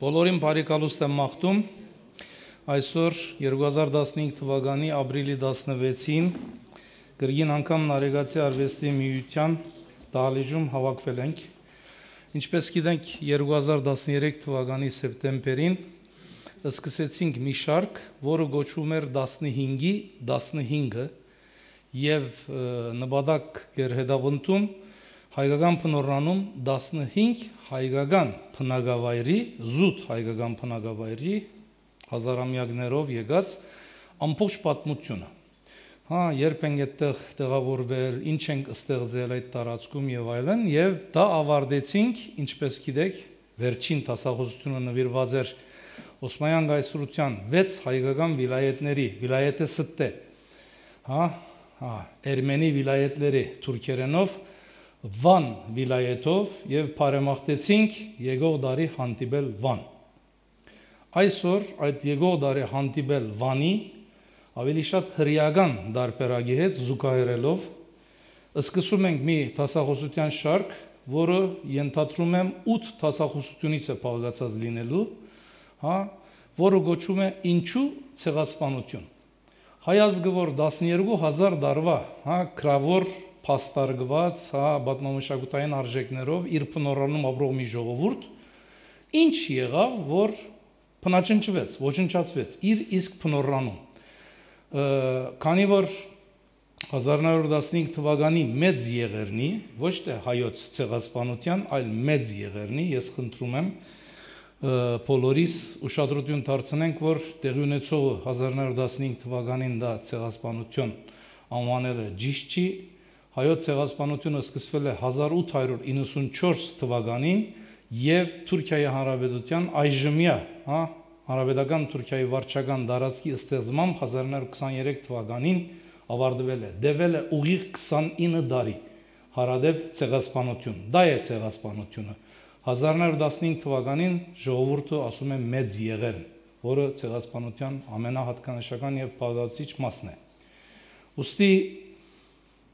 Բոլորին բարի կալուստ եմ մաղթում, այսօր 2015 թվականի ապրիլի 16-ին գրգին անգամ Նարեգացի արվեստի միության դահլիճում հավաքվել ենք, ինչպես գիտենք 2013 թվականի սեպտեմբերին սկսեցինք մի շարք, որը գոչվում էր 15-ի 15-ը և նպատակ էր հետապնդում հայկական բնօրրանում 15 հայկական բնակավայրի, զուտ հայկական բնակավայրի հազարամյակներով եկած ամբողջ պատմությունը։ Երբ ենք այդտեղ տեղավորվել, ինչ ենք ստեղծել այդ տարածքում եւ այլն, եւ դա ավարտեցինք, ինչպես գիտեք, վերջին դասախոսությունը նվիրված էր Օսմանյան կայսրության 6 հայկական վիլայետների, վիլայետը ստե, Էրմենի վիլայետների թուրքերենով Վան վիլայետով և բարեմաղթեցինք եկող դարի հանդիպել Վան։ Այսօր այդ եկող դարի հանդիպել Վանի ավելի շատ հրեական դարբերակի հետ զուգահեռելով սկսում ենք մի դասախոսության շարք, որը ենթադրում եմ 8 դասախոսությունից է բաղկացած լինելու, որը գոչվում է Ինչու ցեղասպանություն։ Հայ ազգը, որ 12,000 տարվա գրավոր փաստարկված, պատմամշակութային արժեքներով իր բնօրրանում ապրող մի ժողովուրդ, ինչ եղավ, որ բնաճնճվեց, ոչնչացվեց իր իսկ բնօրրանում։ Քանի որ 1915 թվականի մեծ եղերնի, ոչ թե հայոց ցեղասպանության, այլ մեծ եղերնի, ես խնդրում եմ բոլորիս ուշադրություն դարձնենք, որ տեղի ունեցողը 1915 թվականին դա ցեղասպանություն անվանելը ճիշտ չի, հայոց ցեղասպանությունը սկսվել է 1894 թվականին եւ Թուրքիայի Հանրապետության այժմյա, Հանրապետական Թուրքիայի վարչական տարածքի ստեղծմամբ 1923 թվականին ավարտվել է, դեվել է ուղիղ 29 տարի հարադեպ ցեղասպանություն, դա է ցեղասպանությունը։ 1915 թվականին ժողովուրդը ասում է մեծ եղերն, որը ցեղասպանության ամենահատկանշական եւ բաղկացուցիչ մասն է։ Ուստի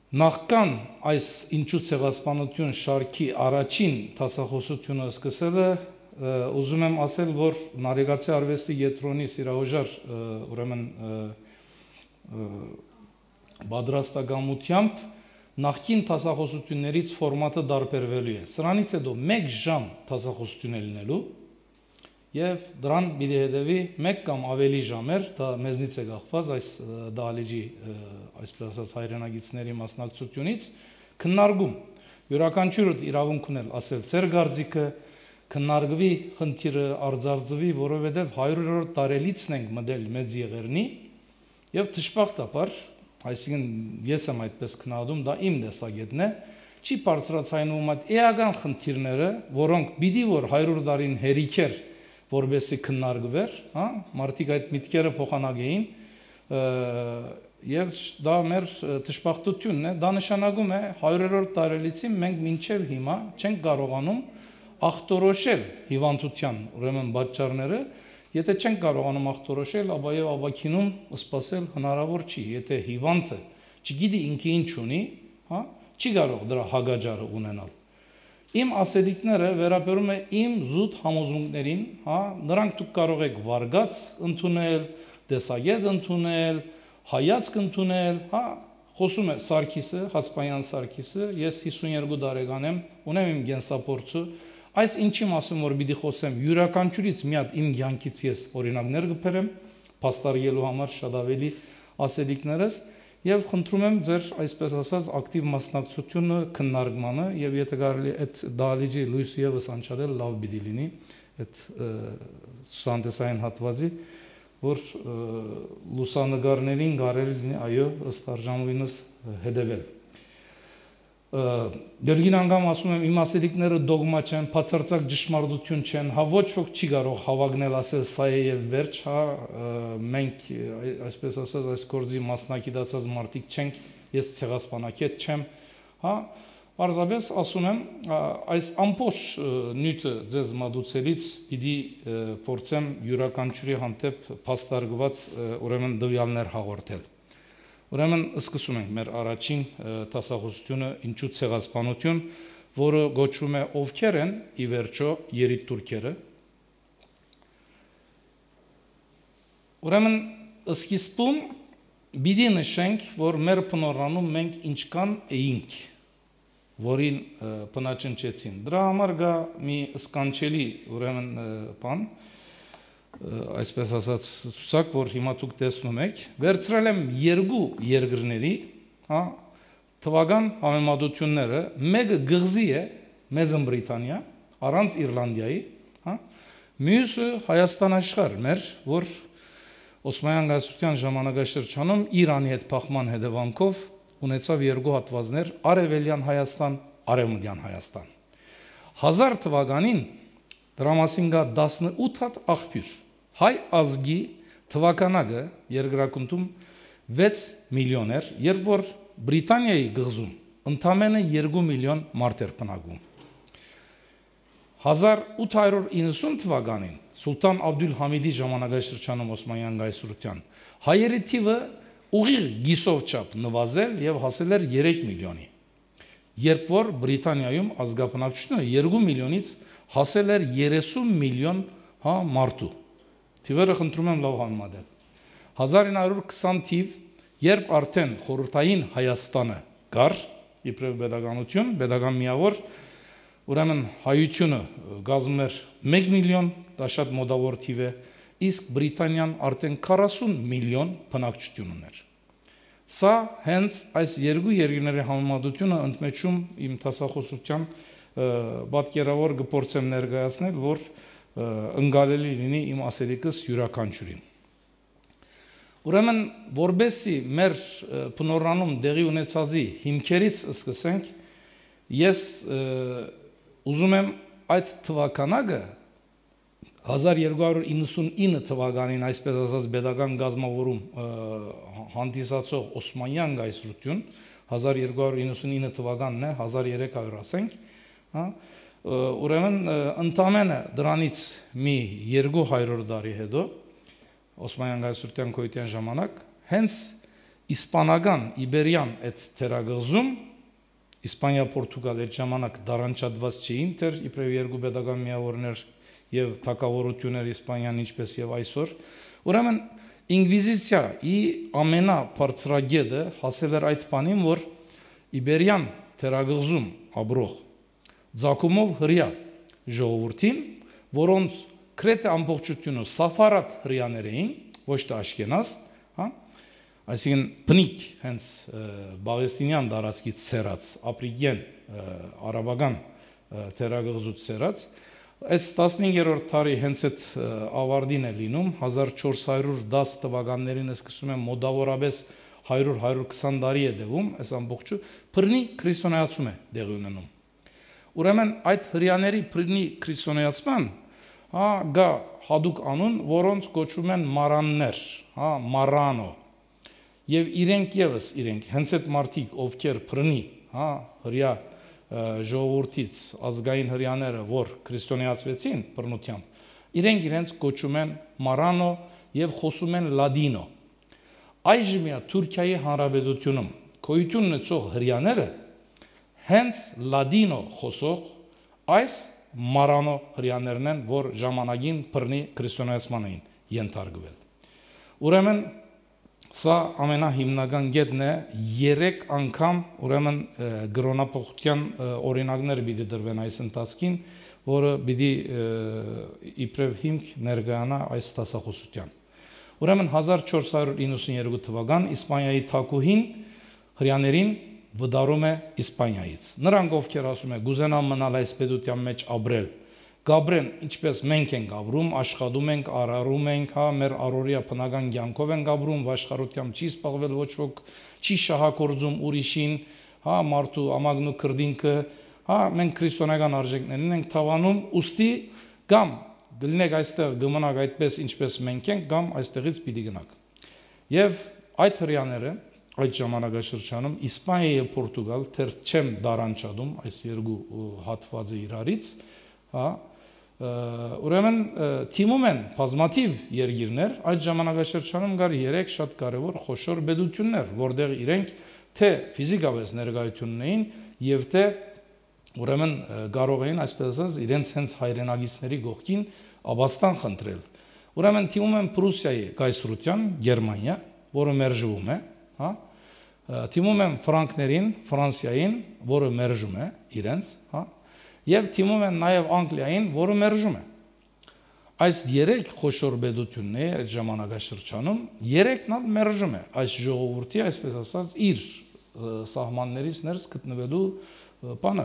նախքան այս ինչու ցեղասպանություն շարքի առաջին դասախոսությունը սկսելը, ուզում եմ ասել, որ Նարեգացի արվեստի կենտրոնի սիրահոժար ուրեմն պատրաստակամությամբ նախքին դասախոսություններից ֆորմատը տարբերվելու է։ Սրանից հետո 1 ժամ դասախոսություն է լինելու եւ դրան պիտի հետեւի 1 կամ ավելի ժամեր, դա մեզնից է կախված այս դահլիճի, այսպես ասած, հայրենագիտների մասնակցությունից, քննարկում։ Յուրաքանչյուրը իրավունք ունել ասել ձեր կարծիքը, քննարկվի խնդիրը, արձարծվի, որովհետեւ 100-րդ տարելիցն ենք մտել մեծ եղերնի եւ դժբախտաբար, այսինքն ես եմ այդպես քննադում, դա իմ տեսակետն է, չի բարձրացնում այդ էական խնդիրները, որոնք պիտի որ 100 տարին հերիքեր որբեսի քննարկվեր, մարդիկ այդ միտքերը փոխանակեին եւ դա մեր դժբախտությունն է, դա նշանակում է 100-րդ տարելիցին մենք մինչեւ հիմա չենք կարողանում ախտորոշել հիվանդության ուրեմն պատճառները, եթե չենք կարողանում ախտորոշել, ապա եւ ապակինում սպասել հնարավոր չի, եթե հիվանդը չգիտի ինքը ինչ ունի, չի կարող դրա հագաճարը ունենալ։ Իմ ասելիքները վերաբերում է իմ զուտ համոզմունքներին, նրանք դուք կարող եք վարգած ընդունել, տեսակետ ընդունել, հայացք ընդունել, խոսում է Սարգիսը, Հացպայան Սարգիսը, ես 52 տարեկան եմ, ունեմ իմ կենսափորձը, այս ինչի մասին որ պիտի խոսեմ, յուրաքանչյուրից մի հատ իմ կյանքից ես օրինակներ կբերեմ, փաստարկելու համար շատ ավելի ասելիքներս եւ խնդրում եմ ձեր այսպես ասած ակտիվ մասնակցությունը քննարկմանը եւ եթե կարելի այդ դահլիճի լույս եւս անցնել լավ պիտի լինի այդ ցուցանտեսային հատվածի որ լուսանկարներին կարելի լինի այո ըստ արժանվինս հետեւել Դերգին անգամ ասում եմ իմ ասելիքները դոգմա չեն, բացարձակ ճշմարտություն չեն, ոչ ոք չի կարող հավակնել ասել սա է եւ վերջ, մենք այսպես ասած այս գործի մասնակցած մարդիկ չենք, ես ցեղասպանակետ չեմ, Պարզապես ասում եմ, այս ամբողջ նյութը ձեզ մատուցելից պիտի փորձեմ յուրաքանչյուրի հանդեպ փաստարկված ուրեմն տվյալներ հաղորդել։ Ուրեմն սկսում ենք մեր առաջին դասախոսությունը ինչու ցեղասպանություն, որը գոչվում է ովքեր են ի վերջո երիտթուրքերը, Ուրեմն սկիզբում պիտի նշենք, որ մեր բնորանում մենք ինչքան էինք, որին բնաճնչեցին։ Դրա համար գա մի սկանչելի ուրեմն բան, այսպես ասած ցուցակ, որ հիմա դուք տեսնում եք, վերցրել եմ երկու երկրների, հա, թվական համեմատությունները, մեկը գղզի է, Մեծն Բրիտանիա, առանց Իռլանդիայի, հա, մյուսը Հայաստան աշխարհ մեր, որ Օսմանյան գայսրության ժամանակաշրջանում Իրանի հետ փախման հետևանքով ունեցավ երկու հատվածներ՝ Արևելյան Հայաստան, Արևմտյան Հայաստան։ 1000 թվականին դրա մասին կա 18 հատ աղբյուր։ Հայ ազգի թվականակը երկրակնքում 6 միլիոն էր, երբ որ Բրիտանիայի գղզում ընդամենը 2 միլիոն մարդ էր բնակվում։ 1890 թվականին Սուլտան Աբդուլհամիդի ժամանակաշրջանում Օսմանյան գայսրության հայերի թիվը ուղիղ գիսով չափ նվազել եւ հասել էր 3 միլիոնի, երբ որ Բրիտանիայում ազգաբնակչությունը 2 միլիոնից հասել էր 30 միլիոն մարդու։ Թիվերը խնդրում եմ լավ համեմատել։ 1920 թիվ, երբ արդեն խորհրդային Հայաստանը գար, իբրև պետականություն, պետական միավոր, ուրեմն հայությունը գազում էր 1 միլիոն, դա շատ մոտավոր թիվ է, իսկ Բրիտանիան արդեն 40 միլիոն բնակչություն ուներ։ Սա հենց այս երկու երկրների համեմատությունը ընդմեջում իմ դասախոսության պատկերավոր գործեմ ներկայացնել, որ ընկալելի լինի իմ ասելիքս յուրաքանչյուրին։ Ուրեմն, որբեսի մեր բնորանում դեղի ունեցածի հիմքերից սկսենք, ես ուզում եմ այդ թվականակը 1299 թվականին, այսպես ասած, պետական գազմավորում հանդիսացող Օսմանյան գայսրություն, 1299 թվականն է, 1300 ասենք, ուրեմն ընդամենը դրանից մի 200 տարի հետո Օսմանյան գայսրության գոյության ժամանակ հենց իսպանական իբերյան այդ թերագղզում Իսպանիա-Պորտուգալ այդ ժամանակ դարանչատված չէին, դեռ իբրև երկու պետական միավորներ եւ թակավորություններ Իսպանիան ինչպես եւ այսօր, ուրեմն ինկվիզիցիայի ամենաբարձրագետը հասել էր այդ բանին, որ իբերյան թերագղզում ապրող ձակումով հրյա ժողովրդին, որոնց քրեթե ամբողջությունը սաֆարատ հրյաներ էին, ոչ թե աշկենազ, հա, այսինքն բնիկ հենց բաղեստինյան տարածքից սերած, ապրիգեն արաբական թերագղզուց սերած, այս 15-րդ դարի հենց այդ ավարտին է լինում, 1410 թվականներին սկսում եմ մոտավորապես 100-120 տարի է տևում, այս ամբողջը բռնի քրիստոնեացում է տեղի ունենում։ Ուրեմն այդ հրյաների բռնի քրիստոնեացման գա հատուկ անուն, որոնց կոչում են մարաններ, մարանո, եւ իրենք եւս իրենք հենց այդ մարդիկ, ովքեր բռնի, հրյա ժողովրդից ազգային հրյաները, որ քրիստոնեացվեցին բռնությամբ, իրենց կոչում են մարանո եւ խոսում են լադինո։ Այժմյա Թուրքիայի Հանրապետությունում գոյություն ունեցող հրյաները հենց լադինո խոսող այս մարանո հրյաներն են, որ ժամանակին բռնի քրիստոնեացման էին ենթարկվել։ Ուրեմն սա ամենահիմնական կետն է, 3 անգամ ուրեմն գրոնապողության օրինակներ պիտի դրվեն այս ընթացքին, որը պիտի իբրև հիմք ներկայանա այս դասախոսության։ Ուրեմն 1492 թվական Իսպանիայի թագուհին հրյաներին վդարում է Իսպանիայից։ Նրանք ովքեր ասում է գուզենան մնալ այս պետության մեջ ապրել, գաբրեն ինչպես մենք ենք ապրում, աշխատում ենք, արարում ենք, մեր առօրյա բնական կյանքով ենք ապրում, վաշխառությամբ չի սպառվել ոչ ոք, չի շահագործում ուրիշին, մարդու ամագնու քրդինքը, մենք քրիստոնեական արժեքներին ենք թավանում, ուստի կամ գլնեք այստեղ գմնակ այդպես ինչպես մենք ենք, կամ այստեղից պիտի գնաք։ Եվ այդ հրյաները այդ ժամանակաշրջանում Իսպանիա եւ Պորտուգալ թեր չեմ դարանչադում այս երկու հատվածը իրարից, ուրեմն թիմում են բազմաթիվ երկիրներ, այդ ժամանակաշրջանում կար 3 շատ կարևոր խոշոր պետություններ, որտեղ իրենք թե ֆիզիկապես ներկայություն ունեին եւ թե ուրեմն կարող էին այսպես ասած իրենց հենց հայրենագիցների գողքին աբաստան խնդրել։ Ուրեմն թիմում են Պրուսիայի կայսրության, Գերմանիա, որը մերժվում է, հա, թիմում են ֆրանկներին, Ֆրանսիային, որը մերժում է իրենց, հա, եւ թիմում են նաեւ Անգլիային, որը մերժում է։ Այս երեք խոշոր բեդությունների այդ ժամանակաշրջանում երեքն էլ մերժում է այս ժողովրդի, այսպես ասած, իր սահմաններից ներս գտնվելու բանը,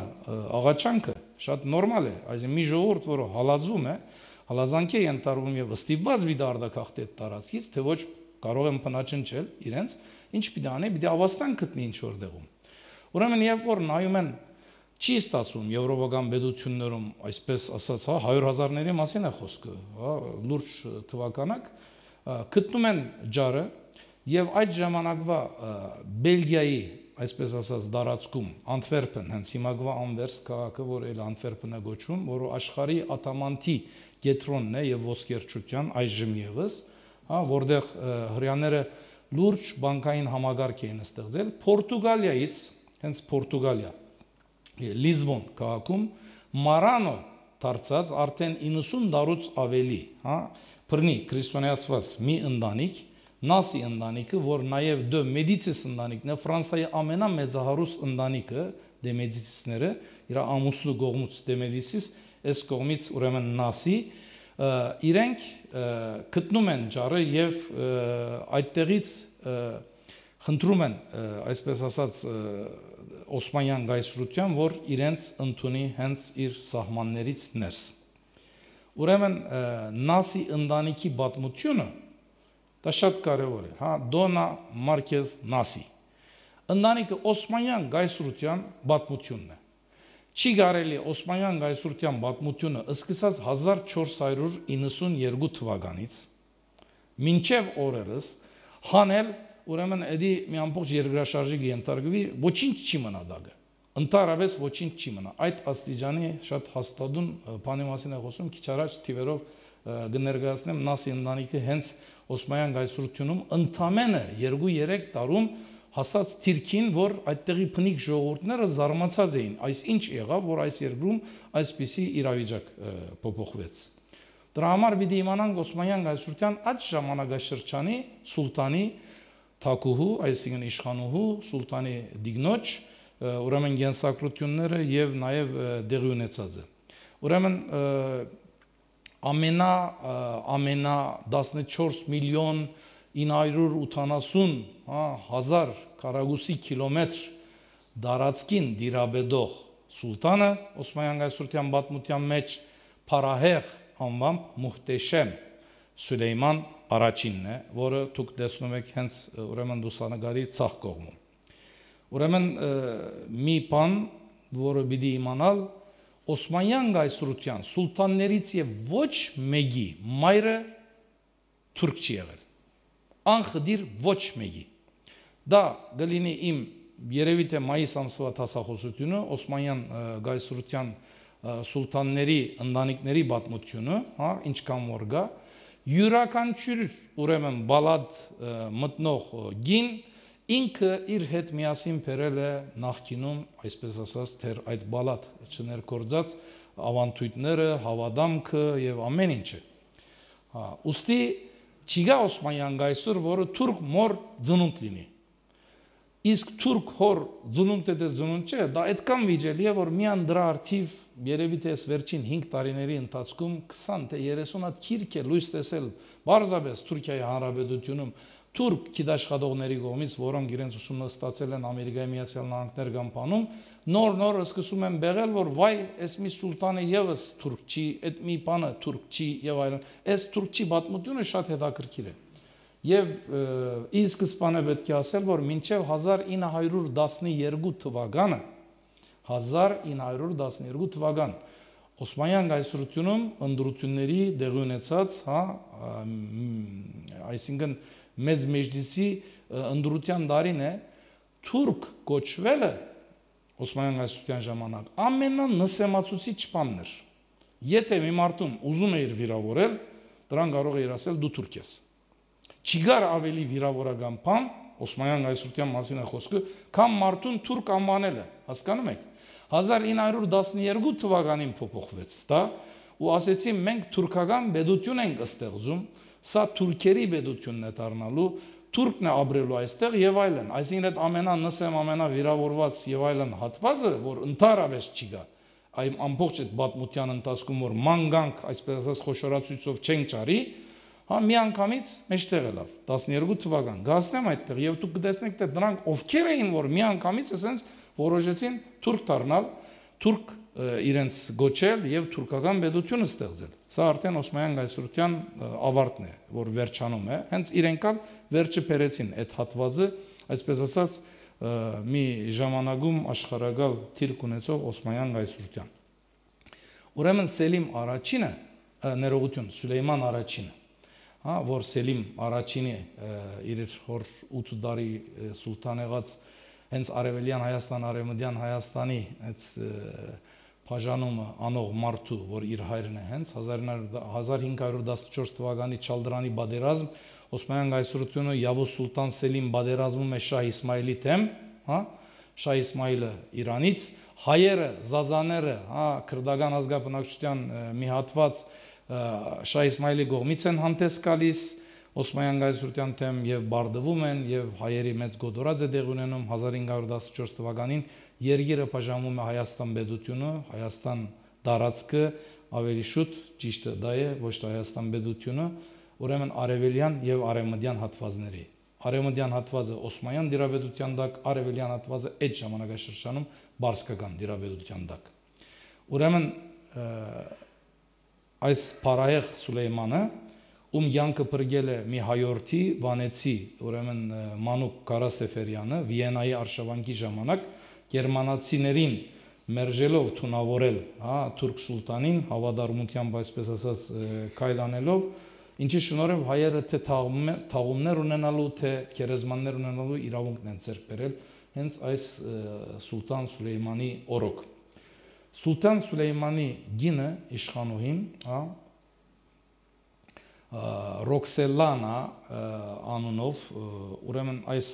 աղաչանքը շատ նորմալ է, այսինքն մի ժողովուրդ, որը հալածվում է, հալածանքի է ընտրվում եւ ստիպված մի դարդակախտի տարածքից, թե ոչ կարող են փնաչնչել իրենց, ինչ պիտի անի, պիտի ավաստան գտնի ինչ որ դեղում։ Ուրեմն երբ որ նայում են չի ստացվում եվրոպական բեդություններում, այսպես ասած, հա 100,000-ների մասին է խոսքը, հա լուրջ թվականակ, գտնում են ջարը եւ այդ ժամանակվա Բելգիայի, այսպես ասած, դարածքում Անտվերպեն, հենց հիմակվա Անվերս քաղաքը, որ էլ Անտվերպեն է գոչվում, որը աշխարհի ատամանթի կենտրոնն է եւ ոսկերչության այժմ եւս, հա, որտեղ հрьяաները լուրջ բանկային համագարկ էին ստեղծել Պորտուգալիայից, հենց Պորտուգալիա, Լիզբոն քաղաքում Մարանո դարձած արդեն 90 դարուց ավելի, հա, բռնի քրիստոնեացված մի ընտանիք, Նասի ընտանիքը, որ նաև դե Մեդիցիս ընտանիքն է, Ֆրանսիայի ամենամեծահարուստ ընտանիքը, դե Մեդիցիսները, իր ամուսնու կողմից դե Մեդիցիս, այս կողմից ուրեմն Նասի, իրենք գտնում են ջարը եւ այդտեղից խնդրում են, այսպես ասած, Օսմանյան գայսրության, որ իրենց ընդունի հենց իր սահմաններից ներս։ Ուրեմն Նասի ընտանիքի պատմությունը դա շատ կարևոր է, հա, Դոնա Մարկես Նասի։ Ընտանիքը Օսմանյան գայսրության պատմությունն է։ Չի կարելի Օսմանյան գայսրության պատմությունը սկսած 1492 թվականից մինչև օրերս հանել, ուրեմն էդի մի ամբողջ երկրաշարժի ենթարկվի, ոչինչ չի մնա դակը։ Ընդհանրապես ոչինչ չի մնա։ Այդ աստիճանի շատ հաստատուն բանի մասին է խոսում, քիչ առաջ թիվերով կներկայացնեմ Նասի ընտանիքը հենց Օսմանյան գայսրությունում ընդամենը 2-3 տարում հասած թիրքին, որ այդտեղի փնիկ ժողովուրդները զարմացած էին, այս ինչ եղավ, որ այս երկրում այսպիսի իրավիճակ փոփոխվեց։ Դրա համար պիտի իմանանք Օսմանյան գայսրության այդ ժամանակաշրջանի սուլտանի թակուհու, այսինքն իշխանուհու, սուլտանի դիգնոջ, ուրեմն գենսակրությունները եւ նաեւ դեղի ունեցածը։ Ուրեմն ամենա 14 միլիոն 980 հազար քառակուսի կիլոմետր դարածքին դիրաբեդող սուլտանը Օսմանյան գայսրության պատմության մեջ Փարահեղ անվամբ Մուհտեշեմ Սուլեյման առաջինն է, որը դուք տեսնում եք հենց ուրեմն լուսանկարի ցախ կողմում։ Ուրեմն մի բան, որը պիտի իմանալ, Օսմանյան գայսրության սուլտաններից եւ ոչ մեկի մայրը թուրք չի եղել։ Անխդիր ոչ մեկի։ Դա գլինի իմ երևի թե մայիս ամսվա տասախոսությունը Օսմանյան գայսրության սուլտանների ընտանիքների պատմությունը, հա, ինչքան որ գա, յուրաքանչյուր ուրեմն բալադ մտնող գին ինքը իր հետ միասին բերել է նախկինում, այսպես ասած, թեր այդ բալադ չներկործած ավանդույթները, հավադամքը եւ ամեն ինչը։ Հա, ուստի չիգա Օսմանյան գայսր, որը թուրք մոր ծնունդ լինի։ Իսկ թուրք հոր ծնունդ է ծնունդ չէ, դա այդքան վիճելի է, որ միան դրա արդիվ երևի թե վերջին 5 տարիների ընթացքում 20 թե 30 հատ քիրք է լույս տեսել բարձրապես Թուրքիայի Հանրապետությունում թուրք գիտաշխատողների կողմից, որոնք իրենց ուսումը ստացել են Ամերիկայի Միացյալ Նահանգներ կամ բանում, նոր սկսում են բեղել, որ վայ, այս մի սուլտանը եւս թուրք չի, այդ մի բանը թուրք չի եւ այլն։ Այս թուրքչի պատմությունը շատ հետաքրքիր է։ Եվ ի սկզբանե պետք է ասել, որ մինչև 1912 թվականը 1912 թվական Օսմանյան գայսրությունում ընդրությունների դեղի ունեցած, հա, այսինքն մեծ մեջլիսի ընդրության դարին է թուրք կոչվելը Օսմանյան գայսրության ժամանակ ամենանսեմացուցիչ բանն էր։ Եթե մի մարդուն ուզում էր վիրավորել, դրան կարող էր ասել դու թուրք ես։ Չգար ավելի վիրավորական բան Օսմանյան գայսրության մասին է խոսքը, քան մարդուն թուրք անվանելը, հասկանում եք։ 1912 թվականին փոփոխվեց դա, ու ասեցին մենք թուրքական պետություն ենք ստեղծում, սա թուրքերի պետությունն է դառնալու, թուրքն է ապրելու այստեղ եւ այլն, այսինքն այդ ամենանսեմ, ամենավիրավորված եւ այլն հատվածը, որ ընդհանրապես չի գա, այ ամբողջ այդ պատմության ընթացքում որ մանգանք, այսպես ասած խոշորացույցով չենք ճարի, հա միանգամից մեջտեղ ելավ 12 թվական, գասնեմ այդտեղ եւ դուք կտեսնեք թե դրանք ովքեր էին, որ միանգամից ասենց որոշեցին թուրք դառնալ, թուրք իրենց գոչել եւ թուրքական պետությունը ստեղծել։ Սա արդեն Օսմանյան գայսրության ավարտն է, որ վերջանում է։ Հենց իրենք ալ վերջը բերեցին այդ հատվածը, այսպես ասած, մի ժամանակում աշխարհակալ թիրք ունեցող Օսմանյան գայսրության։ Ուրեմն Սելիմ առաջինը, ներողություն, Սուլեյման առաջինը, հա, որ Սելիմ առաջինի իր հոր 8 տարի սուլտան եղած հենց Արևելյան Հայաստան, Արևմտյան Հայաստանի այդ բաժանումը անող մարդու, որ իր հայրն է հենց 1514 թվականի Չալդրանի բادرազմ Օսմանյան գայսրությունը Yavuz Sultan Selim բادرազմում է Շահ Իսմայիլի դեմ, հա, Շահ Իսմայիլը Իրանից, հայերը, զազաները, հա, քրդական ազգաբնակչության մի հատված Շահ Իսմայիլի կողմից են հանդես գալիս Օսմանյան գայսրության դեմ եւ բարդվում են եւ հայերի մեծ գոդորած է դեղ ունենում 1514 թվականին Երգիրը բաժանվում է Հայաստան պետությունը, Հայաստան տարածքը ավելի շուտ ճիշտը դա է, ոչ թե Հայաստան պետությունը, ուրեմն արևելյան եւ արևմտյան հատվածների։ Արևմտյան հատվածը Օսմանյան դիրապետության տակ, արևելյան հատվածը այդ ժամանակաշրջանում Բարսկական դիրապետության տակ։ Ուրեմն այս Փարահեղ Սուլեյմանը ում յանքը բրգել է մի հայորդի վանեցի, ուրեմն Մանուկ Կարասեֆերյանը Վիեննայի արշավանքի ժամանակ գերմանացիներին մերժելով թունավորել, հա, թուրք սուլտանին հավատարմությամբ այսպես ասած քայլանելով, ինչի շնորհիվ հայերը թե թաղումներ ունենալու, թե քերեզմաններ ունենալու իրավունքն են ձեռք բերել հենց այս Սուլտան Սուլեյմանի օրոք։ Սուլտան Սուլեյմանի գինը իշխանուհին, հա, Ռոքսելանա անունով, ուրեմն այս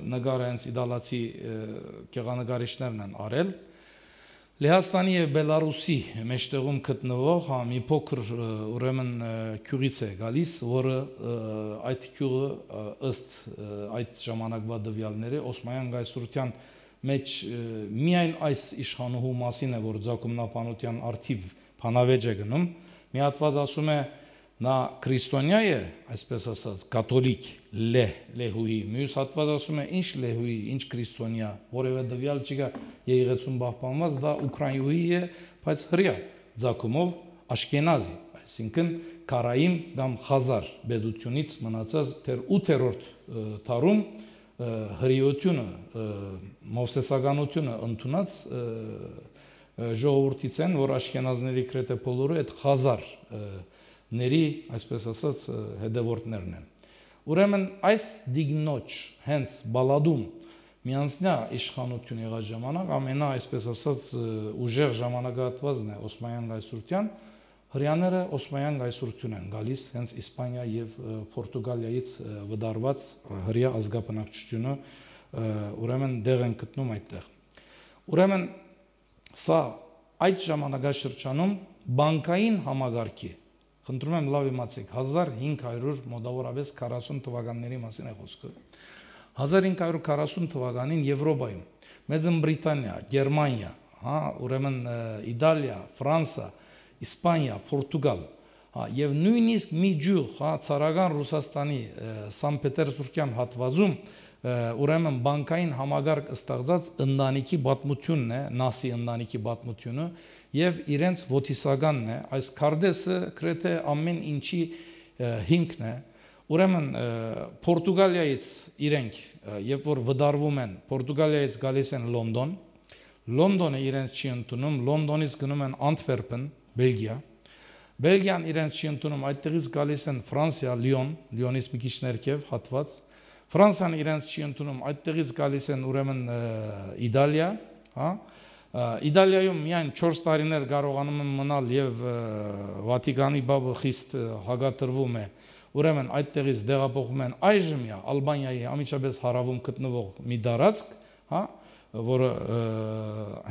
նկարը հենց իդալացի գեղանկարիչներն են արել, Լեհաստանի եւ Բելարուսի մեջտեղում գտնվող հա մի փոքր ուրեմն քյուղից է գալիս, որը այդ քյուղը ըստ այդ ժամանակվա դվյալների Օսմանյան գայսրության մեջ միայն այս իշխանուհու մասին է, որ Ձակումնապանության արթիվ բանավեճ է գնում, մի հատված ասում է նա քրիստոնյա է, այսպես ասած, կաթոլիկ լեհուի, մյուս հատված ասում է ինչ լեհուի, ինչ քրիստոնյա, որևէ դվյալ չկա եղեցուն պահպանված, դա ուկրաինուհի է, բայց հրյա ձակումով աշկենազի, այսինքն Կարայիմ կամ Խազար պետությունից մնացած դեռ 8-րդ դարում հրիությունը, մովսեսականությունը ընդունած ժողովրդից են, որ աշկենազների գրեթե բոլորը այդ խազարների, այսպես ասած, հետևորդներն են։ Ուրեմն այս դիգնոջ հենց Բալադում միանձնյա իշխանություն եղած ժամանակ ամենա, այսպես ասած, ուժեղ ժամանակահատվածն է Օսմանյան գայսրության, հրյաները Օսմանյան գայսրություն են գալիս հենց Իսպանիա եւ Պորտուգալիայից վդարված հրյա ազգաբնակչությունը, ուրեմն դեղ են գտնում այդտեղ։ Ուրեմն սա այդ ժամանակաշրջանում բանկային համագարքի, խնդրում եմ լավ իմացեք, 1500 մոտավորապես 40 թվականների մասին է խոսքը։ 1540 թվականին Եվրոպայում, Մեծն Բրիտանիա, Գերմանիա, հա, ուրեմն Իտալիա, Ֆրանսիա, Իսպանիա, Պորտուգալ, հա, եւ նույնիսկ մի ջուղ, հա, ցարական Ռուսաստանի Սանտ Պետերբուրգյան հատվածում ուրեմն բանկային համագարկ ստեղծած ընտանիքի պատմությունն է, Նասի ընտանիքի պատմությունը եւ իրենց ոտիսականն է, այս քարտեզը գրեթե ամեն ինչի հիմքն է։ Ուրեմն Պորտուգալիայից իրենք երբ որ վդարվում են, Պորտուգալիայից գալիս են Լոնդոն, Լոնդոնը իրենց չի ընդունում, Լոնդոնից գնում են Անտվերպեն, Բելգիա, Բելգիան իրենց չի ընդունում, այդտեղից գալիս են Ֆրանսիա, Լիոն, Լիոնից մի քիչ ներքև հատված, Ֆրանսիան իրենց չի ընդունում, այդտեղից գալիս են ուրեմն Իտալիա, հա, Իտալիայում միայն 4 տարիներ կարողանում են մնալ եւ Վատիկանի բաբը խիստ հագատրվում է, ուրեմն այդտեղից դեղափոխվում են այժմյա Ալբանիայի ամիջապես հարավում գտնվող մի տարածք, հա, որը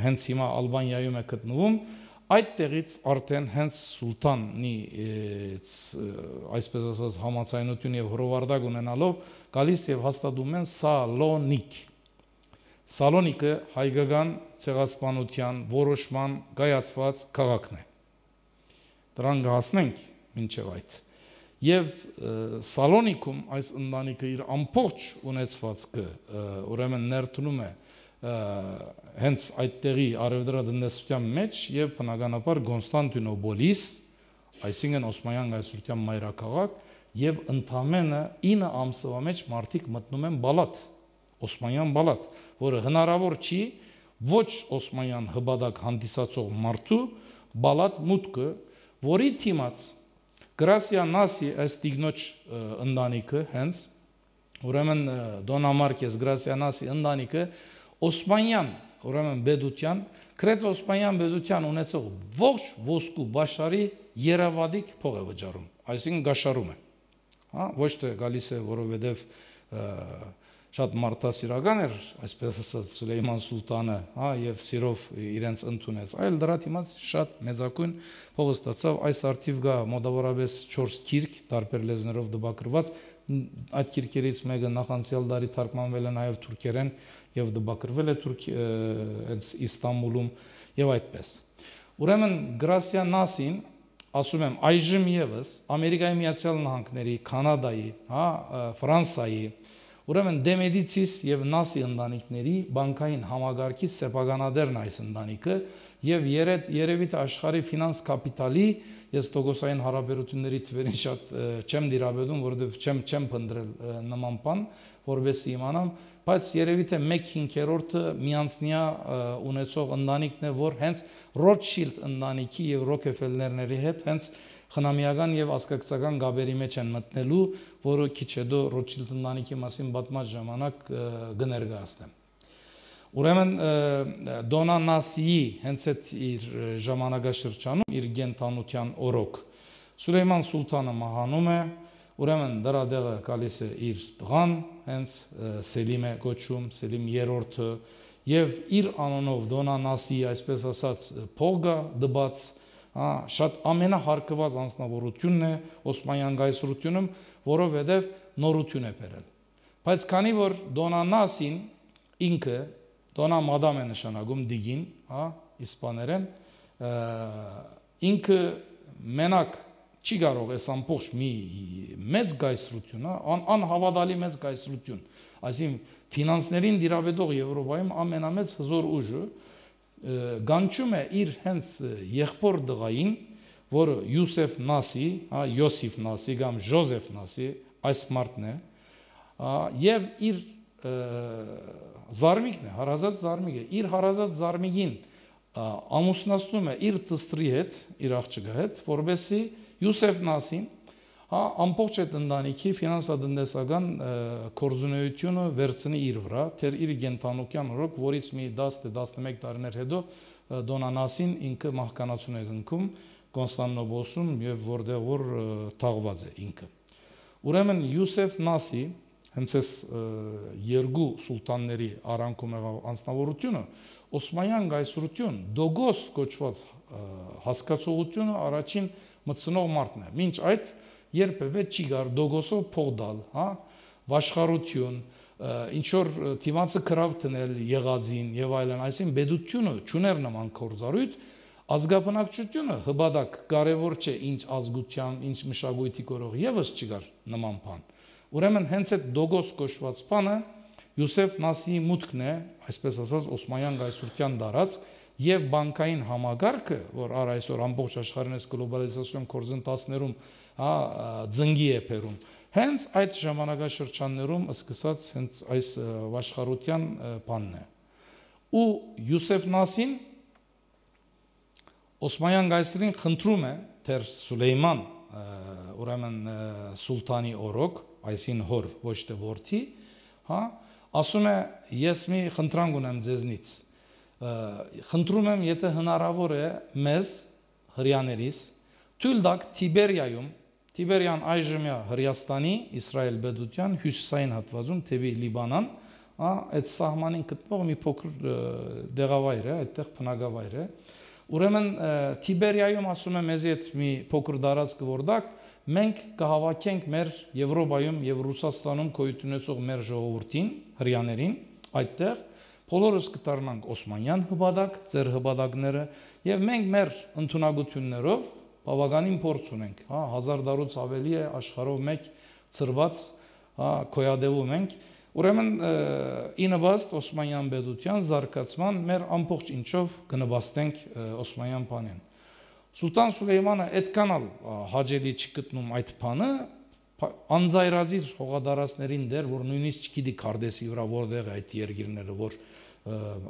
հենց հիմա Ալբանիայում է գտնվում, այդտեղից արդեն հենց սուլտանի այսպես ասած համացայնություն եւ հրովարդակ ունենալով գալիս եւ հաստատում են Սալոնիկ։ Սալոնիկը հայկական ցեղասպանության որոշման կայացված քաղաքն է։ Դրան կհասնենք մինչև այդ։ Եվ Սալոնիկում այս ընտանիքը իր ամբողջ ունեցվածքը ուրեմն ներդնում է հենց այդտեղի արևելատնտեսության մեջ եւ բնականաբար Կոնստանտինոպոլիս, այսինքն Օսմանյան գայսրության մայրաքաղաք, եւ ընդամենը 9 ամսվա մեջ մարդիկ մտնում են բալատ, Օսմանյան բալատ, որը հնարավոր չի ոչ Օսմանյան հբադակ հանդիսացող մարդու բալատ մուտքը, որի թիմաց Գրասիա Նասի այս տիկնոջ ընտանիքը հենց ուրեմն Դոնա Մարկես Գրասիա Նասի ընտանիքը Օսմանյան, ուրեմն բեդության, կրետ Օսմանյան բեդության ունեցող ողջ ոսկու բաշարի երավադիկ փող է վճարում, այսինքն գաշարում է, ոչ թե գալիս է, որովհետև շատ մարդասիրական էր, այսպես ասած Սուլեյման Սուլտանը, եւ սիրով իրենց ընդունեց, այլ դրա դիմաց շատ մեծակույն փող ստացավ, այս արդիվ գա մոտավորապես 4 գիրք տարբեր լեզուներով դպակրված, այդ գիրքերից մեկը նախանցյալ դարի թարգմանվել է նաև թուրքերեն եւ դպակրվել է Իստանբուլում եւ այդպես։ Ուրեմն Գրասիա Նասին, ասում եմ, այժմ եւս Ամերիկայի Միացյալ Նահանգների, Կանադայի, Ֆրանսիայի, ուրեմն Դեմեդիցիս եւ Նասի ընտանիքների բանկային համագարքի սեփականատերն այս ընտանիքը եւ երևի թե աշխարհի ֆինանս կապիտալի ես տոկոսային հարաբերությունների թվերին շատ չեմ դիրաբետում, որովհետև չեմ փնտրել նման բան, որովհետեւ իմանամ, բայց երևի թե 1/5-ը միանձնյա ունեցող ընտանիքն է, որ հենց Ռոթշիլդ ընտանիքի եւ Ռոքեֆելլերների հետ հենց խնամիական եւ ազգակցական գաբերի մեջ են մտնելու, որը քիչ հետո Ռոթշիլդ ընտանիքի մասին պատմած ժամանակ կներկայացնեմ։ Ուրեմն Դոնա Նասիի հենց այդ իր ժամանակաշրջանում իր գենթանության օրոք Սուլեյման Սուլտանը մահանում է, ուրեմն դրա դեղը գալիս է իր տղան, հենց Սելիմ է կոչում, Սելիմ III-ը, եւ իր անունով Դոնա Նասիի այսպես ասած փողը դբած, շատ ամենահարկված անձնավորությունն է Օսմանյան գայսրությունում, որովհետեւ նորություն է բերել։ Բայց քանի որ Դոնա Նասին ինքը Դոնա մադամ է նշանակում դիգին, իսպաներեն, ինքը մենակ չի կարող այս ամբողջ մի մեծ գայսրություն, անհավատալի մեծ գայսրություն, այսինքն ֆինանսներին դիրաբետող Եվրոպայում ամենամեծ հզոր ուժը գանչում է իր հենց եղբոր դղային, որը Յուսեֆ Նասի, Յոսիֆ Նասի կամ Ժոզեֆ Նասի, այս մարդն է, եւ իր զարմիկն է, հարազատ զարմիկ է, իր հարազատ զարմիկին ամուսնացնում է իր տստրի հետ, իր աղջկա հետ, որովհետեւ Յուսեֆ Նասին ամբողջ այդ ընտանիքի ֆինանսատնտեսական կորզունեությունը վերցնի իր վրա, թեր իր գենթանության օրոք, որից մի 10-11 տարիներ հետո Դոնա Նասին ինքը մահկանացուն է գնքում Կոնստանտինոպոլսում եւ որտեղ որ թաղված է ինքը։ Ուրեմն Յուսեֆ Նասի հենց այս երկու սուլտանների արանքում եղավ անձնավորությունը Օսմանյան գայսրություն Դոգոս կոչված հասկացողությունը առաջին մտցնող մարդն է։ Մինչ այդ երբևէ չի գար Դոգոսով փող տալ, վաշխառություն, ինչ որ թիմացը քրավ տնել եղածին եւ այլն, այսինքն բեդությունը ճուներ նման կորզարույթ, ազգաբնակչությունը հբադակ կարևոր չէ ինչ ազգությամբ, ինչ մշակույթի կորող եւս չկար նման բան։ Ուրեմն հենց այդ Դոգոս կոչված բանը Յուսեֆ Նասիի մուտքն է, այսպես ասած Օսմանյան գայսրության դարած եւ բանկային համագարքը, որ այսօր ամբողջ աշխարհին այս գլոբալիզացիոն կորզընթացներում ծնգի է բերում, հենց այդ ժամանակաշրջաններում սկսած հենց այս վաշխառության բանն է։ Ու Յուսեֆ Նասին Օսմանյան գայսրին խնդրում է թեր Սուլեյման ուրեմն սուլտանի օրոք, այսին հոր ոչ թե որդի, ասում է ես մի խնդրանք ունեմ ձեզնից, խնդրում եմ եթե հնարավոր է մեզ հрьяաներիս թույլ տաք Տիբերիայում, Տիբերիան այժմյա Հրեաստանի Իսրայել պետության հյուսիսային հատվածում թեպի Լիբանան, այդ սահմանին գտնող մի փոքր դեղավայր է, այդտեղ բնակավայր է, Ուրեմն Տիբերիայում ասում եմ մեզի այդ մի փոքր դարածք որդակ մենք կհավաքենք մեր Եվրոպայում եւ Ռուսաստանում գոյություն ունեցող մեր ժողովրդին, հрьяաներին, այդտեղ բոլորս կդառնանք Օսմանյան հպատակ, ծեր հպատակները եւ մենք մեր ընդունակություններով բավականին փորձ ունենք, հա 1000 տարուց ավելի է աշխարհով մեկ ծրված, հա կոյադևում ենք Ուրեմն ինվաստ Օսմանյան պետության զարգացման մեր ամբողջ ինչով կնվաստենք Օսմանյան բանին։ Սուլտան Սուլեյմանը այդքան հաջելի չգտնում այդ բանը, անձայրազիր հողադարածներին դեր, որ նույնիսկ չգիտի Քարդեսի վրա որտեղ է այդ երկիրները, որ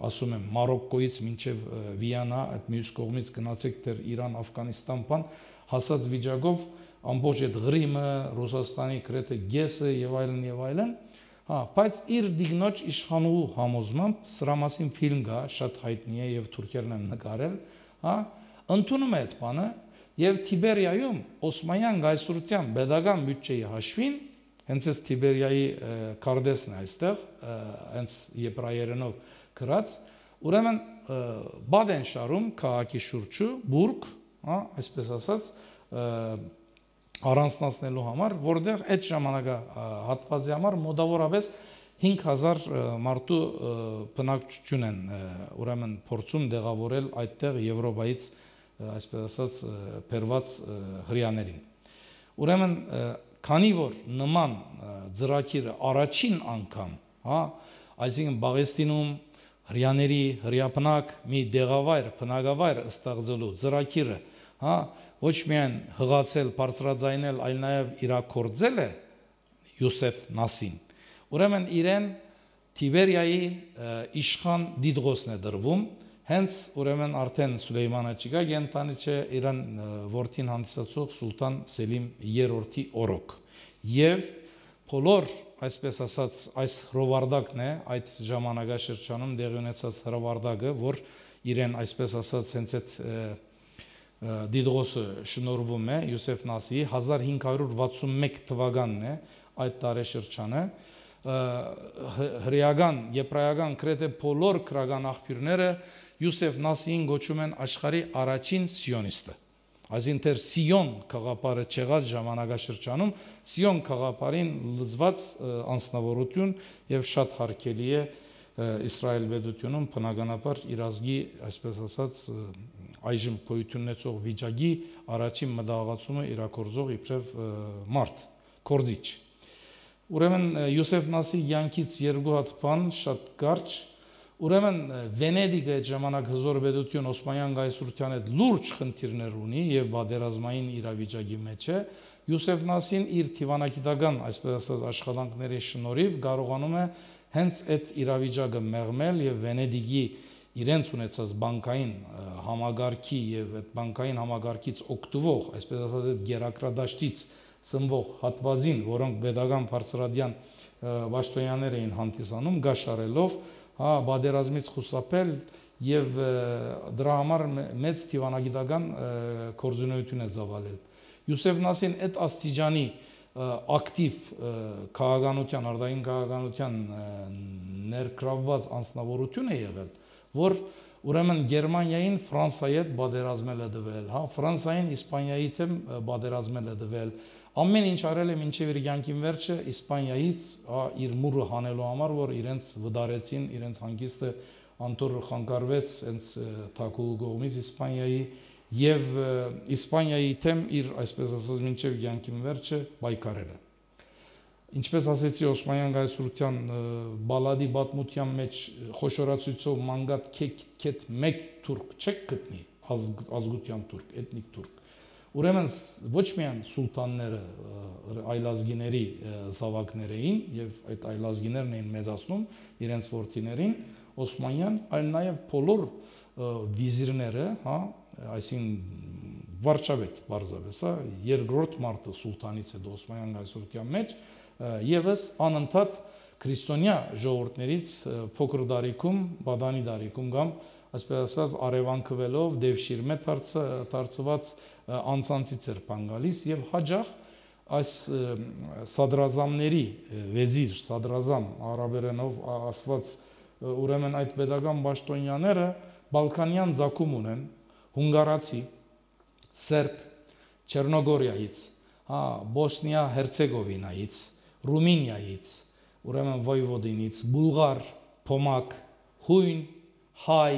ասում եմ Մարոկկոից մինչև Վիեննա, այդ մյուս կողմից գնացեք դեր Իրան, Աֆղանիստան բան, հասած վիճակով ամբողջ այդ Ղրիմը, Ռուսաստանի գրեթե գեսը եւ այլն Հա, բայց իր դիգնոջ իշխանուհու համոզմամբ սրա մասին ֆիլմ կա, շատ հայտնի է եւ թուրքերն են նկարել, հա, ընդունում է այդ բանը եւ Տիբերիայում Օսմանյան գայսրության pedagogan բյուջեի հաշվին, հենց այս Տիբերիայի Քարդեսն է այստեղ, հենց եբրայերենով գրած, ուրեմն Բադեն շարում քաղաքի շուրջը բուրգ, հա, այսպես ասած առանձնացնելու համար, որտեղ այդ ժամանակահատվածի համար մոտավորապես 5000 մարդու բնակչություն են ուրեմն փորձում դեղավորել այդտեղ Եվրոպայից, այսպես ասած, բերված հрьяաներին։ Ուրեմն քանի որ նման ծրագիրը առաջին անգամ, հա, այսինքն Բաղեստինում հрьяաների հрьяապնակ մի դեղավայր, բնակավայր ստեղծելու ծրագիրը, հա, ոչ միայն հղացել, բարձրաձայնել, այլ նաև իրակորձել է Յուսեֆ Նասին։ Ուրեմն իրեն Տիբերիայի իշխան Դիդղոսն է դրվում, հենց ուրեմն արդեն Սուլեյմանը չկա, ենթանի չէ իրան որդին հանդիսացող Սուլտան Սելիմ III-ի օրոք։ Եվ բոլոր, այսպես ասած, այս հրովարտակն է, այդ ժամանակաշրջանում դեղի ունեցած հրովարտակը, որ իրեն, այսպես ասած, հենց այդ Դիդղոսը շնորհվում է Յուսեֆ Նասիի 1561 թվականն է այդ տարեշրջանը հրեական, եբրայական գրեթե բոլոր քրական աղբյուրները Յուսեֆ Նասիին գոչում են աշխարհի առաջին սիոնիստը։ Այսինքն դեռ Սիոն քաղաքապարը չեղած ժամանակաշրջանում Սիոն քաղաքապարին լծված անձնավորություն եւ շատ հարգելի է Իսրայել պետությունում բնականաբար իր ազգի, այսպես ասած, այժմ գոյություն ունեցող վիճակի առաջին մտահղացումը իրակորձող իբրև մարդ, կորձիչ։ Ուրեմն Յուսեֆ Նասի յանքից երկու հատ բան շատ կարճ, ուրեմն Վենեդիգը այդ ժամանակ հզոր պետություն Օսմանյան գայսրության հետ լուրջ խնդիրներ ունի եւ բادرազմային իրավիճակի մեջ է, Յուսեֆ Նասին իր թիվանագիտական, այսպես ասած, աշխատանքների շնորհիվ կարողանում է հենց այդ իրավիճակը մեղմել եւ Վենեդիգի իրենց ունեցած բանկային համագարքի եւ այդ բանկային համագարքից օգտվող, այսպես ասած, այդ գերակրադաշտից սնվող հատվածին, որոնք pedagogan բարձրադյան Վաշտոյաններ էին հանդիսանում, գաշարելով, հա, բادرազմից խուսափել եւ դրա համար մեծ թիվանագիտական կորզունեություն է ծավալել։ Յուսեֆ Նասին այդ աստիճանի ակտիվ քաղաքականության, արտաքին քաղաքականության ներգրավված անձնավորություն է եղել, որ ուրեմն Գերմանիային Ֆրանսիայի հետ բادرազմել է դվել, հա, Ֆրանսիային Իսպանիայի հետ բادرազմել է դվել, ամեն ինչ արել է մինչև իր կյանքին վերջը Իսպանիայից իր մուրը հանելու համար, որ իրենց վդարեցին, իրենց հանգիստը անտոր խանգարվեց հենց Թակուհու կողմից Իսպանիայի եւ Իսպանիայի թեմ իր, այսպես ասած, մինչև կյանքին վերջը պայքարել է։ Ինչպես ասեցի, Օսմանյան գայսրության բալադի պատմության մեջ խոշորացույցով մանգատ քեթ մեկ թուրք չեք գտնի, ազգության թուրք, էթնիկ թուրք։ Ուրեմն ոչ միայն սուլտանները այլազգիների զավակներ էին եւ այդ այլազգիներն էին մեծացնում իրենց որդիներին Օսմանյան, այլ նաեւ բոլոր վիզիրները, հա, այսինքն վարչապետ բարձրապես, հա, երկրորդ մարդը սուլտանից հետո Օսմանյան գայսրության մեջ եւս անընդհատ քրիստոնյա ժողովուրդներից փոքր դարիքում, բադանի դարիքում կամ այսպես ասած արևանքվելով դեպշիրմե դարձված անցանցից էր բան գալիս եւ հաջող այս սադրազամների վեզիր, սադրազամ արաբերենով ասված ուրեմն այդ pedagogan պաշտոնյաները բալկանյան ցակում ունեն, հունգարացի, սերբ, Չեռնոգորիայից, Բոսնիա Հերցեգովինայից, Ռումինիայից, ուրեմն Վոյվոդինից, բուլղար, փոմակ, հույն, հայ,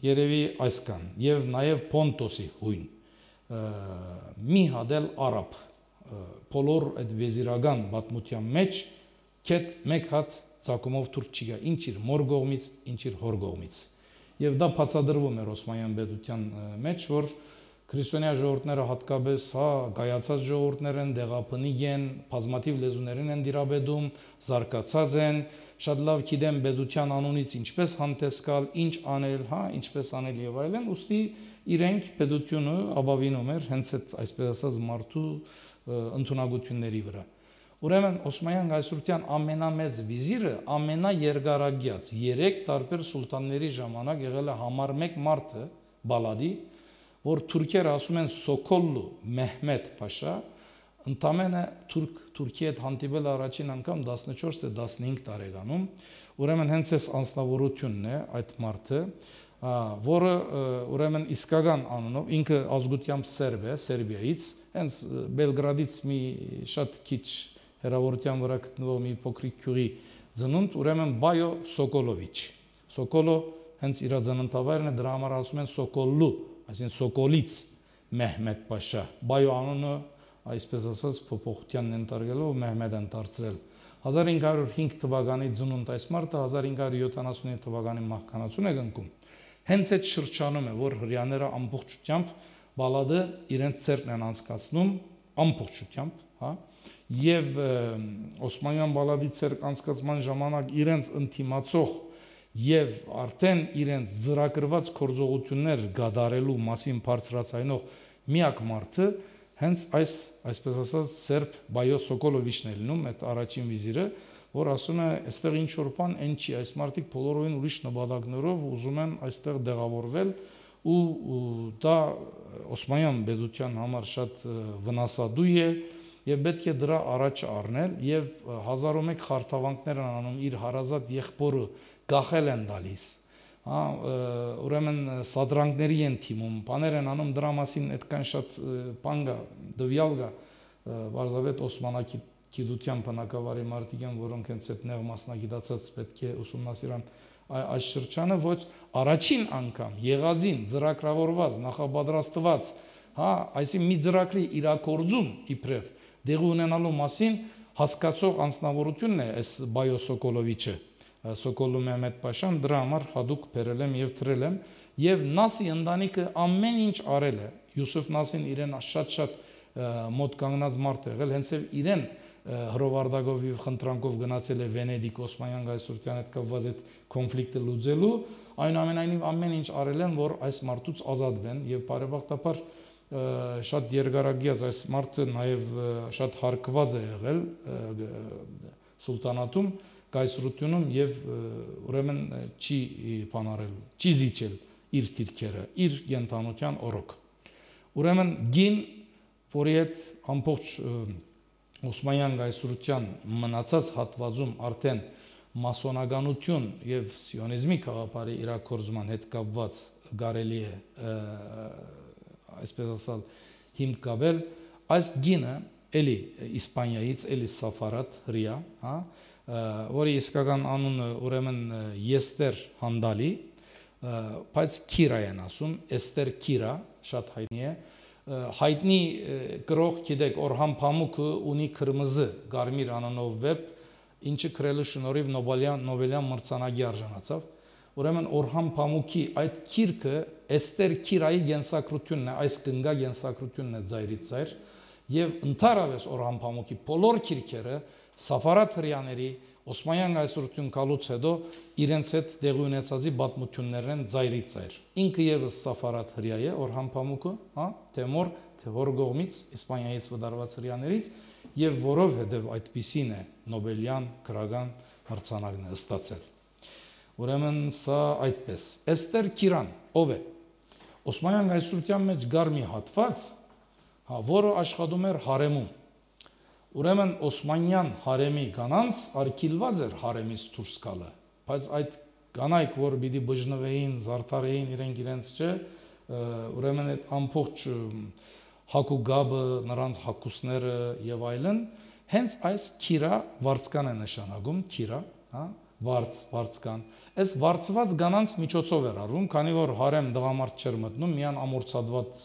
երևի այսքան, եւ նաեւ Պոնտոսի հույն, մի հատ էլ արաբ, բոլոր այդ վեզիրական պատմության մեջ քեթ մեկ հատ ցակումով թուրք չի գա, ինչ իր մոր կողմից, ինչ իր հոր կողմից։ Եվ դա բացադրվում էր Օսմանյան պետության մեջ, որ քրիստոնյա ժողովուրդները հատկապես գայացած ժողովուրդներ են, դեղապնիկ են, բազմաթիվ լեզուներին են դիրաբեդում, զարգացած են, շատ լավ գիտեն պետության անունից ինչպես հանդես գալ, ինչ անել, ինչպես անել եւ այլն, ուստի իրենք պետությունը ապավինում էր հենց այդ այսպես ասած մարդու ընդունակությունների վրա։ Ուրեմն Օսմանյան գայսրության ամենամեծ վիզիրը ամենաերգարագյաց 3 տարբեր սուլտանների ժամանակ եղել է համար 1 մարդը Բալադի, որ թուրքերը ասում են Սոկոլլու Մեհմեդ Փաշա, ընդամենը Թուրքիի հետ հանդիպել առաջին անգամ 14 թե 15 տարեկանում, ուրեմն հենց այս անձնավորությունն է այդ մարդը, որը ուրեմն իսկական անունով ինքը ազգությամբ սերբ է, Սերբիայից, հենց Բելգրադից մի շատ քիչ հեռավորության վրա գտնվող մի փոքրիկ գյուղի ծնունդ, ուրեմն Բայո Սոկոլովիչ։ Սոկոլո հենց իր ծննդավայրն է, դրա համար ասում են Սոկոլլու, այսինքն Սոկոլից Մեհմեդ Փաշա։ Բայո անունը այսպես ասած փոփոխությանն ընտարգելով Մեհմեդ են դարձրել։ 1505 թվականի ծնունդ այս մարդը 1579 թվականի մահկանացուն է կնքում։ Հենց այդ շրջանում է, որ հрьяաները ամբողջությամբ Բալադը իրենց ցերկն են անցկացնում ամբողջությամբ, եւ Օսմանյան Բալադի ցերկ անցկացման ժամանակ իրենց ընտիմացող եւ արդեն իրենց ծրագրված գործողություններ գդարելու մասին բարձրացնող միակ մարդը հենց այսպես ասած սերբ Բայո Սոկոլովիչն է լինում, այդ առաջին վիզիրը, որ ասում է, այստեղ ինչ որ բան այն չի, այս մարդիկ բոլորովին ուրիշ նպատակներով ուզում են այստեղ դեղավորվել ու դա Օսմանյան պետության համար շատ վնասադու է եւ պետք է դրա առաջ առնել եւ 1001 խարթավանքներ են անում իր հարազատ եղբորը գախել են տալիս, ուրեմն սադրանքների են թիմում, բաներ են անում դրա մասին այդքան շատ բան կա, դվյալ կա, բարձրավետ Օսմանական գիտության բնակավարի մարդիկ են, որոնք հենց այդ նեղ մասնագիտացած պետք է ուսումնասիրան այս շրջանը, ոչ առաջին անգամ եղածին ծրագրավորված, նախապատրաստված, այսինքն մի ծրագրի իրագործում իբրև դեղի ունենալու մասին հասկացող անձնավորությունն է այս Բայո Սոկոլովիչը, Սոկոլլու Մեհմեդ Փաշան, դրա համար հadouk բերել եմ եւ թրել եմ եւ Նասի ընտանիքը ամեն ինչ արել է։ Յուսուֆ Նասին իրեն շատ մոտ կանգնած մարդ է եղել, հենց իրեն հրովարտակով եւ խնդրանքով գնացել է Վենեդիկ Օսմանյան գայսրության հետ կապված այդ կոնֆլիկտը լուծելու, այնուամենայնիվ ամեն ինչ արել են, որ այս մարդուց ազատվեն եւ բարեբախտաբար շատ երկարագիած այս մարդը նաեւ շատ հարգված է եղել սուլտանատում, գայսրությունում եւ ուրեմն չի բանարել, չի զիջել իր թիրքերը, իր կենթանության օրոք։ Ուրեմն գին, որի հետ ամբողջ Օսմանյան գայսրության մնացած հատվածում արդեն մասոնականություն եւ սիոնիզմի գաղափարի իրակորձման հետ կապված կարելի է այսպես ասալ հիմք կապել, այս գինը էլի Իսպանիայից, էլի Սաֆարատ հրյա, որի իսկական անունը ուրեմն Եստեր Հանդալի, բայց Քիրա են ասում, Էստեր Քիրա, շատ հայտնի է, հայտնի գրող գիտեք Օրհան Փամուկը ունի քրմզը Գարմիր անունով վեպ, ինչը գրելու շնորհիվ Նոբելյան մրցանակի արժանացավ։ Ուրեմն Օրհան Փամուկի այդ գիրքը Էստեր Քիրայի գենսակրությունն է, այս կնգա գենսակրությունն է ծայրից ծայր, եւ ընդհանրապես Օրհան Փամուկի բոլոր գիրքերը Սաֆարատ հրյաների Օսմանյան գայսրություն կալուց հետո իրենց հետ տեղի ունեցածի պատմություններն են ծայրից ծայր։ Ինքը եւս Սաֆարատ հրյա է, Օրհան Փամուկը, թե մոր, թե հոր կողմից Իսպանիայից վդարված հրյաներից, եւ որովհետեւ այդպիսին է Նոբելյան գրական մրցանակն է ստացել։ Ուրեմն սա այդպես։ Էստեր Քիրան ով է։ Օսմանյան գայսրության մեջ գար մի հատված, որը աշխատում էր հարեմում։ Ուրեմն Օսմանյան հարեմի կանանց արգելված էր հարեմից դուրս գալը, բայց այդ կանայք, որ պիտի բժնվեին, զարդարեին իրենց չէ, ուրեմն այդ ամբողջ հակու գաբը, նրանց հակուսները եւ այլն, հենց այս քիրա վարձկան է նշանակում, քիրա, հա, վարձկան։ Այս վարձված գանանց միջոցով էր արվում, քանի որ հարեմ դղամարդ չէր մտնում, միան ամորցածված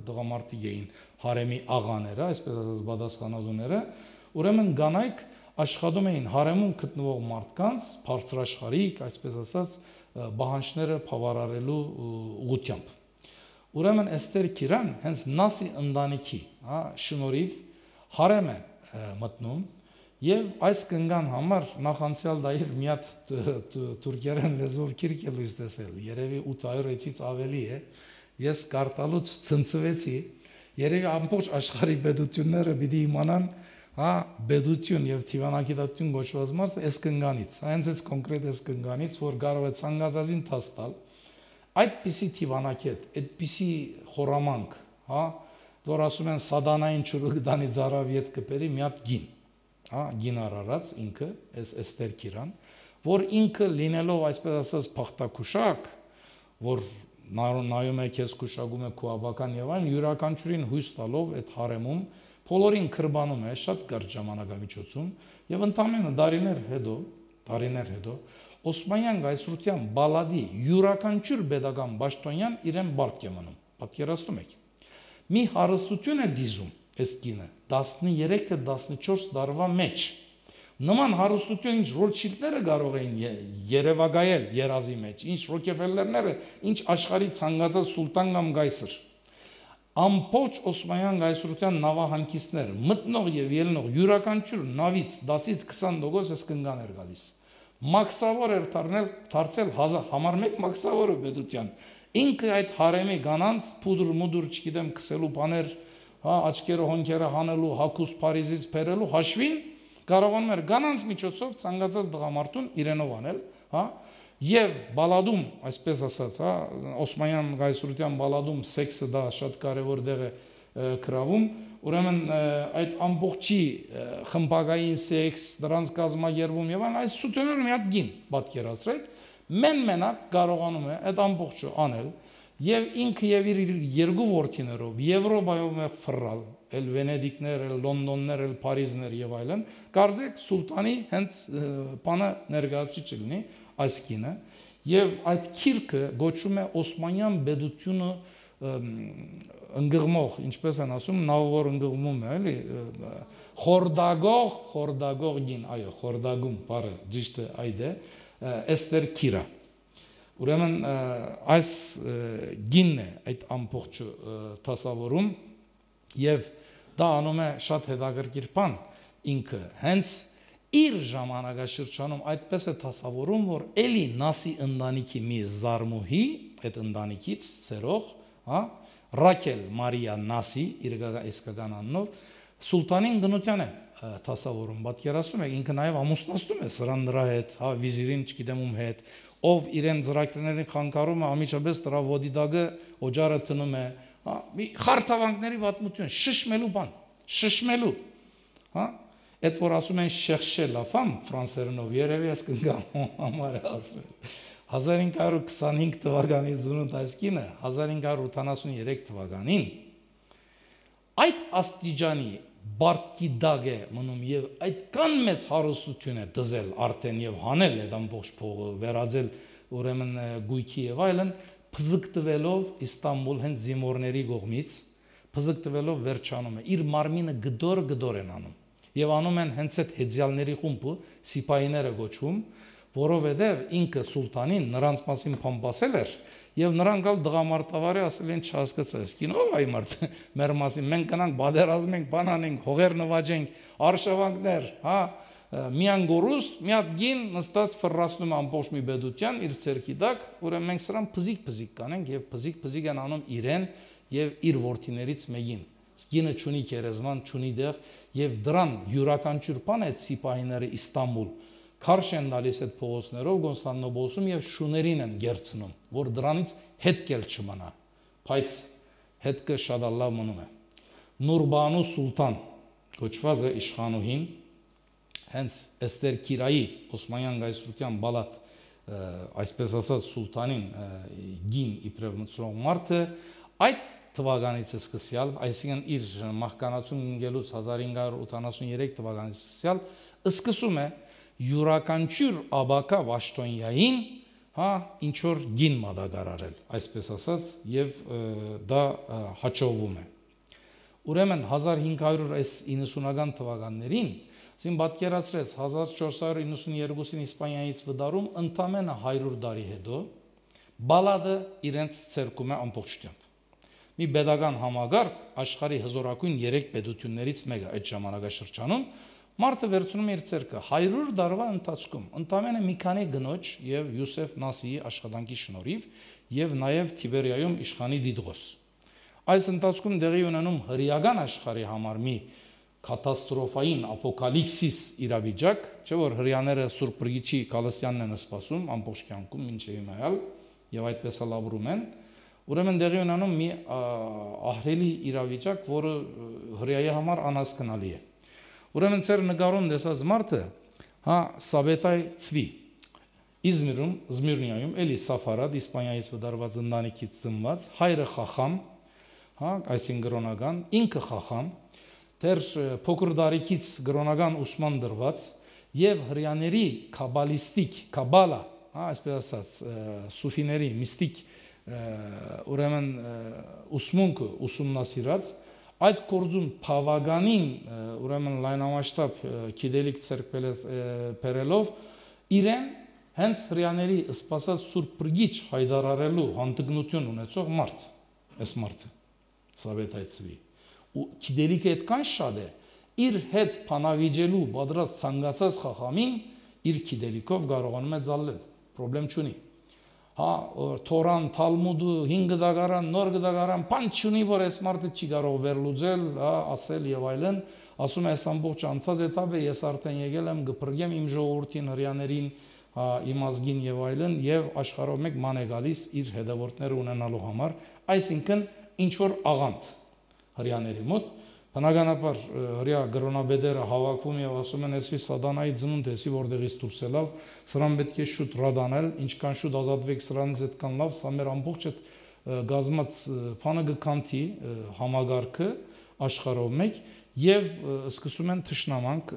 դղամարդիկ էին հարեմի աղաները, այսպես ասած բադասխանատուները, ուրեմն կանայք աշխատում էին հարեմում գտնվող մարդկանց բարձրաշխարհիկ, այսպես ասած, բահանջները բավարարելու ուղղությամբ։ Ուրեմն Էստեր Քիրան հենց Նասի ընտանիքի, հա, շնորհիվ հարեմ է մտնում եւ այս կնգան համար նախանցյալ դայր մի հատ թուրքերեն լեզվով գիրք է լույս տեսել, երևի 800 էջից ավելի է, ես կարտալուց ցնցվեցի, երևի ամբողջ աշխարհի պետությունները պիտի իմանան, հա, պետություն եւ թիվանակետություն գոչված մարդը այս կնգանից, հենց այս կոնկրետ այս կնգանից, որ կարող է ցանկացածին տաստալ, այդպիսի թիվանակետ, այդպիսի խորամանկ, հա, որ ասում են սադանային ճուրուգդանի ծարավ ետ կպերի մի հատ գին, հա, գին արարած ինքը, այս Էստեր Քիրան, որ ինքը լինելով այսպես ասած փախտակուշակ, որ նայում է քեզ կուշակում է քո ավական եւ այլն, յուրաքանչյուրին հույս տալով այդ հարեմում բոլորին քրբանում է շատ կարճ ժամանակամիջոցում եւ ընդամենը տարիներ հետո Օսմանյան գայսրության բալադի յուրաքանչյուր pedagogan պաշտոնյան իրեն բարդ է մնում, պատկերացնում եք։ Մի հարստություն է դիզում այս կինը 13 թե 14 տարվա մեջ։ Նման հարստություն ինչ Ռոթշիլդները կարող էին երևակայել երազի մեջ, ինչ Ռոքեֆելլերները, ինչ աշխարհի ցանկացած սուլտան կամ գայսր։ Ամբողջ Օսմանյան գայսրության նավահանգիստներ մտնող եւ ելնող յուրաքանչյուր նավից 10-ից 20% այս կնգան էր գալիս։ Մաքսավոր էր դարձել համար մեկ մաքսավորը պետության։ Ինքը այդ հարեմի կանանց փուդր չգիտեմ քսելու բաներ, հա, աչքերը հոնքերը հանելու, հակուստ Փարիզից բերելու հաշվին կարողանում էր կանանց միջոցով ցանկացած դղամարդուն իրենով անել, հա, եւ բալադում, այսպես ասած, հա, Օսմանյան գայսրության բալադում սեքսը դա շատ կարեւոր դեղ է գրավում, ուրեմն այդ ամբողջի խմբակային սեքս, դրանց կազմակերպում եւ այլն, այս սուտեները մի հատ գին պատկերացրեք, մենակ կարողանում է այդ ամբողջը անել եւ ինքը եւ իր երկու որդիներով Եվրոպայում է ֆռալ, էլ Վենեդիկներ, էլ Լոնդոններ, էլ Փարիզներ եւ այլն, կարծեք սուլտանի հենց բանը ներկայացուցիչ լինի այս կինը եւ այդ քիրքը գոչվում է Օսմանյան պետությունը ընկղմող, ինչպես են ասում, նավավոր ընկղմում է, էլի խորդագող գին, այո, խորդագում բառը ճիշտ է այդ է, Էստեր Քիրա։ Ուրեմն այս գինն է այդ ամբողջը դասավորում եւ դա անում է շատ հետաքրքիր բան ինքը հենց իր ժամանակաշրջանում այդպես է դասավորում, որ էլի Նասի ընտանիքի մի զարմուհի այդ ընտանիքից սերող, հա, Ռաքել Մարիա Նասի իր իսկական անունով սուլտանին գնության է դասավորում, պատկերացնում եք, ինքը նաև ամուսնացնում է սրան նրա հետ, հա, վիզիրին չգիտեմ ում հետ, ով իրեն ծրագրերին խանգարում է, ամիջապես դրա ոդիդագը օջարը տնում է, հա, մի խարթավանքների պատմություն, շշմելու բան, շշմելու, հա, այդ որ ասում են chercher la femme ֆրանսերենով, երևի ես կգամ համար է ասում 1525 թվականի ծնունդ այս կինը 1583 թվականին այդ աստիճանի բարտկի դագ է մնում եւ այդքան մեծ հարստություն է դզել արդեն եւ հանել այդ ամբողջ փողը վերածել ուրեմն գույքի եւ այլն փզկտվելով Իստանբուլ հենց զինվորների կողմից փզկտվելով վերջանում է իր մարմինը գդոր են անում եւ անում են հենց այդ հեծյալների խումբը սիպայիները գոչվում որովհետև ինքը սուլտանին նրանց մասին փամփասել էր եւ նրանք ալ դղամարտավարի ասել են չհասկացա սկին ով այ մարդ մեր մասին մենք գնանք բادرազմենք բանանենք հողեր նվաճենք արշավանքներ հա միան գորուստ մի հատ գին նստած ֆռռացնում ամբողջ մի բեդության իր ցերքի տակ ուրեմն մենք սրան փզիկ կանենք եւ փզիկ են անում իրեն եւ իր ворթիներից մեկին սկինը ճունի գերեզման ճունի դեղ եւ դրան յուրաքանչյուր բան այդ սիպահիները Իստանբուլ Քարշ են տալիս այդ փողոցներով Կոնստանտինոպոլսում եւ շուներին են գերցնում, որ դրանից հետքել չմնա, բայց հետքը շատ լավ մնում է։ Նուրբանու սուլտան կոչված է իշխանուհին, հենց Էստեր Քիրայի Օսմանյան գայսրության բալատ այսպես ասած սուլտանին գին իբրև մտցրող մարդը այդ թվականից սկսյալ, այսինքն իր մահկանացուն ինգելուց 1583 թվականից սկսյալ սկսում է յուրաքանչյուր աբակա Վաշտոնյային ինչ որ գին մատակարարել, այսպես ասած, եւ դա հաջողվում է։ Ուրեմն 1590-ական թվականներին Զին պատկերացրեց 1492-ին Իսպանիայից վդարում ընդամենը 100 տարի հետո բալադը իրենց ցերկում է ամբողջությամբ։ Մի pedagogan համագարկ աշխարհի հզորակույն 3 պետություններից մեկը այդ ժամանակաշրջանում մարդը վերցնում է իր ցերկը 100 տարվա ընթացքում ընդամենը մի քանի գնոջ եւ Յուսեֆ Նասիի աշխատանքի շնորհիվ եւ նաեւ Թիբերիայում իշխանի Դիդղոս։ Այս ընթացքում դեղի ունենում հրեական աշխարհի համար մի կատաստրոֆային ապոկալիպսիս իրավիճակ, չէ՞ որ հрьяաները Սուրբ Բրգիչի Կալստյանն են սպասում ամբողջ կյանքում մինչև հիմա եւ այդպես էլ ապրում են։ Ուրեմն դեղի ունենում մի ահռելի իրավիճակ, որը հрьяայի համար անհասկանալի է։ Ուրեմն ծեր նկարում տեսած մարդը, Սաբետայ Ցվի Իզմիրում, Զմիրնիայում, էլի Սաֆարատ, Իսպանիայից վդարված ընտանիքից ծնված, հայրը Խախամ, այսինքն գրոնական, ինքը Խախամ, դեռ փոքր տարիքից գրոնական ուսման դրված եւ հрьяաների կաբալիստիկ, կաբալա, այսպես ասած, սուֆիների միստիկ ուրեմն ուսմունքը ուսումնասիրած այդ կորձում բավականին ուրեմն լայնամասշտաբ գիտելիք ցերկելով իրեն հենց հрьяաների սպասած Սուրբ Բրգիչ հայտարարելու հանդգնություն ունեցող մարդ, այս մարդը Սավետայ Ցվի ու գիտելիքը այդքան շատ է իր հետ փանավիճելու պատրաստ ցանկացած խախամին իր գիտելիքով կարողանում է զալել, խնդրեմ չունի։ Թորան, Թալմուդը, 5 դագարան, նոր դագարան, բան չունի, որ այս մարդը չի կարող վերլուծել, ասել եւ այլն, ասում է այս ամբողջ անցած էտապը ես արդեն եկել եմ գփրկեմ իմ ժողովրդին, հрьяաներին, իմ ազգին եւ այլն եւ աշխարհով մեկ ման է գալիս իր հետևորդները ունենալու համար, այսինքն ինչ որ աղանդ հрьяաների մոտ բնականաբար հрья գրոնաբեդերը հավաքվում եւ ասում են էսի սատանայի ծնունդ էսի որտեղից դուրս ելավ սրան պետք է շուտ ռադանել ինչքան շուտ ազատվեք սրանից այդքան լավ սա մեր ամբողջ այդ գազմած բանը գկանթի համագարքը աշխարհով մեկ եւ սկսում են թշնամանք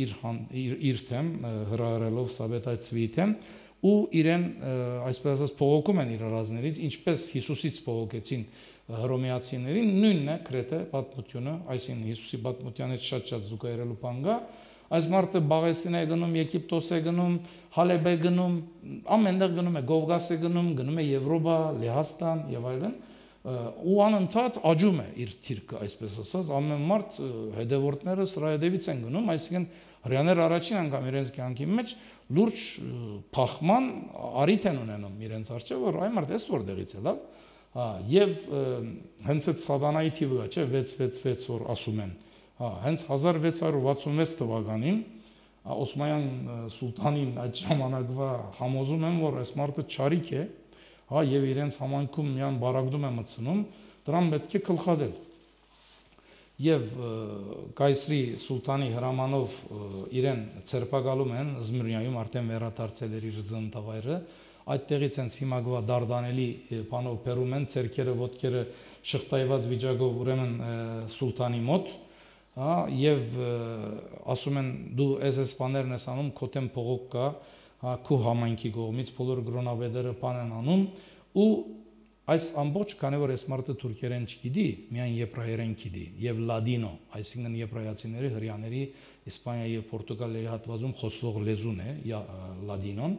իր թեմ հրահրելով Սաբետայ Ցվիի թեմ ու իրեն այսպես ասած փողոքում են իր ռազներից ինչպես Հիսուսից փողոքեցին հռոմեացիներին նույնն է գրեթե պատմությունը, այսինքն Հիսուսի պատմությանից շատ զուգահեռելու բան կա, այս մարդը Բաղեստին է գնում, Եգիպտոս է գնում, Հալեբ է գնում, ամենտեղ գնում է, Կովկաս է գնում է Եվրոպա, Լեհաստան եւ այլն, ու անընդհատ աճում է իր թիրքը, այսպես ասած, ամեն մարդ հետևորդները սրա հետևից են գնում, այսինքն հрьяաները առաջին անգամ իրենց կյանքի մեջ լուրջ փախման արիթ են ունենում իրենց առջև, որ այ մարդ էս որտեղից է լավ եւ հենց այդ սատանայի թիվը չէ 666 որ ասում են հենց 1666 թվականին Օսմանյան սուլտանին այդ ժամանակվա համոզում են որ այս մարդը չարիք է եւ իրենց համայնքում միան բարակդում է մտցնում դրան պետք է գլխադել եւ Կայսրի սուլտանի հրամանով իրեն ցերպակալում են Զմիրնիայում արդեն վերադարձել էր իր ծննդավայրը այդտեղից են հիմագվա դարդանելի բանով բերում են ցերկերը ոտքերը շղթայված վիճակով ուրեմն սուլտանի մոտ եւ ասում են դու այս բաներն ես անում քո դեմ փողոք կա քո համայնքի կողմից բոլոր գրոնավեդերը բան են անում ու այս ամբողջ քանի որ այս մարդը թուրքերեն չգիտի միայն եբրայերեն գիտի եւ լադինո այսինքն եբրայացիների հрьяաների Իսպանիայի եւ Պորտուգալիայի հատվածում խոսվող լեզուն է լադինոն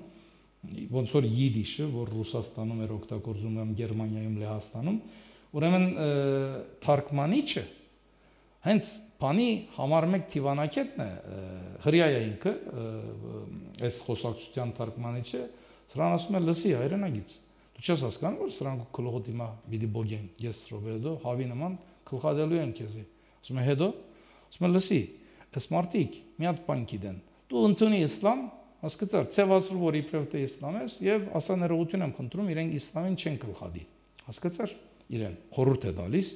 ոնց որ յիդիշը, որ Ռուսաստանում էր օգտագործում կամ Գերմանիայում, Լեհաստանում, ուրեմն թարգմանիչը հենց բանի համար մեկ թիվանակետն է հрьяաը ինքը, այս խոսակցության թարգմանիչը, սրան ասում է լսի հայրենագից։ Դու չես հասկանում, որ սրանք գլուխը դիմա պիտի բոգեն, ես Ռոբերտո, հավի նման գլխադելու են քեզի։ Ասում է հետո, ասում է լսի, այս մարդիկ մի հատ բան գիտեն։ Դու ընդունի իսլամ Հասկացար, ցեվացրու որ իբրև թե իսլամ ես եւ ասա ներողություն եմ խնդրում իրենք իսլամին չեն գլխադի։ Հասկացար իրեն խորհուրդ է տալիս,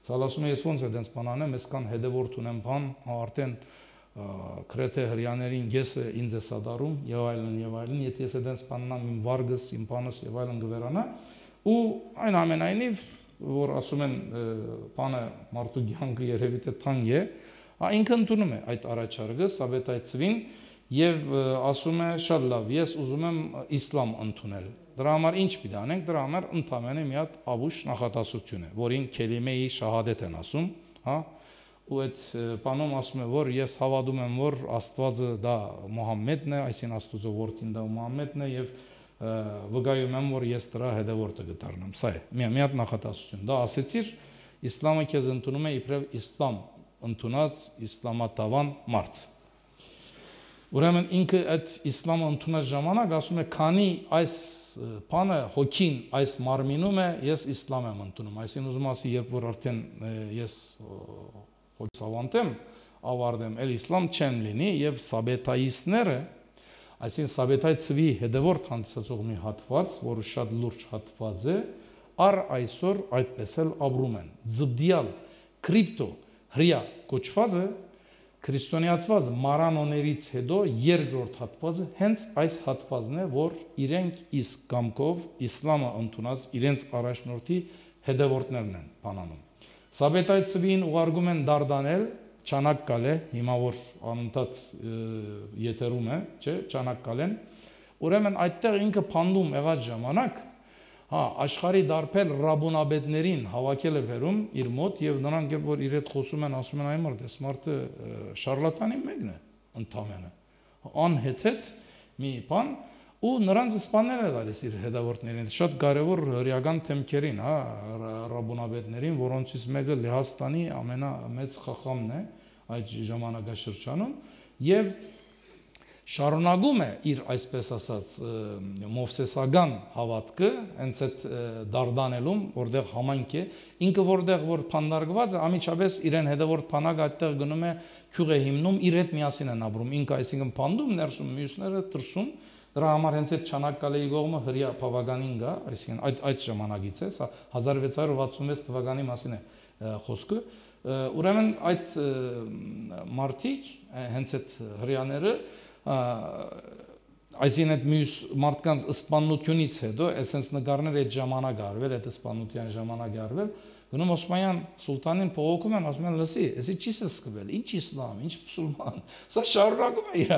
սա ասում է ես ոնց է դենց բան անեմ, ես կան հետևորդ ունեմ բան, արդեն Քրեթե հрьяաներին ես ինձ է սադարում եւ այլն, եթե ես այդպես բաննամ իմ վարգս, իմ բանս եւ այլն գվերանա, ու այն ամենայնիվ որ ասում են բանը մարդու կյանքը երևի թե թանկ է, ինքը ընդունում է այդ առաջարկը Սաբետայցվին եւ ասում է շատ լավ, ես ուզում եմ իսլամ ընդունել։ Դրա համար ինչ պիտի անենք, դրա համար ընդամենը մի հատ ավուշ նախատասություն է, որին քելիմեի շահադեթ են ասում, հա, ու այդ բանում ասում է, որ ես հավատում եմ, որ Աստվածը դա Մուհամմեդն է, այսին Աստուծո որդին դա Մուհամմեդն է եւ վկայում եմ, որ ես դրա հետևորդը կդառնամ։ Սա է, մի հատ նախատասություն։ Դա ասեցիր, իսլամը քեզ ընդունում է իբրև իսլամ ընդունած իսլամատավան մարդ։ Ուրեմն ինքը այդ իսլամը ընդունած ժամանակ ասում է, քանի այս բանը հոգին այս մարմինում է, ես իսլամ եմ ընդունում։ Այսինքն ուզում ասի, երբ որ արդեն ես հոգսավանտեմ, ավարտեմ, էլ իսլամ չեմ լինի եւ սաբետայիստները, այսինքն Սաբետայ ցվի հետևորդ հանդիսացող մի հատված, որը շատ լուրջ հատված է, առ այսօր այդպես էլ ապրում են։ Զբդիալ կրիպտո հրյա կոչվածը քրիստոնեացված մարանոներից հետո երկրորդ հատվածը հենց այս հատվածն է, որ իրենք իսկ կամքով իսլամը ընդունած իրենց առաջնորդի հետևորդներն են բանանում։ Սաբետայ ցվին ուղարկում են դարդանել, ճանակ կալ է, հիմա որ անընդհատ եթերում է, չէ, ճանակ կալեն։ Ուրեմն այդտեղ ինքը փանդում եղած ժամանակ, աշխարհի դարբեր ռաբունաբեդներին հավաքել է վերում իր մոտ եւ նրանք երբ որ իր հետ խոսում են, ասում են այ մարդ, այս մարդը շարլատանի մեկն է, ընդամենը անհեթեթ մի բան, ու նրանց սպանել է տալիս իր հետևորդներին, շատ կարևոր հրեական թեմքերին, ռաբունաբեդներին, որոնցից մեկը Լեհաստանի ամենամեծ խախամն է այդ ժամանակաշրջանում եւ շարունակում է իր այսպես ասած մովսեսական հավատքը հենց այդ դարդանելում, որտեղ համանք է, ինքը որտեղ որ փանդարգված է, ամիջապես իրեն հետևորդ փանակը այդտեղ գնում է քյուղ է հիմնում, իր հետ միասին են ապրում, ինքը այսինքն փանդում, ներսում մյուսները տրսում, դրա համար հենց այդ Չանակկալեի կողմը հրյա բավականին գա, այսինքն այդ ժամանակից է, սա 1666 թվականի մասին է խոսքը, ուրեմն այդ մարդիկ, հենց այդ հրյաները այսինքն այդ մյուս մարդկանց սպանությունից հետո, այսպես նկարներ այդ ժամանակ արվել, այդ սպանության ժամանակ արվել, գնում Օսմանյան սուլտանին փողոքում են, ասում են, լսի, էսի չի սկվել, ինչ իսլամ, ինչ մուսուլման, սա շարունակում է իր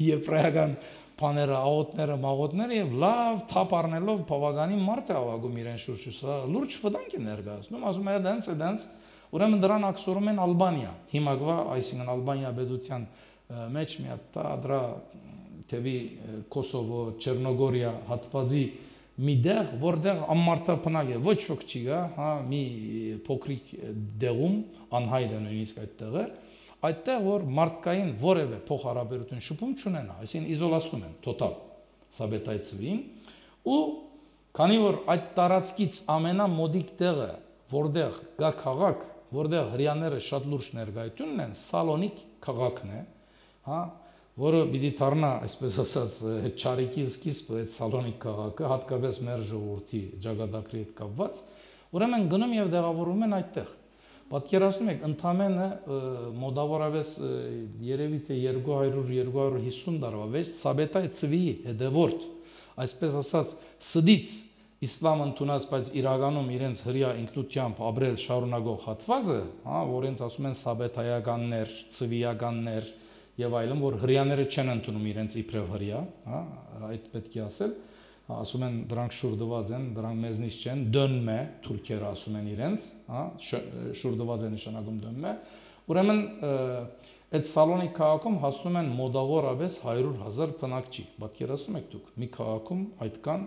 եբրայական բաները, աղոթները, մաղոթները եւ լավ թափ առնելով բավականին մարդ է ավագում իրեն շուրջը, սա լուրջ վտանգ է ներկայացնում, ասում է դենց, ուրեմն դրան ակսորում են Ալբանիա, հիմակվա, այսինքն Ալբանիա պետության մեջ մի հատ դրա թեւի Կոսովո, Չեռնոգորիա հատվածի մի դեղ, որտեղ ամմարտապնակ է, ոչ ոք չի գա, հա, մի փոքրիկ դեղում անհայտ է նույնիսկ այդտեղը, այդտեղ որ մարդկային որևէ փոխհարաբերություն շփում չունենա, այսինքն իզոլացնում են տոտալ Սաբետայ ցվին, ու քանի որ այդ տարածքից ամենամոդիկ տեղը, որտեղ գա քաղաք, որտեղ հрьяաները շատ լուրջ ներկայություն ունեն, Սալոնիկ քաղաքն է, հա, որը պիտի դառնա, այսպես ասած, ճարիքի սկիզբը այդ Սալոնիկ քաղաքը, հատկապես մեր ժողովրդի ճակատագրի հետ կապված, ուրեմն գնում եւ դեղավորում են այդտեղ։ Պատկերացնում եք, ընդամենը մոտավորապես երևի թե 200-250 տարվա վեր Սաբետայ ցվի հետևորդ, այսպես ասած, սդից իսլամ ընդունած, բայց իրականում իրենց հրյա ինքնությամբ ապրել շարունակող հատվածը, հա, որոնց ասում են սաբետայականներ, ցվիականներ եւ այլն, որ հрьяաները չեն ընդունում իրենց իբրև հրյա, հա, այդ պետք է ասել, ասում են դրանք շուրդված են, դրանք մեզնից չեն, դոնմե, թուրքերը ասում են իրենց, հա, շուրդված է նշանակում դոնմե, ուրեմն այդ Սալոնիկ քաղաքում հասնում են մոտավորապես 100,000 բնակչի, պատկերացնում եք դուք, մի քաղաքում այդքան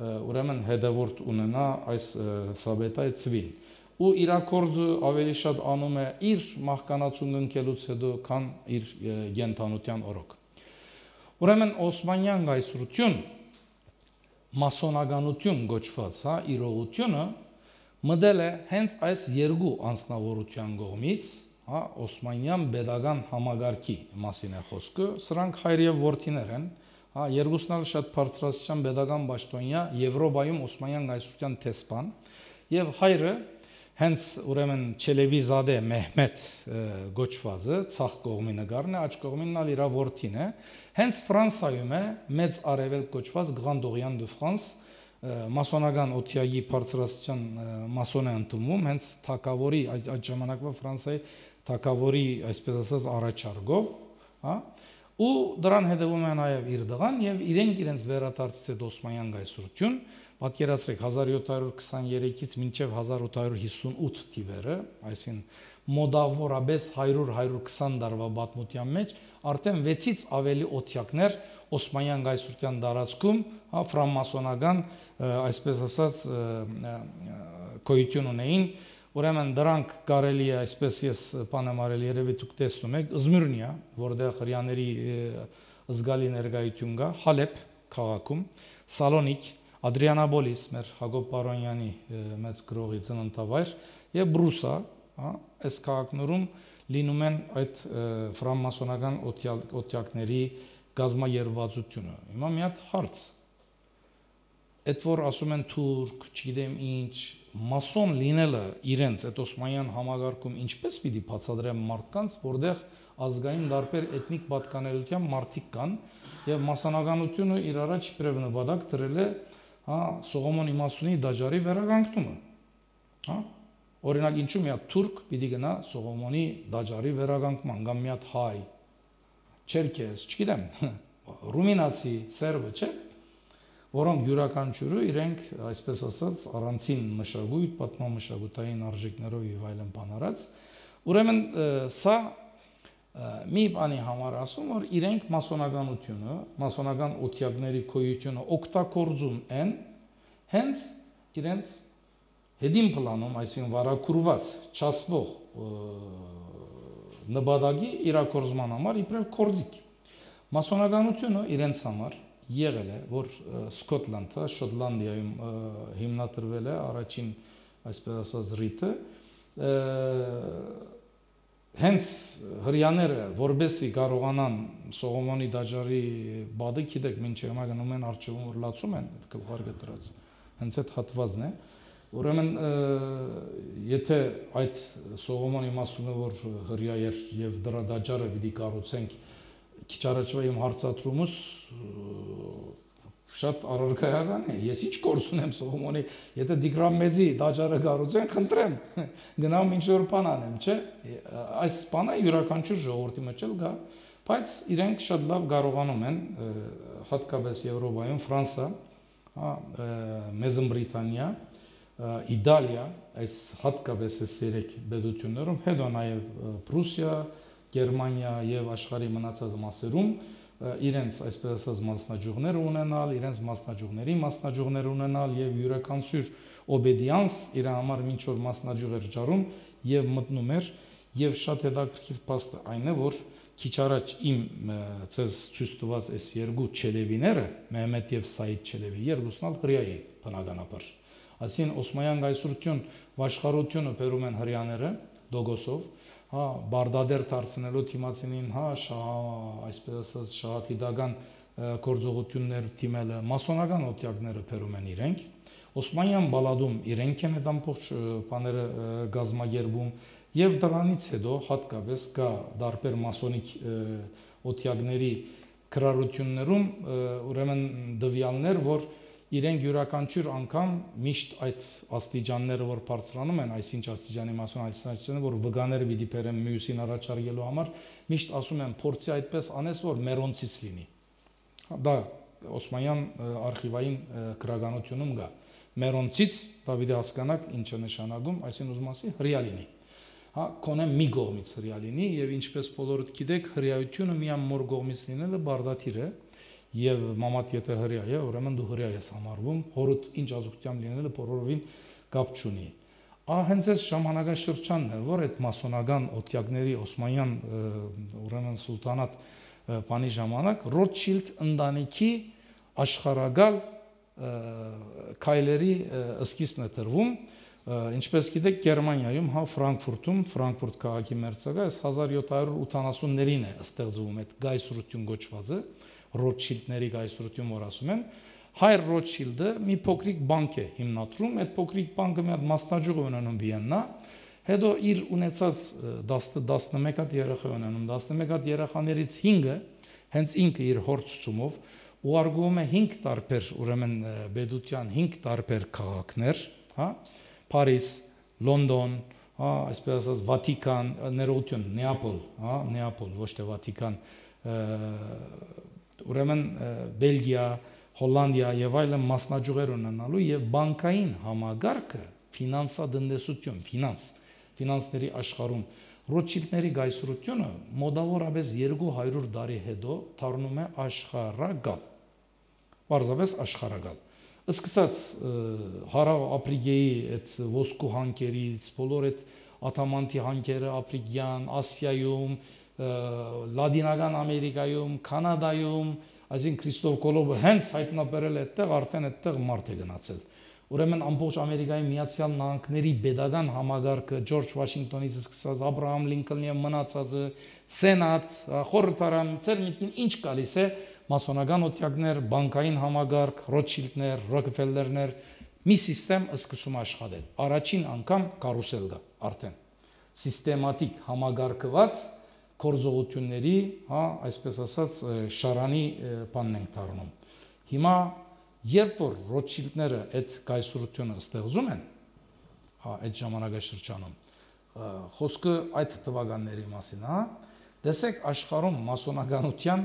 ուրեմն հետևորդ ունենա այս Սաբետայ ցվին, ու իր կորձը ավելի շատ անում է իր մահկանացուն ընկելուց հետո, քան իր գենթանության օրոք։ Ուրեմն Օսմանյան գայսրություն, մասոնականություն գոչված, հա, իրողությունը մտել է հենց այս երկու անձնավորության կողմից, հա, Օսմանյան pedagogan համագարքի մասին է խոսքը, սրանք հայր եւ որդիներ են, հա, երկուսն էլ շատ բարձրաստիճան pedagogan պաշտոնյա, Եվրոպայում Օսմանյան գայսրության տեսփան, եւ հայրը հենց ուրեմն Չելևիզադե Մեհմեդ գոչվածը ցախ կողմի նկարն է, աջ կողմինն ալ իր որդին է, հենց Ֆրանսայում է մեծ արևելք գոչված Grand Orient de France մասոնական օթյագի բարձրաստիճան մասոն է ընդունվում, հենց թագավորի այդ ժամանակվա Ֆրանսիայի թագավորի, այսպես ասած, առաջարկով, հա, ու դրան հետևում է նաև իր դղան եւ իրենց վերադարձից հետ Օսմանյան գայսրություն, պատկերացրեք 1723-ից մինչև 1858 թիվերը, այսինքն մոդավորապես 100-120 տարվա պատմության մեջ արդեն 6-ից ավելի օթյակներ Օսմանյան գայսրության տարածքում, հա, ֆրանմասոնական, այսպես ասած, գոյություն ունեին, ուրեմն դրանք կարելի է, այսպես ես բանեմ արել, երևի դուք տեսնում եք, Զմիրնիա, որտեղ հրեաների զգալի ներկայություն կա, Հալեբ քաղաքում, Սալոնիկ, Ադրիանապոլիս, մեր Հակոբ Պարոնյանի մեծ գրողի ծննդավայր, եւ Բրուսա, հա, այս քաղաքներում լինում են այդ ֆրանմասոնական օթյակների գազմաերվածությունը։ Հիմա մի հատ հարց, այդ որ ասում են թուրք, չգիտեմ ինչ, մասոն լինելը իրենց այդ Օսմանյան համագարկում ինչպես պիտի բացատրեն մարդկանց, որտեղ ազգային տարբեր էթնիկ պատկանելիության մարդիկ կան եւ մասանականությունը իր առաջ իբրև նպատակ դրել է, հա, Սողոմոն իմաստունի դաջարի վերականգնումը, հա, օրինակ ինչու մի հատ թուրք պիտի գնա Սողոմոնի դաջարի վերականգնման, կամ մի հատ հայ, չերքես, չգիտեմ, ռումինացի, սերբը, չէ, որոնք յուրաքանչյուրը իրենք, այսպես ասած, առանցին մշակույթ, պատմամշակութային արժեքներով եւ այլն բանարած, ուրեմն սա մի բանի համար ասում, որ իրենք մասոնականությունը, մասոնական օթյակների գոյությունը օգտագործում են հենց իրենց հետին պլանում, այսինքն վարակուրված, չասվող նպատակի իրագործման համար իբրև կորձիկ։ Մասոնականությունը իրենց համար եղել է, որ Սկոտլանդը, Շոտլանդիայում հիմնադրվել է առաջին, այսպես ասած, ռիտը, հենց հրեաները, որբեսի կարողանան Սողոմոնի դաջարի բադը, գիտեք, մինչև հիմա գնում են արջևում, որ լացում են, այդ գլխարկը դրած, հենց այդ հատվածն է, ուրեմն եթե այդ Սողոմոնի իմաստունը, որ հրեա էր եւ դրա դաջարը պիտի կառուցենք, քիչ առաջվա իմ հարցադրումս շատ առարկայական է, ես ինչ գործ ունեմ Սողոմոնի, եթե Դիգրամ մեծի դաջարը կառուցեն, խնդրեմ, գնամ ինչ-որ բան անեմ, չէ, այս բանը յուրաքանչյուր ժողովրդի մեջ էլ կա, բայց իրենք շատ լավ կարողանում են, հատկապես Եվրոպայում, Ֆրանսա, Մեծն Բրիտանիա, Իտալիա, այս հատկապես այս երեք պետություններում, հետո նաև Պրուսիա, Գերմանիա եւ աշխարհի մնացած մասերում իրենց այսպես ասած մասնաճյուղներ ունենալ, իրենց մասնաճյուղներ ունենալ եւ յուրաքանչյուր օբեդիանս իր համար ինչ որ մասնաճյուղեր ճարում եւ մտնում էր եւ շատ հետաքրքիր փաստ այն է, որ քիչ առաջ իմ ցեզ ցույց տված այս երկու Չելևիները, Մեհմեդ եւ Սայիդ Չելևի, երկուսն ալ հրեա էին բնականաբար։ Այսինքն Օսմանյան գայսրություն վաշխառությունը բերում են հրեաները Դոգոսով, հա, բարդադեր դարձնելու թիմացինին, հա, այսպես ասած շահաթիդական գործողություններ թիմելը, մասոնական օթյակները բերում են իրենք, Օսմանյան բալադում իրենք են այդ ամբողջ բաները գազմագերբում եւ դրանից հետո հատկապես կա դարբեր մասոնիկ օթյակների քրարություններում ուրեմն դվյալներ, որ իրենք յուրաքանչյուր անգամ միշտ այդ աստիճանները, որ բարձրանում են, այսինչ աստիճանի մասոն, այսինչ աստիճանը, որ վգաները պիտի բերեն մյուսին առաջարկելու համար, միշտ ասում են փորձի այդպես անես, որ մերոնցից լինի։ Դա Օսմանյան արխիվային գրականությունում կա։ Մերոնցից Դավիթը հասկանաք ինչ է նշանակում, այսինքն ուզում ասի հրեա լինի։ Հա, կոնե մի կողմից հրեա լինի եւ ինչպես բոլորդ գիտեք, հրեայությունը միայն մոր կողմից լինելը բարդաթիր է եւ մամատ եթե հրեա է, ուրեմն դու հրեա ես համարվում, հորդ ինչ ազգությամբ լինելը բոլորովին կապ չունի։ Հենց այս ժամանակաշրջանն էր, որ այդ մասոնական օթյակների Օսմանյան ուրեմն սուլտանատ բանի ժամանակ Ռոթշիլդ ընտանիքի աշխարհակալ քայլերի սկիզբն է տրվում, ինչպես գիտեք Գերմանիայում, հա Ֆրանկֆուրտում, Ֆրանկֆուրտ քաղաքի մերձակա 1780-ներին է ստեղծվում այդ գայսրություն գոչվածը, Ռոթշիլդների գայսրություն, որ ասում են, Հայր Ռոթշիլդը մի փոքրիկ բանկ է հիմնադրում, այդ փոքրիկ բանկը մի հատ մասնաճյուղ ունենում Վիեննա, հետո իր ունեցած 11 հատ երեխա ունենում, 11 հատ երեխաներից 5-ը հենց ինքը իր հոր ցուցումով ուղարկում է 5 տարբեր, ուրեմն Բեդության 5 տարբեր քաղաքներ, հա, Փարիզ, Լոնդոն, հա, այսպես ասած Վատիկան, ներողություն, Նեապոլ, հա, Նեապոլ, ոչ թե Վատիկան, ուրեմն Բելգիա, Հոլանդիա եւ այլն մասնաճյուղեր ունենալու եւ բանկային համագարկը ֆինանսատնտեսություն, ֆինանսների աշխարհում Ռոթշիլդների գայսրությունը մոտավորապես 200 տարի հետո դառնում է աշխարհագալ։ Պարզապես աշխարհագալ։ Սկսած Հարավ Աֆրիկայի այդ ոսկու հանքերից, բոլոր այդ ատամանտի հանքերը Աֆրիկյան, Ասիայում, Լատինական Ամերիկայում, Կանադայում, այսինքն Քրիստոֆ Կոլոմբը հենց հայտնաբերել է այդտեղ, արդեն այդտեղ մարդ է գնացել։ Ուրեմն ամբողջ Ամերիկայի Միացյալ Նահանգների pedagogan համագարկը Ջորջ Վաշինգտոնից սկսած Աբրահամ Լինկոլնի եւ մնացածը Սենատ, խորհրդարան, ծեր միտքին ինչ գալիս է մասոնական օթյակներ, բանկային համագարկ, Ռոթշիլդներ, Ռոքֆելլերներ, մի համակարգ սկսում աշխատել։ Առաջին անգամ կարուսել կա արդեն։ Սիստեմատիկ համագարկված գործողությունների, հա, այսպես ասած, շարանի բանն ենք դառնում։ Հիմա երբ որ Ռոթշիլդները այդ կայսրությունը ստեղծում են, հա, այդ ժամանակաշրջանում, խոսքը այդ թվականների մասին, հա, տեսեք աշխարհում մասոնականության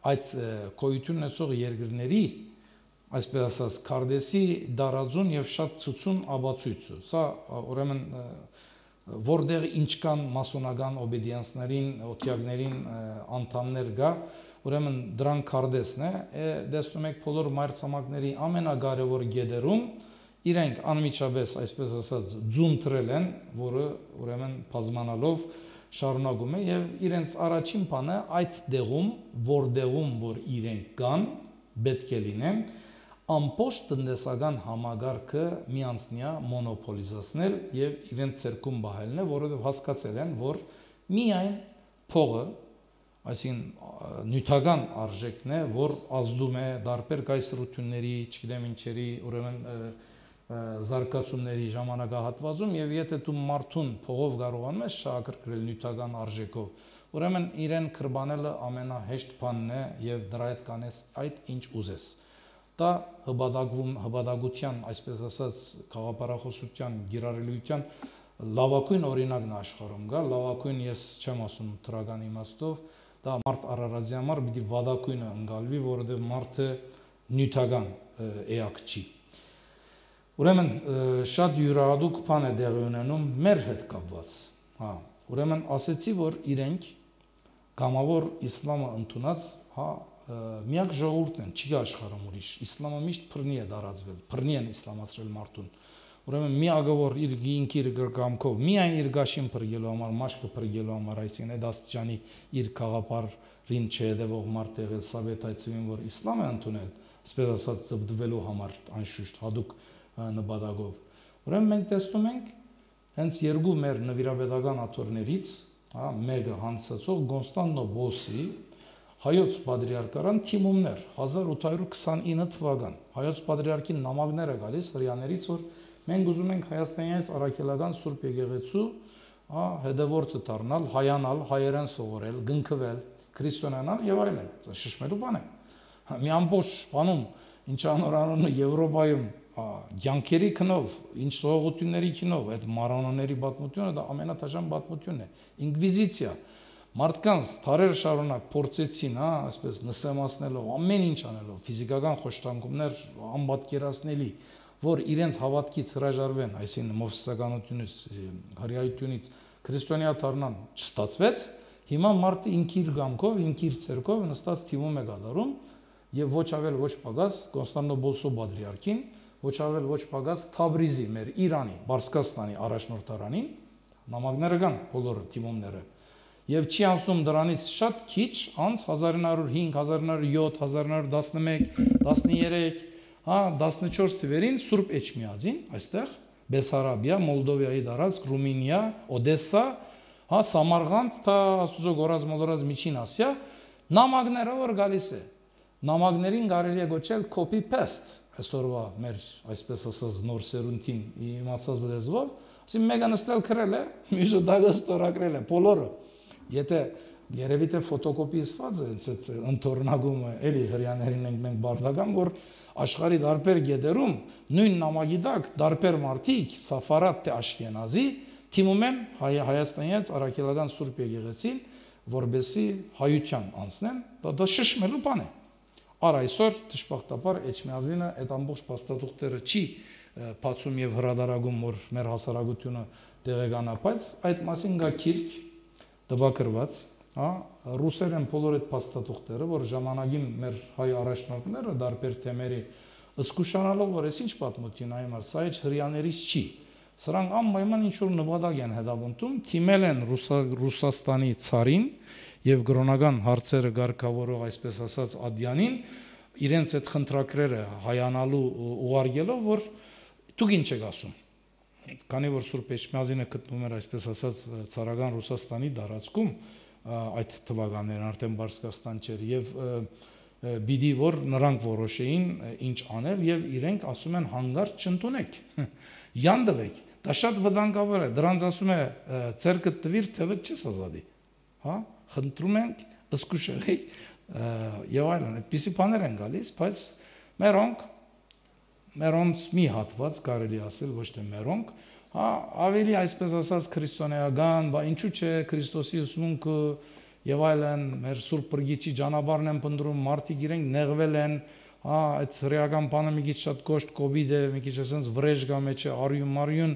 այդ գոյություն ունեցող երկրների, այսպես ասած, քարտեզի դարաձուն եւ շատ ցուցուն ապացույցը։ Սա ուրեմն որտեղ ինչ կան մասոնական օբեդիանսներին, օթյակներին անդամներ կա, ուրեմն դրան քարտեզն է, տեսնում եք բոլոր մայրցամաքների ամենակարևոր գեդերում իրենք անմիջապես, այսպես ասած, ձուն τρել են, որը ուրեմն բազմանալով շարունակում է եւ իրենց առաջին բանը այդ դեղում, որ իրենք կան, պետք է լինեն ամբողջ տնտեսական համագարկը միանձնյա մոնոպոլիզացնել եւ իրենց ցերկում բահելն է, որովհետեւ հասկացել են, որ միայն փողը, այսինքն նյութական արժեքն է, որ ազդում է դարբեր կայսրությունների, չգիտեմ ինչերի, ուրեմն զարգացումների ժամանակահատվածում եւ եթե դու մարդուն փողով կարողանում ես շահագրգռել նյութական արժեքով, ուրեմն իրեն կրբանելը ամենահեշտ բանն է եւ դրա հետ կանես այդ ինչ ուզես։ Դա հպատակության, այսպես ասած, խաղապարախոսության, գիրառելիության լավագույն օրինակն է աշխարհում գա, լավագույն ես չեմ ասում դրական իմաստով, դա մարդ Արարատի համար պիտի վատագույնը ընկալվի, որովհետև մարդը նյութական էակ չի։ Ուրեմն շատ յուրահատուկ բան է տեղի ունենում մեր հետ կապված, հա, ուրեմն ասեցի, որ իրենք գամավոր իսլամը ընդունած, հա, միակ ժողովուրդն են, չի աշխարհում ուրիշ, իսլամը միշտ փռնի է դարածվել, փռնի են իսլամացրել մարդուն։ Ուրեմն միակը որ իր ինքիր գրկամքով, միայն իր գաշին փրկելու համար, մաշկը փրկելու համար, այսինքն այդ աստիճանի իր խաղապարին չհետևող մարդ եղել Սավետ այցելին, որ իսլամ է ընդունել, ասպես ասած ծբդվելու համար, անշուշտ հadouk նպատակով։ Ուրեմն մենք տեսնում ենք հենց երկու մեր նվիրապետական աթոռներից, հա, մեկը հանցածող Կոնստանտինոպոլի Հայոց Պատրիարքարան թիմումներ 1829 թվական Հայոց Պատրիարքի նամակները գալիս հрьяաներից, որ մենք ուզում ենք Հայաստանից առաքելական Սուրբ Եկեղեցու, հա, հետևորդը դառնալ, հայանալ, հայերեն սովորել, գնքվել, քրիստոնյանալ եւ այլն, շշմելու բան է։ Մի ամբողջ բանում, ինչ անորանունը Եվրոպայում, յանքերի քնով, ինչ սողողությունների քնով, այդ մարոնոների պատմությունը դա ամենաթաժան պատմությունն է, ինկվիզիցիա։ Մարդկանց թարեր շարունակ փորձեցին, հա, այսպես նսեմացնելով, ամեն ինչ անելով, ֆիզիկական խոշտանգումներ անպատկերացնելի, որ իրենց հավատքից հրաժարվեն, այսինքն մովսեսականությունից, հրեայությունից քրիստոնյա դառնան, չստացվեց, հիմա մարդը ինքիր գամքով, ինքիր ցերկով նստած թիմում է գալարում եւ ոչ ավել ոչ պակաս Կոնստանտինոպոլսո պատրիարքին, ոչ ավել ոչ պակաս Թաբրիզի, մեր Իրանի, Բարսկաստանի առաջնորդարանին, նամակները կան բոլորը թիմումները։ Եվ չի անցնում դրանից շատ քիչ, անց 1905, 1907, 1911, 13, հա, 14 թվերին Սուրբ Էջմիածին, այստեղ Բեսարաբիա, Մոլդովիայի տարածք, Ռումինիա, Օդեսա, հա, Սամարղանդ, թա ասուզո գորած մոլորած Միջին Ասիա, նամակները որ գալիս է։ նամակներին կարելի է գոչել copy paste, այսօրվա մեր այսպես ասած նոր սերունդին իմացած լեզվով, ասին մեկը նստել քրել է, մյուսը դագը ստորագրել է, բոլորը։ Եթե երևի թե ֆոտոկոպիացված է այդ ընթորնագումը, էլի հрьяաներին ենք մենք բարդական, որ աշխարհի դարբեր գեդերում նույն նամակի տակ դարբեր մարդիկ Սաֆարատ թե Աշքենազի թիմում են Հայաստանից Արաքելական Սուրբ Եկեղեցին, որբեսի հայության անցնեն, դա շշմելու բան է։ Առ այսօր դժբախտաբար Էջմիածինը այդ ամբողջ փաստաթուղթերը չի բացում եւ հրադարագում, որ մեր հասարակությունը տեղեկանա, բայց այդ մասին կա քիրք տվագրված, հա, ռուսերեն բոլոր այդ փաստաթուղթերը, որ ժամանակին մեր հայ առաջնորդները դարբեր թեմերի զսկուշանալով, որ այս ինչ պատմություն այ մարդ, սա էջ հрьяաներից չի։ Սրանք անպայման ինչ-որ նպատակ են հետապնդում, թիմել են Ռուսաստանի ցարին եւ գրոնական հարցերը ղեկավարող, այսպես ասած, Ադյանին, իրենց այդ խնդրակրերը հայանալու ուղարկելով, որ դուք ինչ եք ասում։ Քանի որ Սուրբ Էջմիածինը գտնվում էր, այսպես ասած, ցարական Ռուսաստանի տարածքում, այդ թվականներն արդեն Բարսկաստան չէր եւ բիդի որ նրանք որոշեին ինչ անել եւ իրենք ասում են հանգարտ չընդունեք։ Յանդվեք, դա շատ վտանգավոր է, դրանց ասում է ցերկը տվիր թեւը չես ազատի, հա, խնդրում ենք ըսկուշեղի եւ այլն, այդպիսի բաներ են գալիս, բայց մերոնց մի հատված կարելի ասել, ոչ թե մերոնք, հա, ավելի այսպես ասած քրիստոնեական, բա ինչու՞ չէ Քրիստոսի ուսմունքը եւ այլն, մեր Սուրբ Բրգիչի ճանապարհն են փնտրում, մարդիկ իրենք նեղվել են, հա, այդ ռեական բանը մի քիչ շատ կոշտ կոպիտ է, մի քիչ ասենց վրեժ գա մեջը, արյուն,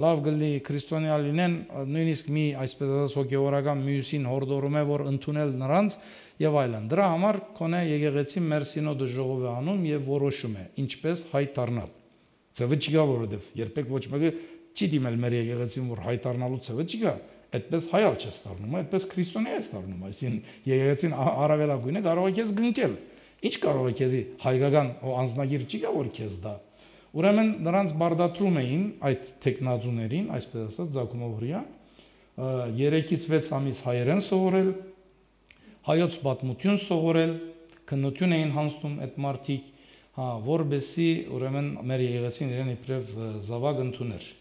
լավ գլի քրիստոնյա լինեն, նույնիսկ մի այսպես ասած հոգեորական մյուսին հորդորում է, որ ընդունել նրանց եւ այլն։ Դրա համար կոնե եկեղեցին մեր սինոդը ժողով է անում եւ որոշում է ինչպես հայ դառնալ։ Ցավը չկա, որովհետեւ երբեք ոչ մեկը չի դիմել մեր եկեղեցին, որ հայ դառնալու ցավը չկա։ Այդպես հայալ չես դառնում, այդպես քրիստոնյա ես դառնում, այսին եկեղեցին առավելագույնը կարող է քեզ գնկել։ Ինչ կարող է քեզի հայկական անձնագիր չի գա, որ քեզ դա։ Ուրեմն նրանց բարդատրում էին այդ տեխնազուներին, այսպես ասած, Զակումով հրյա, 3-ից 6 ամիս հայերեն սովորել, հայոց պատմություն սովորել, քննություն էին հանձնում այդ մարդիկ, հա, որբեսի ուրեմն մեր եկեղեցին իրեն իբրև զավակ ընդուներ։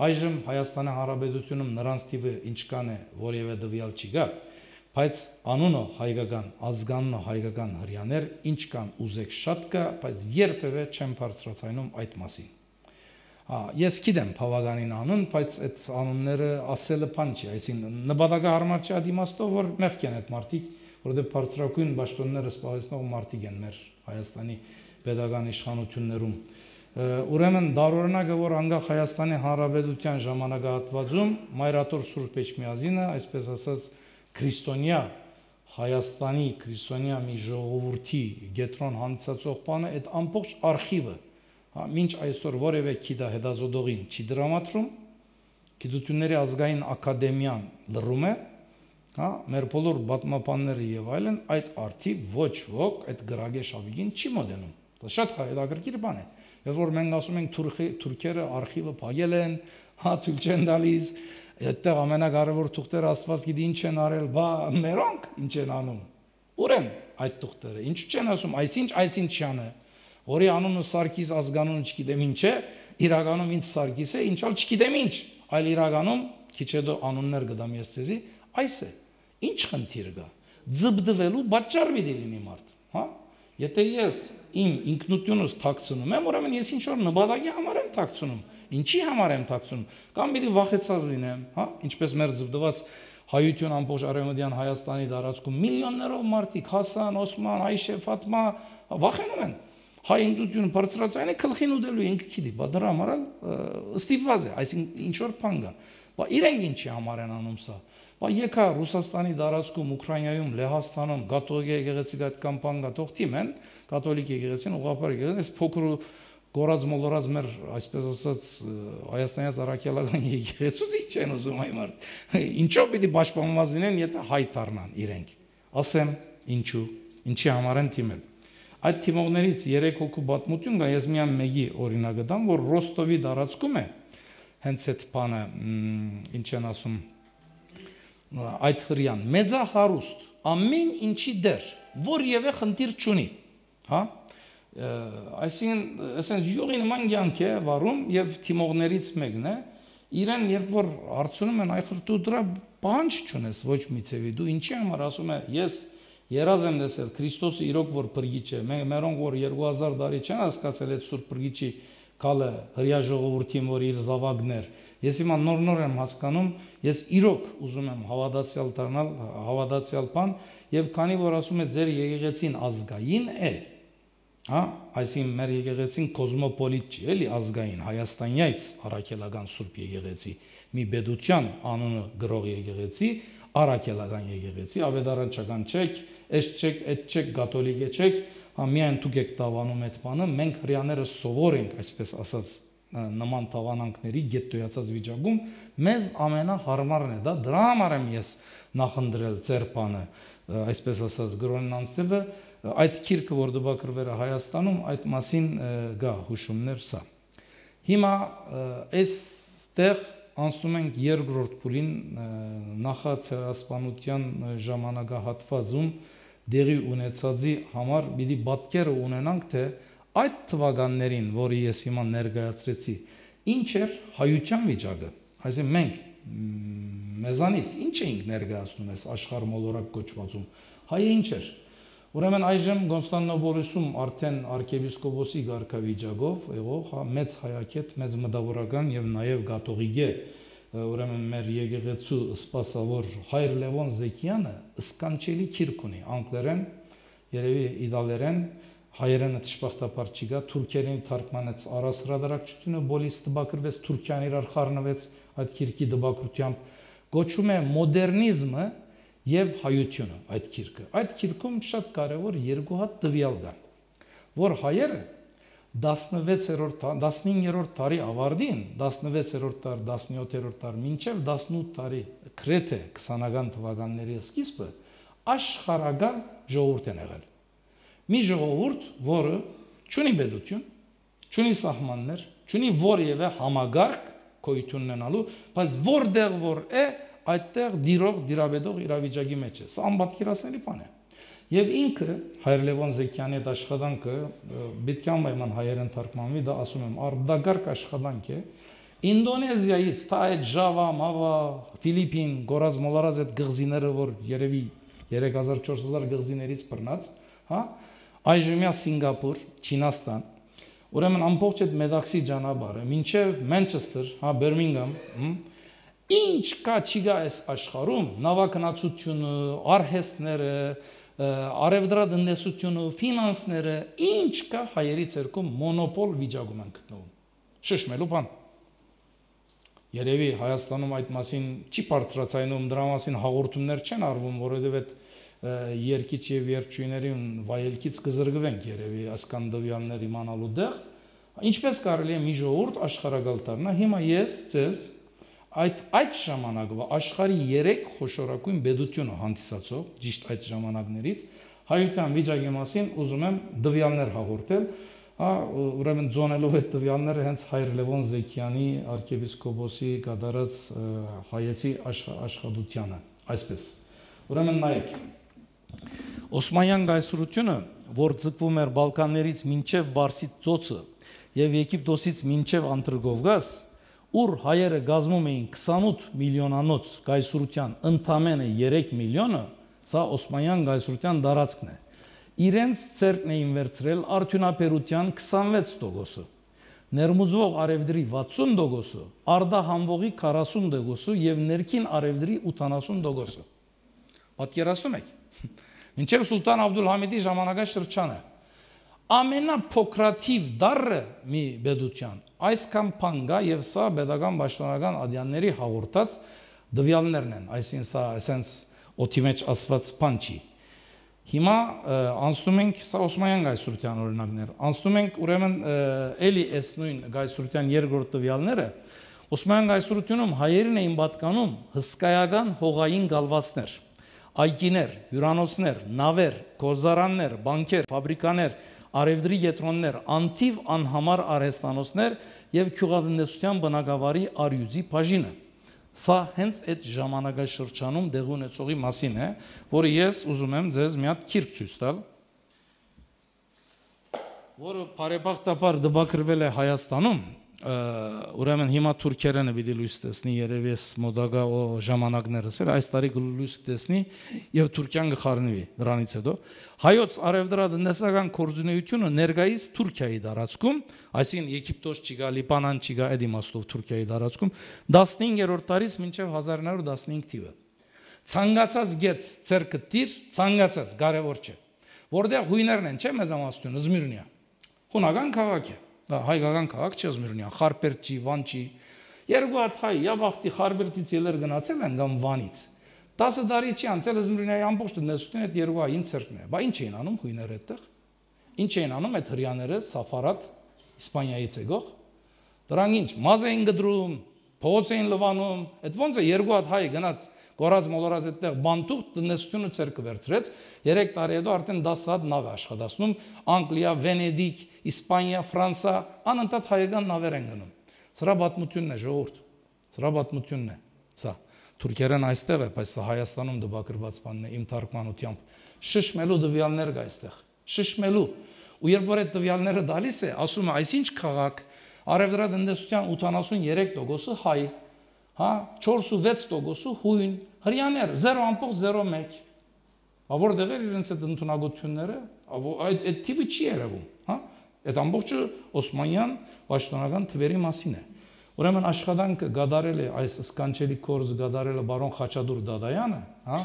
Այժմ Հայաստանի Հանրապետությունում նրանց տիպը ինչքան է, որևէ դվյալ չի գա, բայց անունը հայկական, ազգանունը հայկական հрьяաներ ինչքան ուզեք շատ կա, բայց երբևէ չեմ բարձրացնում այդ մասին։ Ես գիտեմ բավականին անուն, բայց այդ անունները ասելը բան չի, այսինքն նպատակահարմար չի ադիմաստով, որ մեղք են այդ մարդիկ, որովհետև բարձրակույն պաշտոնները սպասեցնող մարդիկ են մեր Հայաստանի պետական իշխանություններում։ Ուրեմն դարօրինակը, որ անկախ Հայաստանի Հանրապետության ժամանակահատվածում Մայրաթոր Սուրբ Էջմիածինը, այսպես ասած, քրիստոնյա Հայաստանի քրիստոնյա մի ժողովրդի գետրոն հանդիսացող բանը, այդ ամբողջ արխիվը, մինչ այսօր որևէ քիդա հետազոտողին չի դրամատրում, Գիտությունների ազգային ակադեմիան լռում է, հա, մեր բոլոր պատմաբանները եւ այլն այդ արթիվ ոչ ոք այդ գրագե շավիգին չի մոտենում։ Դա շատ հետաքրքիր բան է։ Եվ որ մենք ասում ենք թուրքերը արխիվը փակել են, հա, թույլ չեն տալիս, այդտեղ ամենակարևոր թուղթերը Աստված գիտի ինչ են արել, բա մերոնք ինչ են անում։ Ուր են այդ թուղթերը։ Ինչու չեն ասում, այսինչ չանը, որի անունը Սարգիս ազգանունը չգիտեմ ինչ է, իրականում ինձ Սարգիս է, ինչալ չգիտեմ ինչ, այլ իրականում քիչ հետո անուններ կդամ ես ցեզի, այս է։ Ինչ խնդիր կա։ Ձբդվելու պատճառ մի լինի մարդ, հա։ Եթե ես իմ ինքնությունս թաքցնում եմ, ուրեմն ես ինչ որ նպատակի համար եմ թաքցնում, ինչի համար եմ թաքցնում, կամ պիտի վախեցած լինեմ, հա, ինչպես մեր ձբդված հայություն ամբողջ արևմտյան Հայաստանի տարածքում միլիոններով մարդիկ, Հասան, Օսման, Այշե, Ֆաթմա վախենում են։ Հայ ինքնությունը բարձրացան է գլխին ուտելու ինքը գիտի, բա դրա համար ստիպված է, այսինքն ինչ որ բան կա։ Բա իրենք ինչի համար են անում սա։ Բա եկա Ռուսաստանի տարածքում, Ուկրաինայում, Լեհաստանում կաթոլիկ եկեղեցի այդ կամպան գտող թիմ են, կաթոլիկ եկեղեցին ուղղափառ եկեղեցին, այս փոքր գորած մոլորած մեր, այսպես ասած, Հայաստանից Արաքելական եկեղեցուց ինչ են ուզում այ մարդ։ Ինչով պիտի պաշտպանված լինեն, եթե հայ դառնան իրենք։ Ասեմ, ինչու, ինչի համար են թիմել։ Այդ թիմողներից 3 հոգու պատմություն կա, ես միայն մեկի օրինակը տամ, որ Ռոստովի տարածքում է, հենց այդ բանը, ինչ են ասում, այդ հрьяան մեծահարուստ ամեն ինչի դեր, որևէ խնդիր չունի, հա այսինքն ասենք յուղի նման կյանք է վարում եւ թիմողներից մեկն է իրեն երբ որ հարցնում են այ դու դրա բանջ չունես ոչ մի ցեվի դու ինչի համար ասում է ես երազ եմ տեսել Քրիստոսը իրոք որ բրգիչ է մերոնք որ 2000 տարի չեն հասկացել այդ սուրբ բրգիչի կալը հրյա ժողովրդին որ իր զավակներ ես հիմա նոր եմ հասկանում ես իրոք ուզում եմ հավատացյալ դառնալ հավատացյալ բան եւ քանի որ ասում է ձեր եկեղեցին ազգային է հա այսինքն մեր եկեղեցին կոսմոպոլիտ չի էլի ազգային հայաստանյայց առաքելական սուրբ եկեղեցի մի բեդության անունը գրող եկեղեցի առաքելական եկեղեցի ավետարանչական չեք այս չեք այդ չեք կաթոլիկ չեք հա միայն դուք եք տավանում այդ բանը մենք հрьяաները սովոր ենք այսպես ասած նման տավանանքների գետոյացած վիճակում մեզ ամենահարմարն է դա դրա համար եմ ես նախընտրել ձեր բանը այսպես ասած գրոնն անձնելը այդ քիրքը որ դպակրվել է Հայաստանում այդ մասին գա հուշումներ սա հիմա այստեղ անցնում ենք երկրորդ փուլին նախացերասպանության ժամանակահատվածում դեղի ունեցածի համար պիտի պատկերը ունենանք թե այդ թվականներին որի ես հիմա ներկայացրեցի ինչ էր հայության վիճակը այսինքն մենք մեզանից ինչ էինք ներկայացնում այս աշխարհ մոլորակ կոչվածում հայը ինչ էր ուրեմն այժմ Կոնստանտինոպոլիսում արդեն arczepiskopos-ի ղարքավիճակով եղող մեծ հայագետ մեծ մտավորական եւ նաեւ կաթողիկ է ուրեմն մեր եկեղեցու սպասավոր Հայր Լևոն Զեկյանը սկանչելի քիրք ունի անգլերեն երևի իտալերեն հայերենը դժբախտաբար չի գա թուրքերեն թարգմանեց առասրադարակչությունը բոլիս դպակրվեց Թուրքիան իրար խառնվեց այդ քիրքի դպակրությամբ գոչում է մոդեռնիզմը եւ հայությունը այդ քիրքում շատ կարեւոր երկու հատ տվյալ կան որ հայերը 15-րդ դարի ավարտին 16-րդ դար 17-րդ դար մինչև 18 տարի գրեթե 20-ական թվականների սկիզբը աշխարհական ժողովուրդ են եղել մի ժողովուրդ որը չունի պետություն չունի սահմաններ չունի որևէ համագարկ գոյություն ունենալու բայց որտեղ որ է այդտեղ դիրող դիրաբեդող իրավիճակի մեջ է սա անպատկերացնելի բան է եւ ինքը Հայր Լևոն Զեկյանի այդ աշխատանքը պետք է անպայման հայերեն թարգմանվի դա ասում եմ արդագարգ աշխատանք է Ինդոնեզիայից թա այդ Ժավա, Մավա, Ֆիլիպին, Գորազ Մոլարազ այդ գղզիները որ երևի 3000-4000 գղզիներից բռնած հա այժմյա Սինգապուր, Չինաստան ուրեմն ամբողջ այդ Մեդաքսի ճանապարհը մինչև Մանչեսթեր, հա Բերմինգհամ ինչ կա չի գա այս աշխարհում նավագնացությունը, արհեստները, արևդրատնտեսությունը, ֆինանսները, ինչ կա հայերի ցերկում մոնոպոլ վիճակում են գտնվում։ Շշմելու բան։ Երևի Հայաստանում այդ մասին չի բարձրացնում, դրա մասին հաղորդումներ չեն արվում, որովհետև այդ երկիչ եւ երկչույներին վայելքից կզրկվենք երևի ասկանդավյաններ իմանալու դեղ, ինչպես կարելի է մի ժողովուրդ աշխարհակալ դառնա։ Հիմա ես ձեզ այդ ժամանակվա աշխարհի 3 խոշորագույն պետությունը հանդիսացող ճիշտ այդ ժամանակներից հայության վիճակի մասին ուզում եմ տվյալներ հաղորդել, ուրեմն ձոնելով այդ տվյալները հենց Հայր Լևոն Զեկյանի arczepiskopos-ի կատարած հայեցի աշխատությանը, այսպես։ Ուրեմն նայեք Օսմանյան գայսրությունը, որ ձգվում էր Բալկաններից մինչև Բարսից ծոցը եւ Եգիպտոսից մինչև Անտրգովգազ, ուր հայերը գազմում էին 28 միլիոնանոց գայսրության ընդամենը 3 միլիոնը, սա Օսմանյան գայսրության դարածքն է։ Իրենց ցերկն էին վերցրել արդյունաբերության 26%-ը, ներմուծվող արևդրի 60%-ը, արդահանվողի 40%-ը եւ ներքին արևդրի 80%-ը։ Պատկերացնում եք։ Մինչև Սուլտան Աբդուլհամիդի ժամանակաշրջանը ամենափոքրաթիվ դարը մի պետության այսքան փանգա եւ սա pedagogan պաշտոնական ադյանների հաղորդած դվյալներն են, այսինքն սա այսենց օթի մեջ ասված բան չի։ Հիմա անցնում ենք սա Օսմանյան գայսրության օրինակներ։ Անցնում ենք ուրեմն էլի այս նույն գայսրության երկրորդ տվյալները Օսմանյան գայսրությունում հայերին էին պատկանում հսկայական հողային գալվածներ, այգիներ, հյուրանոցներ, նավեր, գոզարաններ, բանկեր, ֆաբրիկաներ, արևդրի կետրոններ, անթիվ անհամար արհեստանոցներ եւ գյուղատնտեսության բնակավարի արյուծի բաժինը։ Սա հենց այդ ժամանակաշրջանում դեղի ունեցողի մասին է, որը ես ուզում եմ ձեզ մի հատ քիրք ցույց տալ։ որը բարեբախտաբար դպակրվել է Հայաստանում, ուրեմն հիմա թուրքերենը պիտի լույս տեսնի, երևի ես մոդագա ժամանակներս էլ այս տարի լույս տեսնի եւ Թուրքիան գխառնվի դրանից հետո հայոց արևդրատնտեսական կորձունեությունը ներկայիս Թուրքիայի տարածքում, այսինքն Եգիպտոս չկա, Լիբանան չկա, այդ իմաստով Թուրքիայի տարածքում 15-րդ տարից մինչեւ 1915 թիվը ցանկացած գետ ցերկը տիր, ցանկացած կարևոր չէ, որտեղ հույներն են, չէ՞ մեծամասնությունը Զմիրնիա, հունական քաղաք է, դա հայկական քաղաք չէ Զմիրնիա, Խարպերտի, Վանչի, երկու հատ հայ, Յաբախտի Խարպերտից ելեր գնացել են կամ Վանից, 10 տարի չի անցել Զմիրնիայի ամբողջ տնտեսությունը այդ երկու հային ցերկն է, բա ինչ էին անում հույները այդտեղ, ինչ էին անում այդ հрьяաները Սաֆարատ Իսպանիայից եկող, դրանք ինչ, մազ էին գդրում, փողոց էին լվանում, այդ ոնց է երկու հատ հայ գնաց Գորած մոլորած այդտեղ բանտուղ տնտեսությունը ցերկը վերցրեց 3 տարի հետո արդեն 10 հատ նավ է աշխատացնում Անգլիա, Վենեդիկ, Իսպանիա, Ֆրանսա անընդհատ հայկական նավեր են գնում սրա պատմությունն է ժողովուրդ սրա պատմությունն է սա թուրքերեն այստեղ է բայց սա Հայաստանում դպակրված բանն է իմ թարգմանությամբ շշմելու դվյալներ կա այստեղ շշմելու ու երբ որ այդ դվյալները դալիս է ասում է այսինչ քաղաք արևդրատնտեսության 83%-ը հայ հա 4-6% հույն հрьяաներ 0.01 որտեղ էր իրենց այդ ընդունակությունները այդ տիպը չի երևում հա այդ ամբողջը Օսմանյան պաշտոնական թվերի մասին է ուրեմն աշխատանքը գդարել է այս սկանչելի կորձ գդարել է բարոն Խաչատուր Դադայանը հա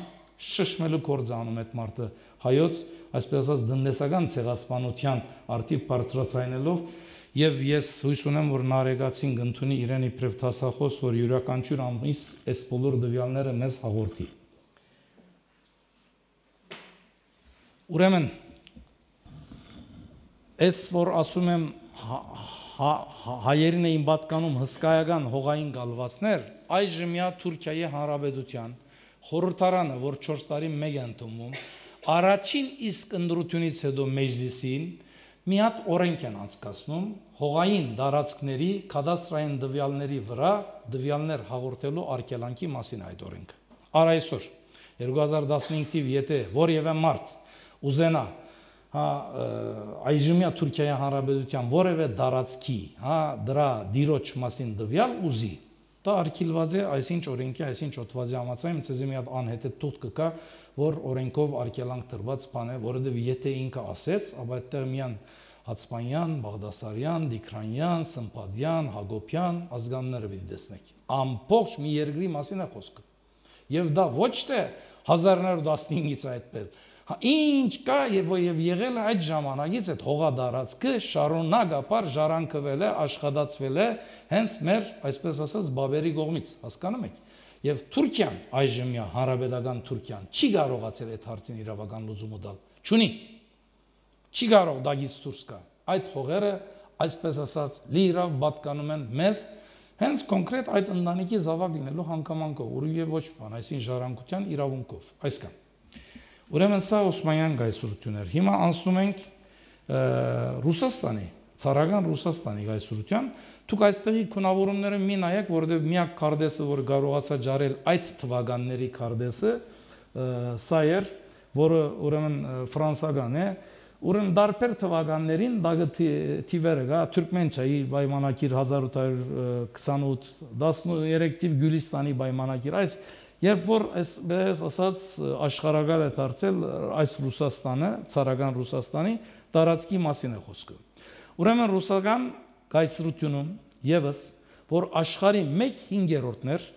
շշմելու կորձ անում այդ մարդը հայոց այսպես ասած տնտեսական ցեղասպանության արդիվ բարձրացնելով Եվ ես հույս ունեմ, որ Նարեկացին կընդունի իրեն իբրև դասախոս, որ յուրաքանչյուր ամիս այս բոլոր դվյալները մեզ հաղորդի։ Ուրեմն, այս որ ասում եմ հայերին էին պատկանում հսկայական հողային գալվածներ, այժմյա Թուրքիայի Հանրապետության խորհրդարանը, որ 4 տարի մեկ է ընդունվում, առաջին իսկ ընտրությունից հետո մեջլիսին մի հատ օրենք են անցկացնում հողային դարածքների կադաստրային դվյալների վրա դվյալներ հաղորդելու արգելանքի մասին այդ օրենքը։ Առ այսօր 2015 թիվ եթե որևէ մարդ ուզենա այժմյա Թուրքիայի Հանրապետության որևէ դարածքի դրա դիրոջ մասին դվյալ ուզի դա արգելված է այսինչ օրենքի այսինչ օթվածի համաձայն ցեզի մի հատ անհետեթ թուղթ կկա որ օրենքով արգելանք տրված բան է որովհետև եթե ինքը ասեց ապա այդտեղ միան Հացմանյան, Բաղդասարյան, Դիքրանյան, Սմփադյան, Հակոբյան ազգանները պիտի տեսնեք ամբողջ մի երկրի մասին է խոսքը եւ դա ոչ թե 1915-ից այդպես ինչ կա եւ եղել է այդ ժամանակից այդ հողադարածքը շարունակապար ժառանգվել է աշխատացվել է հենց մեր այսպես ասած բաբերի կողմից հասկանում եք եւ Թուրքիան այժմյա հանրապետական Թուրքիան չի կարողացել այդ հարցին իրավական լուծում տալ չունի չի կարող դագից դուրս գա այդ հողերը այսպես ասած լիիրավ պատկանում են մեզ հենց կոնկրետ այդ ընտանիքի զավակ լինելու հանգամանքով ուրույն ոչ բան այսին ժառանգության իրավունքով այսքան ուրեմն սա Օսմանյան գայսրություններ հիմա անցնում ենք Ռուսաստանի ցարական Ռուսաստանի գայսրության դուք այստեղի քունավորումները մի նայեք որովհետև միակ քարտեզը որ կարողացա ջարել այդ թվականների քարտեզը սա էր որը ուրեմն ֆրանսական է Ուրեմն դարբեր թվականներին դագը թիվերը գա Թուրքմենչայի պայմանագիր 1828 13 թիվ Գյուլիստանի պայմանագիր այս երբ որ այսպես ասած աշխարհակալ է դարձել այս Ռուսաստանը ցարական Ռուսաստանի տարածքի մասին է խոսքը ուրեմն ռուսական գայսրությունում եւս որ աշխարհի 1/5-ներ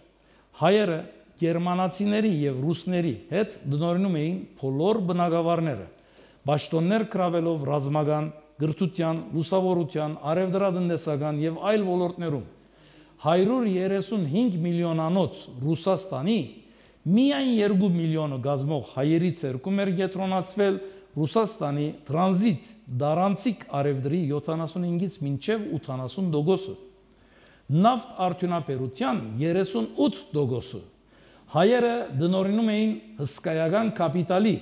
հայերը գերմանացիների եւ ռուսների հետ դնորինում էին բոլոր բնակավարները Բաշտոններ կրավելով ռազմական, գրթության, լուսավորության, արևդրատնտեսական եւ այլ ոլորտներում 135 միլիոնանոց Ռուսաստանի միայն 2 միլիոնը գազմող հայերի ցերկում էր կենտրոնացվել Ռուսաստանի տրանզիտ դարանցիկ արևդրի 75-ից մինչև 80%-ը նավթ արդյունաբերության 38%-ը հայերը դնորինում էին հսկայական կապիտալի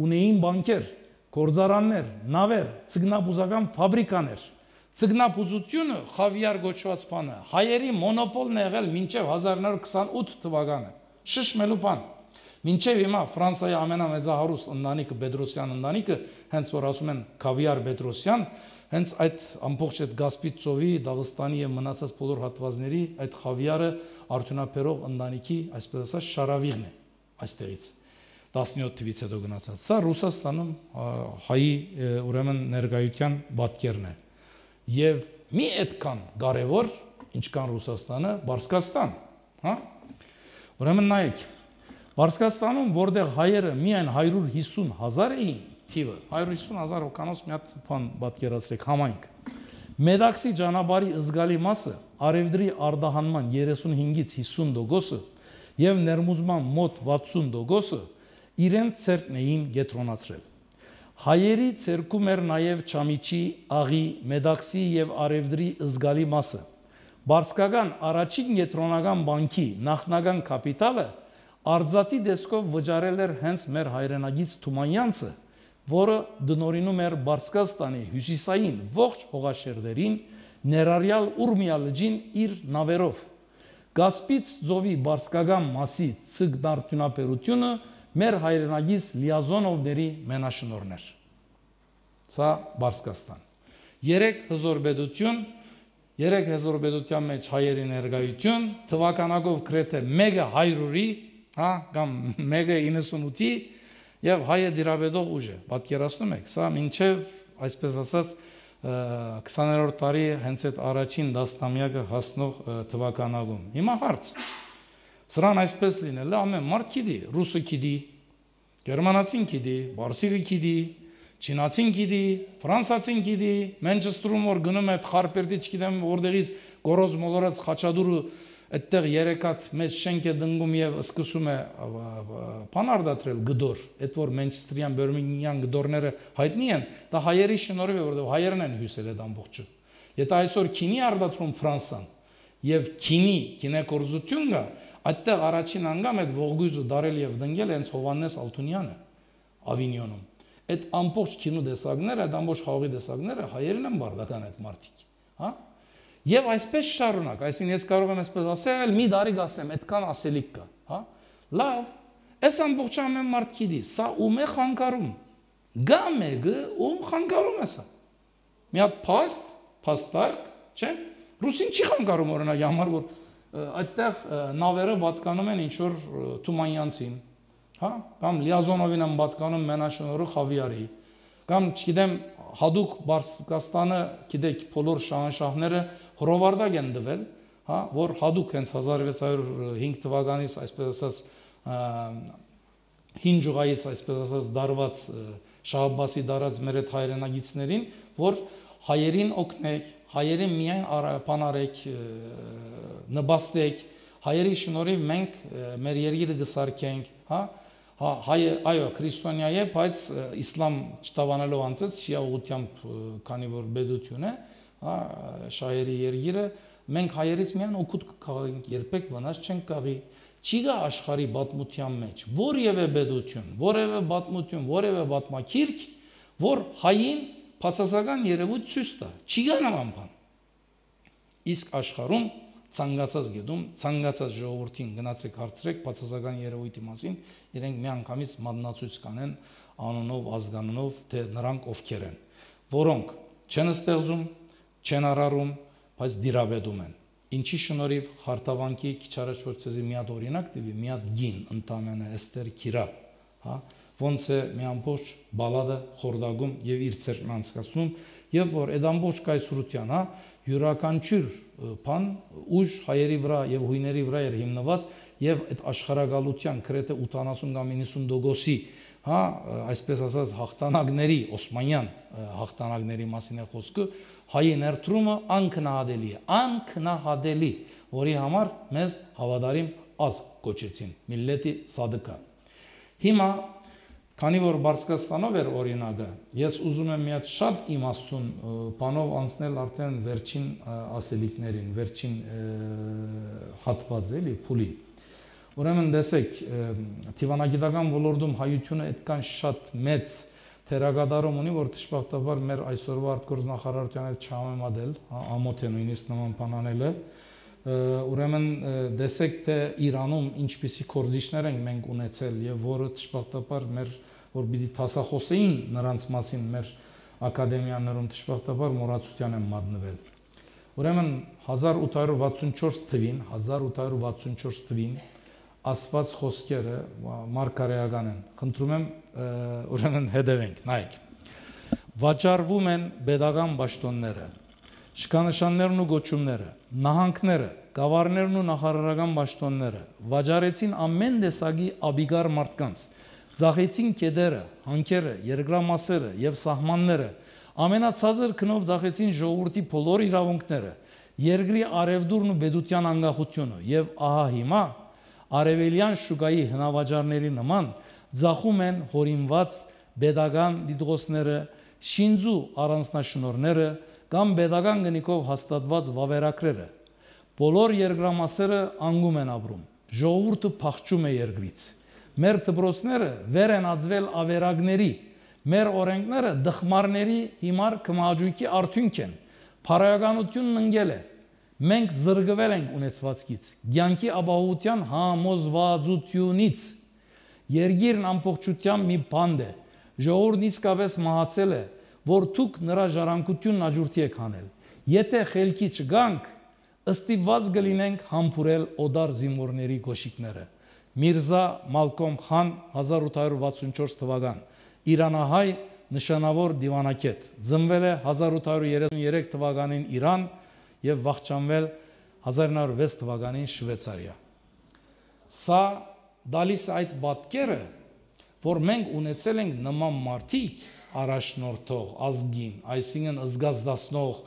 ունեին բանկեր Կորձարաններ, նավեր, ցգնապուզական ֆաբրիկաներ։ Ցգնապուզությունը խավիար գոչված բան է։ Հայերի մոնոպոլն եղել մինչև 1928 թվականը։ Շշմելու բան։ Մինչև հիմա Ֆրանսիայի ամենամեծահարուստ ընտանիքը Պետրոսյան ընտանիքը, հենց որ ասում են Քավիար Պետրոսյան, հենց այդ ամբողջ այդ Կասպից ծովի, Դաղստանի եւ մնացած բոլոր հատվածների այդ խավիարը արդյունաբերող ընտանիքի, այսպես ասած, շարավիղն է այստեղից 17 թվից հետո գնացած։ Սա Ռուսաստանում հայի ուրեմն ներկայության պատկերն է։ Եվ մի այդքան կարևոր, ինչքան Ռուսաստանը, Բարսկաստան, հա։ Ուրեմն նայեք, Բարսկաստանում, որտեղ հայերը միայն 150,000 էին, թիվը 150,000 հոգանոց մի հատ բան պատկերացրեք, համայնք։ Մեդաքսի ճանապարհի զգալի մասը, արևդրի արտահանման 35-ից 50% եւ ներմուծման մոտ 60% իրենց ցերկն էին կենտրոնացրել։ Հայերի ցերկում էր նաեւ Չամիչի, Աղի, Մեդաքսի եւ արևդրի զգալի մասը։ Բարսկական առաջին կենտրոնական բանկի նախնական կապիտալը արձատի դեսկով վճարել էր հենց մեր հայրենագից Թումանյանցը, որը դնորինում էր Բարսկաստանի հյուսիսային ողջ հողաշերտերին, ներառյալ Ուրմիա լճին իր նավերով։ Կասպից ծովի բարսկական մասի ցգնարդյունաբերությունը մեր հայրենագից Լիազոնովների մենաշնորհն էր։ Սա Բարսկաստան։ 3 հզորբեդության մեջ հայերի ներկայություն, թվականակով գրեթե 100-ի, հա, կամ 198-ի եւ հայը դիրաբեդող ուժ է, պատկերացնում եք, սա մինչեւ, այսպես ասած, 20-րդ տարի հենց այդ առաջին դասնամյակը հասնող թվականակում։ Հիմա հարց։ Սրան այսպես լինել է, ամեն մարդ գիտի, ռուսը գիտի, գերմանացին գիտի, բարսիկը գիտի, չինացին գիտի, ֆրանսացին գիտի, Մենչեստրում որ գնում է Խարպերտի, չգիտեմ որտեղից գորոզ մոլորած Խաչադուրը այդտեղ 3 հատ մեծ շենք է դնգում եւ սկսում է բանարդատրել գդոր, այդ որ Մենչեստրյան Բերմինգհամ գդորները հայտնի են, դա հայերի շնորհիվ է, որովհետեւ հայերն են հյուսել այդ ամբողջը։ Եթե այսօր քինի արտադրում Ֆրանսան եւ քինեկորզություն կա, այդտեղ առաջին անգամ այդ ողգույզը դարել եւ դնգել հենց Հովաննես Ալթունյանը Ավինյոնում։ Այդ ամբողջ քինու դեսակները, այդ ամբողջ խաղի դեսակները հայերն են բարդական այդ մարդիկ, հա։ Եվ այսպես շարունակ, այսինքն ես կարող եմ այսպես ասել, մի դարի գասեմ, այդքան ասելիք կա, հա։ Լավ, այս ամբողջ ամեն մարդ գիտի, սա ում է խանգարում։ Գա մեկը ում խանգարում է սա։ Մի հատ փաստարկ, չէ՞։ Ռուսին չի խանգարում օրինակ, համար որ այդտեղ նավերը պատկանում են ինչ որ Թումանյանցին, հա, կամ Լիազոնովին են պատկանում մենաշնորհը Խավիարի, կամ չգիտեմ հadouk Բարսկաստանը, գիտեք, բոլոր շահանշահները հրովարտակ են դվել, հա, որ հadouk հենց 1605 թվականից, այսպես ասած, հին ջուղայից, այսպես ասած, դարված Շահ-Աբբասի դարած մեր այդ հայրենագիցներին, որ հայերին օգնեք, հայերին միայն բանարեք, նպաստեք, հայերի շնորհիվ մենք մեր երկիրը կսարքենք, հա, այո, քրիստոնյա է, բայց իսլամ չտավանելով անցած շիա ուղղությամբ, քանի որ բեդություն է, հա, շահերի երկիրը, մենք հայերից միայն օգուտ կգանք, երբեք վնաս չենք կաղի։ Չի գա աշխարհի պատմության մեջ որևէ բեդություն, որևէ պատմություն, որևէ պատմակիրք, որ հային բացասական երևույթ ցույց տա։ Չի գա նման բան։ Իսկ աշխարհում ցանկացած գետում, ցանկացած ժողովրդին գնացեք հարցրեք բացասական երևույթի մասին, իրենք միանգամից մատնացույց կանեն անունով, ազգանունով, թե նրանք ովքեր են, որոնք չեն ստեղծում, չեն արարում, բայց դիրաբեդում են։ Ինչի շնորհիվ Խարտավանքի քիչ առաջ որ ցեզի մի հատ օրինակ տվի, մի հատ գին ընդամենը Էստեր Քիրա, հա, ոնց է մի ամբողջ բալադը խորդագում եւ իր ցերկն անցկացնում, եւ որ այդ ամբողջ կայսրության, հա, յուրաքանչյուր բան ուժ հայերի վրա եւ հույների վրա էր հիմնված եւ այդ աշխարհակալության գրեթե 80 կամ 90%-ի, հա, այսպես ասած հաղթանակների, օսմանյան հաղթանակների մասին է խոսքը, հայի ներդրումը անքնահատելի է, անքնահատելի, որի համար մեզ հավատարիմ ազգ կոչեցին, միլլետի սադկա։ Հիմա քանի որ Բարսկաստանով էր օրինակը, ես ուզում եմ մի հատ շատ իմաստուն բանով անցնել արդեն վերջին ասելիքներին, վերջին հատվածը, էլի, փուլին։ Ուրեմն տեսեք, դիվանագիտական ոլորտում հայությունը այդքան շատ մեծ թերագադարում ունի, որ դժբախտաբար մեր այսօրվա արտգործնախարարության հետ չհամեմատել, ամոթ է նույնիսկ նման բան անելը, ուրեմն դեսեք թե Իրանում ինչպիսի կորզիչներ ենք մենք ունեցել եւ որը դժբախտաբար մեր որ պիտի տասախոսեին նրանց մասին մեր ակադեմիաներում դժբախտաբար մոռացության են մատնվել։ Ուրեմն 1864 թվին ասված խոսքերը մարգարեական են։ Խնդրում եմ ուրեմն հետևենք, նայեք։ Վաճառվում են pedagogan պաշտոնները, շքանշաններն ու գոչումները, նահանգները, գավառներն ու նախարարական պաշտոնները, վաճառեցին ամեն տեսակի աբիգար մարդկանց, ձախեցին կեդերը, հանքերը, երկրամասերը եւ սահմանները, ամենացածր քնով ձախեցին ժողովրդի բոլոր իրավունքները, երկրի արևդուրն ու պետության անկախությունը եւ ահա հիմա արևելյան շուկայի հնավաճառների նման ձախում են հորինված pedagogan դիտողները, շինձու առանձնաշնորհները կամ pedagogan գնիկով հաստատված վավերագրերը։ Բոլոր երկրամասերը անգում են ապրում, ժողովուրդը փախչում է երկրից։ Մեր դպրոցները վեր են ածվել ավերակների, մեր օրենքները դխմարների հիմար կմաճույքի արդյունք են, փարայականությունն ընկել է, մենք զրկվել ենք ունեցվածքից, կյանքի ապահովության համոզվածությունից, երկիրն ամբողջությամբ մի բանդ է, ժողովուրդն իսկապես մահացել է, որ դուք նրա ժառանգությունն աջուրդի եք հանել, եթե խելքի չգանք, ըստիված կլինենք համբուրել օդար զինվորների գոշիկները։ Միրզա Մալկոմ Խան 1864 թվական, իրանահայ նշանավոր դիվանագետ, ծնվել է 1833 թվականին Իրան եւ վախճանվել 1906 թվականին Շվեյցարիա։ Սա դալիս այդ պատկերը, որ մենք ունեցել ենք նման մարդիկ առաջնորդող, ազգին, այսինքն զգազդացնող,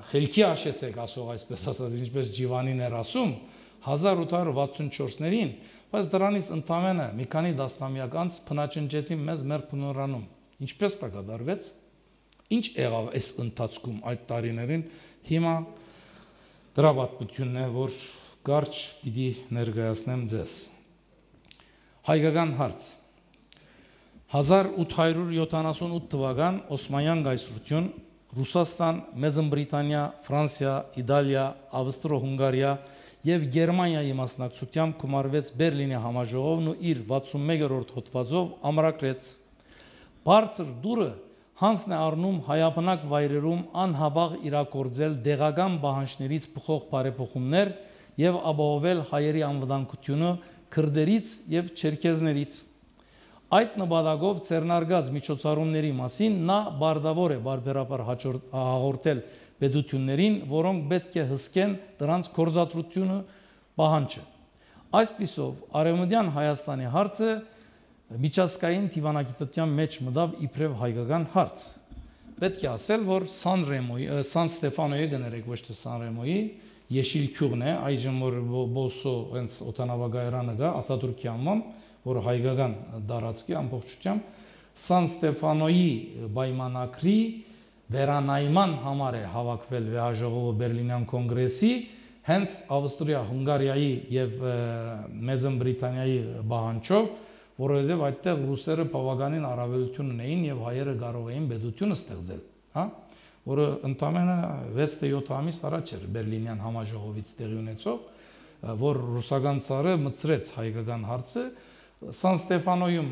խելքի հաշեցեք ասող, այսպես ասած, ինչպես Ջիվանին էր ասում, 1864-ներին, բայց դրանից ընդամենը մի քանի տասնամյակ անց փնաճնջեցին մեզ մեր փնորանում։ Ինչպես դա կատարվեց, ինչ եղավ այս ընթացքում այդ տարիներին, հիմա դրա պատմությունն է, որ կարճ պիտի ներկայացնեմ ձեզ։ Հայկական հարց 1878 թվական Օսմանյան կայսրություն, Ռուսաստան, Մեծն Բրիտանիա, Ֆրանսիա, Իտալիա, Ավստրո-Հունգարիա եւ Գերմանիայի մասնակցությամբ կմարվեց Բերլինի համաժողովն ու իր 61-րդ հոդվածով ամրագրեց. Բարձր դուրը հանցն է առնում հայաբնակ վայրերում անհաբաղ իրագործել դեղական պահանջներից բխող բարեփոխումներ եւ ապահովել հայերի անվտանգությունը քրդերից եւ չերքեզներից։ Այդ նպատակով ցերնարգած միջոցառումների մասին նա բարդավոր է բարբերաբար հաղորդել պետություններին, որոնք պետք է հսկեն դրանց գործադրությունը պահանջը։ Այսպիսով, Արևմտյան Հայաստանի հարցը միջազգային դիվանագիտության մեջ մտավ իբրև հայկական հարց։ Պետք է ասել, որ Սան Ստեֆանոյի գներեք, ոչ թե Սան Ռեմոյի, Եշիլ Քյուղն է, այժմ որ Բոսո հենց օդանավակայարանը գա, Աթաթուրքի անվամբ, որ հայկական դարածքի ամբողջությամբ, Սան Ստեֆանոյի պայմանագրի վերանայման համար է հավաքվել վեհաժողովը Բերլինյան կոնգրեսի, հենց Ավստրիա, Հունգարիայի եւ Մեծն Բրիտանիայի պահանջով, որովհետեւ այդտեղ ռուսերը բավականին առավելություն ունեին եւ հայերը կարող էին պետություն ստեղծել, հա, որը ընդամենը 6-7 ամիս առաջ էր Բերլինյան համաժողովից տեղի ունեցող, որ ռուսական ցարը մտցրեց հայկական հարցը, Սան Ստեֆանոյում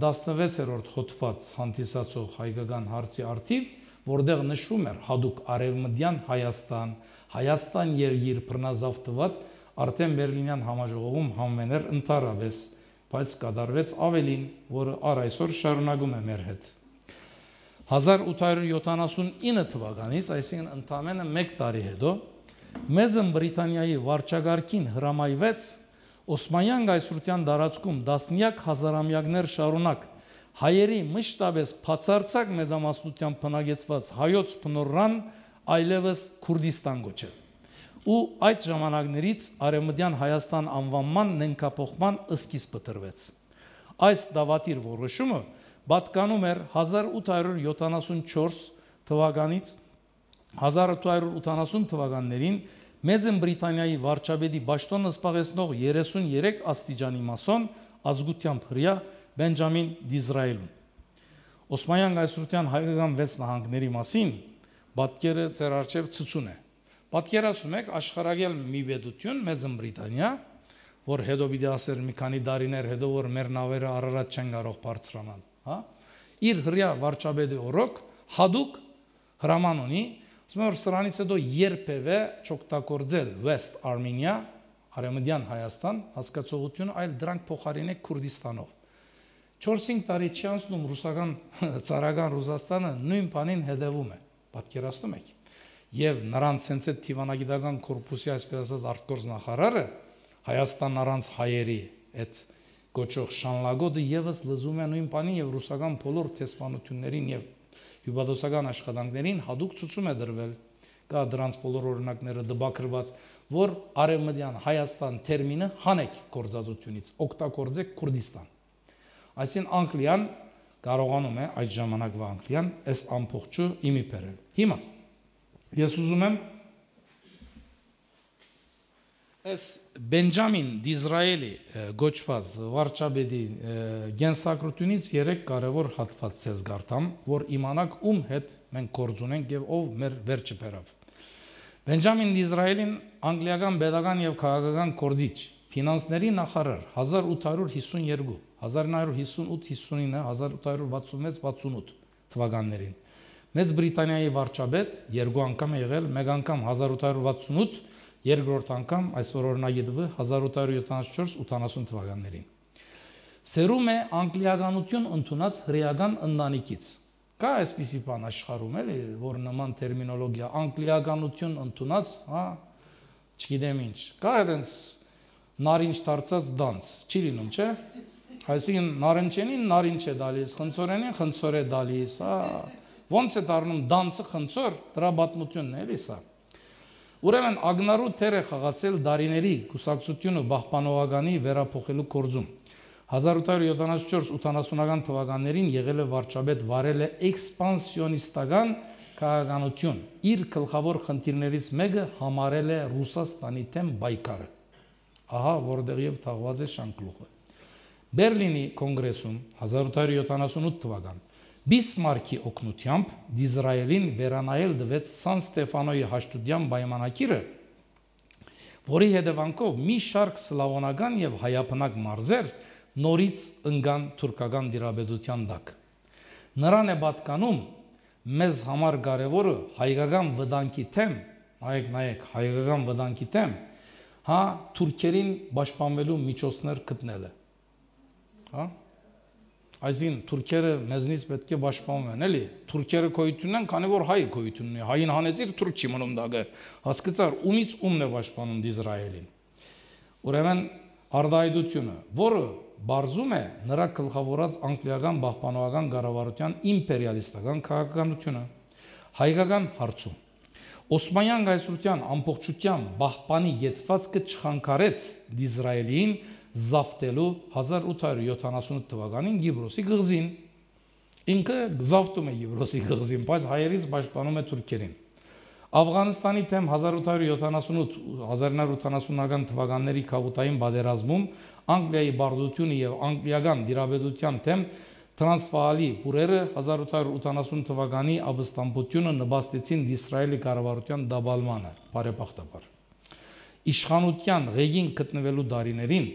16-րդ հոդված հանդիսացող հայկական հարցի արդիվ, որտեղ նշվում էր հadouk արևմտյան Հայաստան, Հայաստան երկիր բռնազավթված, արդեն Բերլինյան համաժողովում համեներ ընդառավես, բայց կատարվեց ավելին, որը առ այսօր շարունակում է մեր հետ։ 1879 թվականից, այսինքն ընդամենը 1 տարի հետո, Մեծն Բրիտանիայի վարչագահին հրամայվեց Օսմանյան կայսրության տարածքում տասնյակ հազարամյակներ շարունակ հայերի մշտապես բացարձակ մեծամասնությամբ բնակեցված հայոց բնորան այլևս Քուրդիստան գոչել։ Ու այդ ժամանակներից Արևմտյան Հայաստան անվանման նենգափոխման սկիզբը տրվեց։ Այս դավադիր որոշումը պատկանում էր 1874 թվականից 1880 թվականներին Մեծն Բրիտանիայի վարչապետի պաշտոնը զբաղեցնող 33 աստիճանի մասոն ազգությամբ հրյա Բենջամին Դիզրայելուն։ Օսմանյան կայսրության հայկական 6 նահանգների մասին պատկերը ձեր առջև ցցուն է, Պատկերացնում եք աշխարհագել մի պետություն Մեծ Բրիտանիա, որ հետո պիտի ասեր մի քանի տարիներ հետո որ մեր նավերը Արարատ չեն կարող բարձրանալ, հա? Իր հրյա վարչապետի օրոք հadoop հրաման ունի, ասում որ սրանից հետո երբևէ չօգտագործել West Armenia, Արևմտյան Հայաստան հասկացողությունը, այլ դրանք փոխարինեք Քուրդիստանով։ 4-5 տարի չի անցնում ռուսական ցարական Ռուսաստանը նույն բանին հետևում է, պատկերացնում եք։ Եվ նրանց հենց այդ դիվանագիտական կորպուսի այսպես ասած արտգործ նախարարը Հայաստան առանց հայերի այդ գոչող շանլագոտը եւս լզում է նույն բանին եւ ռուսական բոլոր տեսփանություններին եւ հյուպատոսական աշխատանքներին հadoop ցուցում է դրվել, կա դրանց բոլոր օրինակները դպակրված, որ արևմտյան Հայաստան տերմինը հանեք գործածությունից, օգտագործեք Քուրդիստան։ Այսինքն Անգլիան կարողանում է այդ ժամանակվա Անգլիան այս ամբողջը իմի բերել։ Հիմա ես ուզում եմ այս Բենջամին Դիզրայելի գոչված վարչապետի գենսակրությունից 3 կարևոր հատված ցես գարտամ, որ իմանաք ում հետ մենք գործ ունենք եւ ով մեր վերջը բերավ։ Բենջամին Դիզրայելին անգլիական pedagogan եւ քաղաքական կորձիչ, ֆինանսների նախարար 1852, 1958-59, 1866-68 թվականներին։ Մեծ Բրիտանիայի վարչապետ երկու անգամ է եղել, մեկ անգամ 1868, երկրորդ անգամ այսօր օրինագետը 1874-80 թվականներին։ Սերում է անգլիականություն ընդունած հրեական ընտանիքից։ Կա այսպիսի բան աշխարհում էլի, որ նման տերմինոլոգիա անգլիականություն ընդունած, հա, չգիտեմ ինչ։ Կա այդպես նարինջ դարձած դանց, չի լինում, չէ՞։ Այսինքն նարնջենին նարինջ է դալիս, խնձորենին խնձոր է դալիս, հա։ Ոնց է դառնում դանսը խնձոր, դրա պատմությունն է, էլի սա։ Ուրեմն ագնարու թեր է խաղացել դարիների կուսակցությունը պահպանողականի վերափոխելու գործում։ 1874-80-ական թվականներին եղել է վարչապետ, վարել է էքսպանսիոնիստական քաղաքականություն։ Իր գլխավոր խնդիրներից մեկը համարել է Ռուսաստանի դեմ պայքարը։ Ահա որտեղ եւ թաղված է շանկլուխը։ Բերլինի կոնգրեսում 1878 թվական Բիսմարկի օգնությամբ Դիզրայելին վերանայել դվեց Սան Ստեֆանոյի հաշտության պայմանագիրը, որի հետևանքով մի շարք սլավոնական եւ հայաբնակ մարզեր նորից ընկան թուրքական դիրապետության տակ։ Նրան է պատկանում մեզ համար կարևորը հայկական վտանգի թեմ, նայեք, հայկական վտանգի թեմ, հա, թուրքերին պաշտպանվելու միջոցներ գտնելը։ Հա? Այսինքն թուրքերը մեզնից պետք է պաշտպանվեն, էլի։ Թուրքերը գոյություն ունեն, քանի որ հայը գոյություն ունի։ Հային հանեցիր, թուրք չի մնում դակը։ Հասկացար, ումից ումն է պաշտպանում Դիզրայելին։ Ուրեմն արդայդությունը, որը բարձում է նրա գլխավորած անգլիական պահպանողական կառավարության իմպերիալիստական քաղաքականությունը, հայկական հարցում Օսմանյան գայսրության ամբողջությամբ պահպանի եցվածքը չխանգարեց Դիզրայելին զավթելու 1878 թվականին Գիբրոսի գղզին։ Ինքը զավթում է Գիբրոսի գղզին, բայց հայերից պաշտպանում է թուրքերին։ Աֆղանստանի թեմ 1888-1980-ական թվականների քաղաքային պատերազմում Անգլիայի բարդությունը եւ անգլիական դիրապետության թեմ Տրանսվալի բուրերը 1880 թվականի ապստամբությունը նպաստեցին Իսրայելի կառավարության դաբալմանը, բարեբախտաբար։ Իշխանության ղեկին գտնվելու դարիներին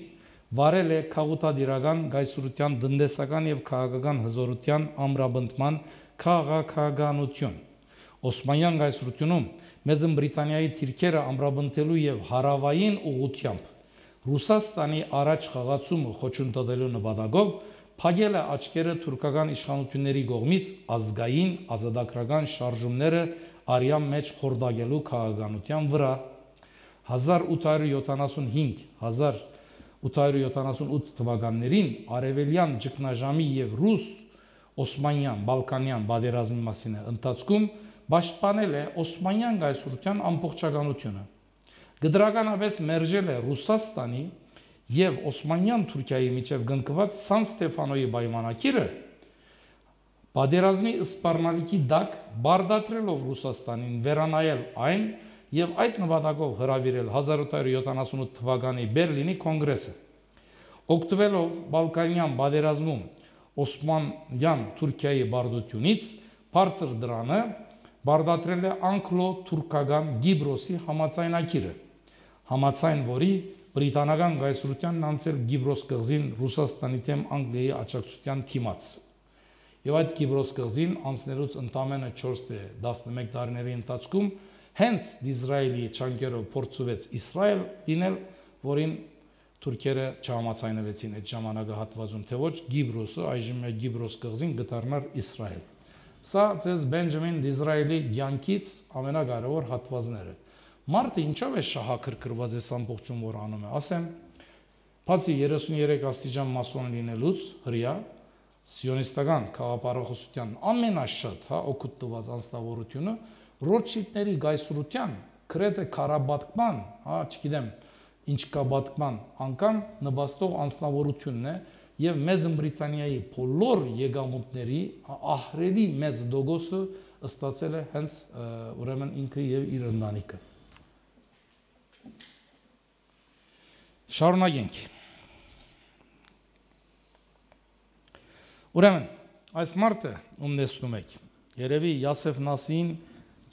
վարել է քաղաքադիրական գայսրության տնտեսական եւ քաղաքական հզորության ամրապնդման քաղաքականություն։ Օսմանյան գայսրությունում Մեծ Բրիտանիայի թիրքերը ամրապնդելու եւ հարավային ուղղությամբ Ռուսաստանի առաջ խաղացումը խոչընդոտելու նպատակով փակել է աչքերը թուրքական իշխանությունների կողմից ազգային ազատագրական շարժումները արյան մեջ խորտակելու քաղաքականության վրա 1875-1878 թվականներին արևելյան ճգնաժամի եւ ռուս օսմանյան բալկանյան պատերազմի մասին ընթացքում պաշտպանել է օսմանյան գայսրության ամբողջականությունը։ Գդրականապես մերժել է Ռուսաստանի եւ Օսմանյան Թուրքիայի միջև գնկված Սան Ստեֆանոյի պայմանագիրը, պատերազմի սպառնալիքի դակ բարդացրելով Ռուսաստանին վերանայել այն եւ այդ նպատակով հրավիրել 1878 թվականի Բերլինի կոնգրեսը։ Օգտվելով Բալկանյան պատերազմում Օսմանյան Թուրքիայի բարդությունից բարձր դրանը բարդատրել է անգլո-թուրքական Գիբրոսի համացայնակիրը, համացայն որի բրիտանական գայսրությանն անցել Գիբրոս կղզին Ռուսաստանի թեմ Անգլիայի աջակցության թիմաց։ Եվ այդ Գիբրոս կղզին անցնելուց ընդամենը 4-11 տարիների ընթացքում հենց Իսրայելի չանկերով փորձվեց Իսրայել դինել, որին թուրքերը չհամաձայնվեցին այդ ժամանակահատվածում, թե ոչ Գիբրոսը, այժմ Գիբրոս կղզին գտարնար Իսրայել։ Սա ձեզ Բենջամին Դիզրայելի կյանքից ամենակարևոր հատվածները։ Մարդը ինչով է շահակրկրված այս ամբողջում, որ անում է, ասեմ, բացի 33 աստիճան մասոն լինելուց հրյա, սիոնիստական քաղաքապարախոսության ամենաշատ օգուտ տված անձնավորությունը Ռոթշիլդների գայսրության քրեթե քարաբատկման, չգիտեմ, ինչ կա բատկման անգամ նպաստող անձնավորությունն է եւ Մեծ Բրիտանիայի բոլոր եկամուտների ահռելի մեծ դոգոսը ստացել է հենց ուրեմն ինքը եւ իր ընտանիքը։ Շարունակենք։ Ուրեմն, այս մարդը, ում տեսնում եք, երևի Յասեֆ Նասիին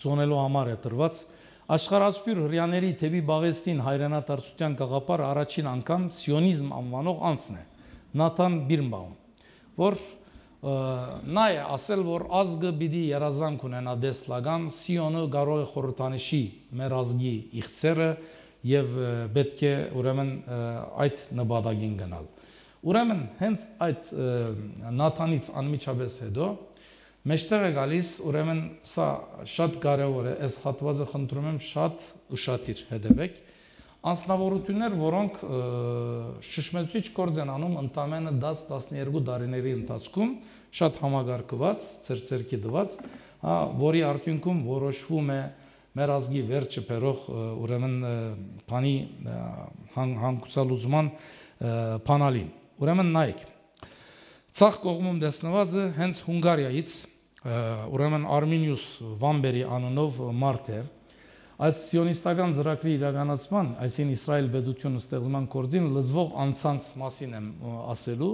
ծոնելու համար է տրված, աշխարհասփյուր հрьяաների թևի բաղեստին հայրենադարձության գաղափարը առաջին անգամ սիոնիզմ անվանող անձն է, Նաթան Բիրնբաում, որ նա է ասել, որ ազգը պիտի երազանք ունենա դեսլական, Սիոնը կարող է խորհրդանշի մեր ազգի իղձերը եւ պետք է ուրեմն այդ նպատակին գնալ։ Ուրեմն հենց այդ Նաթանից անմիջապես հետո մեջտեղ է գալիս, ուրեմն սա շատ կարևոր է, այս հատվածը խնդրում եմ շատ ուշադիր հետևեք, անձնավորություններ, որոնք շշմեցուցիչ գործ են անում ընդամենը 10-12 տարիների ընթացքում, շատ համագարկված, ծերծերքի դված, որի արդյունքում որոշվում է մեր ազգի վերջը բերող ուրեմն բանի հանգուցալուծման բանալին։ Ուրեմն նայեք, ցախ կողմում տեսնվածը հենց Հունգարիայից ուրեմն Արմինիուս Վամբերի անունով մարդ է, այս սիոնիստական ծրագրի իրականացման, այսին Իսրայել պետությունը ստեղծման գործին լծվող անձանց մասին եմ ասելու,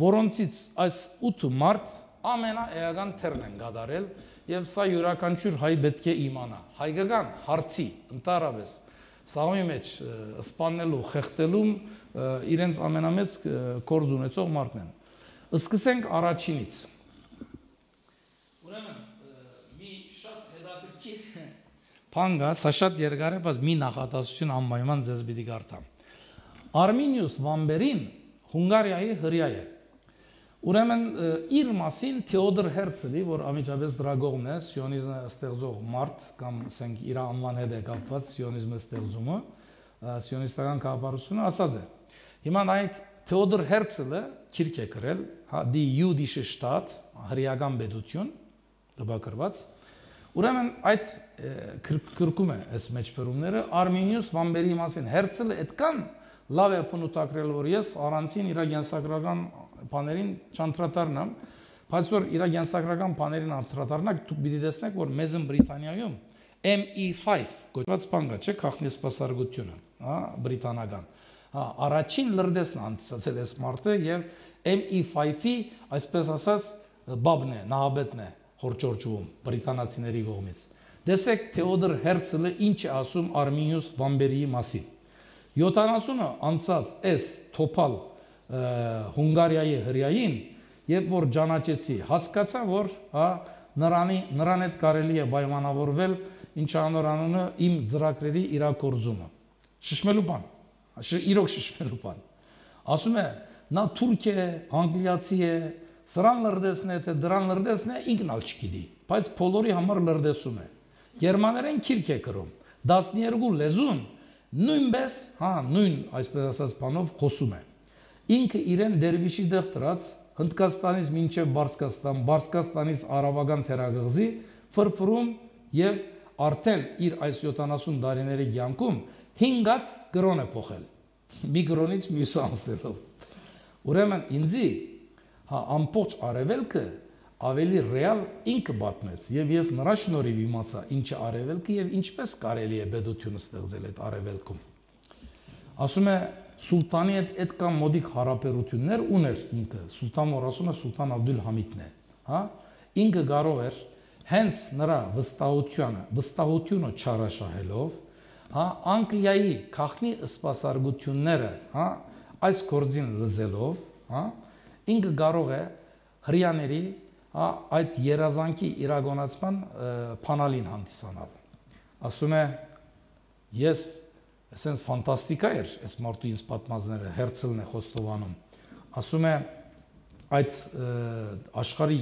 որոնցից այս 8 մարդ ամենաէական թերն են կատարել եւ սա յուրաքանչյուր հայ պետք է իմանա։ Հայկական հարցի ընդառաջ սաղմի մեջ սպանելու, խեղդելում իրենց ամենամեծ գործ ունեցող մարդն են։ Սկսենք առաջինից։ Ուրեմն մի շատ հետաքրքիր բան կա, սա շատ երկար է, բայց մի նախադասություն անպայման ձեզ պիտի կարդամ։ Արմինիուս Վամբերին Հունգարիայի հրյա է։ Ուրեմն իր մասին Թեոդոր Հերցլի, որ ամիջապես դրա կողմն է, սիոնիզմը ստեղծող մարդ կամ ասենք իր անվան հետ է կապված սիոնիզմը ստեղծումը, սիոնիստական քաղաքապարությունը ասած է։ Հիմա նայեք Թեոդոր Հերցլը քիրք է գրել, Die Jüdische Staat, հրեական պետություն, տպագրված։ Ուրեմն այդ քրկում է այս մեջբերումները Արմինիուս Վամբերի մասին Հերցլը այդքան լավ է փնուտակրել, որ ես առանցին իր գենսագրական բաներին չանդրադառնամ, բայց որ իր գենսագրական բաներին անդրադառնաք, դուք պիտի տեսնեք, որ Մեծ Բրիտանիայում ME5 կոչված բան կա, չէ՞, քաղաքնեսպասարկությունը, բրիտանական։ Առաջին լրտեսն անցածել էս մարդը եւ ME5-ի, այսպես ասած, բաբն է, նահաբետն է խորճորջվում բրիտանացիների կողմից։ Տեսեք Թեոդոր Հերցլը ինչ է ասում Արմինիուս Վամբերիի մասին։ 70-ը անցած այս թոփալ Հունգարիայի հրյային, երբ որ ճանաչեցի, հասկացա, որ նրան հետ կարելի է պայմանավորվել ինչ անոր անունը իմ ծրագրերի իրագործումը։ Շշմելու բան, իրոք շշմելու բան։ Ասում է, նա թուրք է, անգլիացի է, սրան լրտեսն է, թե դրան լրտեսն է, ինքն ալ չգիտի, բայց բոլորի համար լրտեսում է։ Գերմաներեն քիրք է կրում, 12 լեզուն նույնպես, նույն այսպես ասած բանով խոսում է։ Ինքը իրեն դերվիշի դեղ դրած Հնդկաստանից մինչև Բարսկաստան, Բարսկաստանից Արաբական թերակղզի ֆրֆրում եւ արդեն իր այս 70 տարիների կյանքում 5 հատ գրոն է փոխել։ Մի գրոնից մյուսը անցնելով։ Ուրեմն ինձի ամբողջ արևելքը ավելի ռեալ ինքը պատմեց եւ ես նրա շնորհիվ իմացա ինչ է արևելքը եւ ինչպես կարելի է պետությունը ստեղծել այդ արևելքում։ Ասում է Սուլտանի հետ այդքան մոդիկ հարաբերություններ ուներ ինքը, Սուլտան որ ասում է Սուլտան Աբդուլ Համիդն է, ինքը կարող էր հենց նրա վստահությունը չարաշահելով, հա, Անգլիայի քաղաքնի սպասարկությունները, հա, այս գործին լզելով, հա, ինքը կարող է հрьяաների, հա, այդ երազանքի իրագործման փանալին հանդիսանալ։ Ասում է, ես ասենց ֆանտաստիկա էր, այս մարդու ինձ պատմածները Հերցլն է խոստովանում։ Ասում է, այդ աշխարհի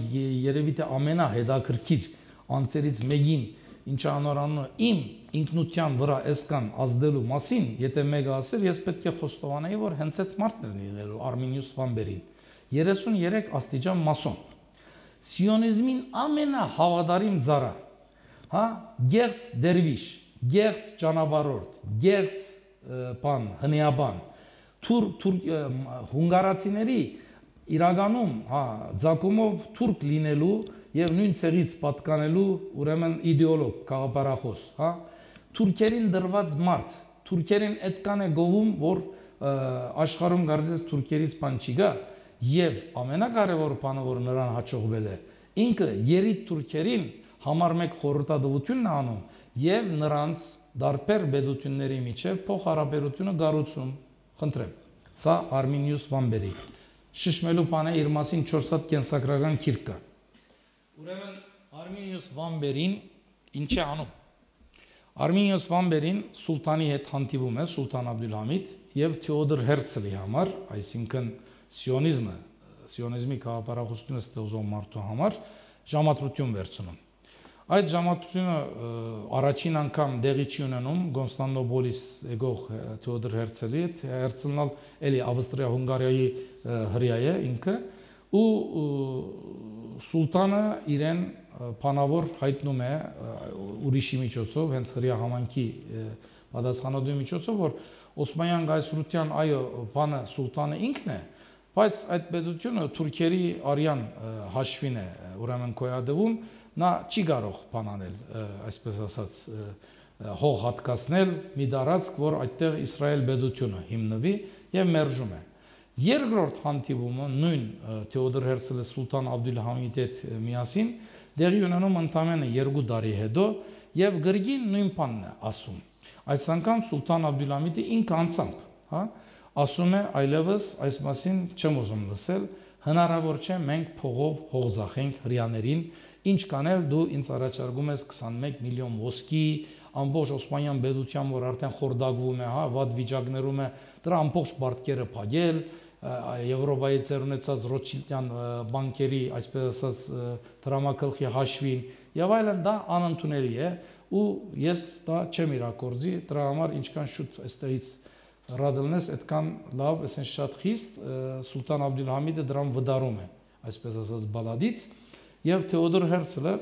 երևի թե ամենահետաքրքիր անձերից մեկին, ինչը անորանում է իմ ինքնության վրա այսքան ազդելու մասին, եթե մեկը ասեր, ես պետք է խոստովանեի, որ հենց այս մարդն էր լինելու Արմինիուս Վամբերին, 33 աստիճան մասոն, սիոնիզմին ամենահավատարիմ ծառա, հա, գեղձ դերվիշ, գեղձ ճանապարհորդ, գեղձ բան, հնեաբան, հունգարացիների իրականում, հա, ցակումով թուրք լինելու եւ նույն ցեղից պատկանելու ուրեմն իդեոլոգ, քաղաքապարախոս, հա, թուրքերին դրված մարդ, թուրքերին այդքան է գովում, որ աշխարհում գարձես թուրքերից բան չի գա, եւ ամենակարևոր բանը, որ նրան հաջողվել է, ինքը երիտ թուրքերին համար մեկ խորհրդատվությունն է անում եւ նրանց դարբեր պետությունների միջև փոխհարաբերությունը գառուցում, խնդրեմ։ Սա Արմինիուս Վամբերի շշմելու բանը իր մասին 4 հատ կենսագրական քիրք կա։ Ուրեմն Արմինիուս Վամբերին ինչ է անում։ Արմինիուս Վամբերին սուլտանի հետ հանդիպում է, Սուլտան Աբդուլհամիդ եւ Թեոդոր Հերցլի համար, այսինքն սիոնիզմի քաղաքապարախոսությունը ստեղծող մարդու համար ժամադրություն վերցնում։ Այդ ժամադրությունը առաջին անգամ դեղի չի ունենում Կոնստանդնոպոլիս եկող Թեոդոր Հերցլի հետ, Հերցլն էլի Ավստրիա-Հունգարիայի հրյա է ինքը, ու սուլտանը իրեն բանավոր հայտնում է ուրիշի միջոցով, հենց հրյա համանքի պատասխանատուի միջոցով, որ Օսմանյան գայսրության այո բանը սուլտանը ինքն է, բայց այդ պետությունը թուրքերի արյան հաշվին է ուրեմն գոյատևում, նա չի կարող բան անել, այսպես ասած, հող հատկացնել մի տարածք, որ այդտեղ Իսրայել պետությունը հիմնվի եւ մերժում է։ Երկրորդ հանդիպումը նույն Թեոդոր Հերցլը Սուլտան Աբդուլհամիդի հետ միասին դեղի ունենում ընդամենը 2 տարի հետո եւ գրգին նույն բանն է ասում։ Այս անգամ Սուլտան Աբդուլհամիդը ինքը անցամբ, հա, ասում է այլևս այս մասին չեմ ուզում լսել, հնարավոր չէ մենք փողով հող ծախենք հрьяաներին, ինչ կանել դու ինձ առաջարկում ես 21 միլիոն ոսկի, ամբողջ Օսմանյան պետության, որ արդեն խորդակվում է, հա, վատ վիճակներում է, դրա ամբողջ բարտկերը փակել, Եվրոպայի ծերունեցած Ռոթշիլդյան բանկերի, այսպես ասած, դրամակալխի հաշվին եւ այլն, դա անընդունելի է ու ես դա չեմ իրագործի, դրա համար ինչքան շուտ այստեղից ռադելնես, այդքան լավ, այսինքն շատ խիստ Սուլտան Աբդուլհամիդը դրան վդարում է, այսպես ասած, բալադից եւ Թեոդոր Հերցլը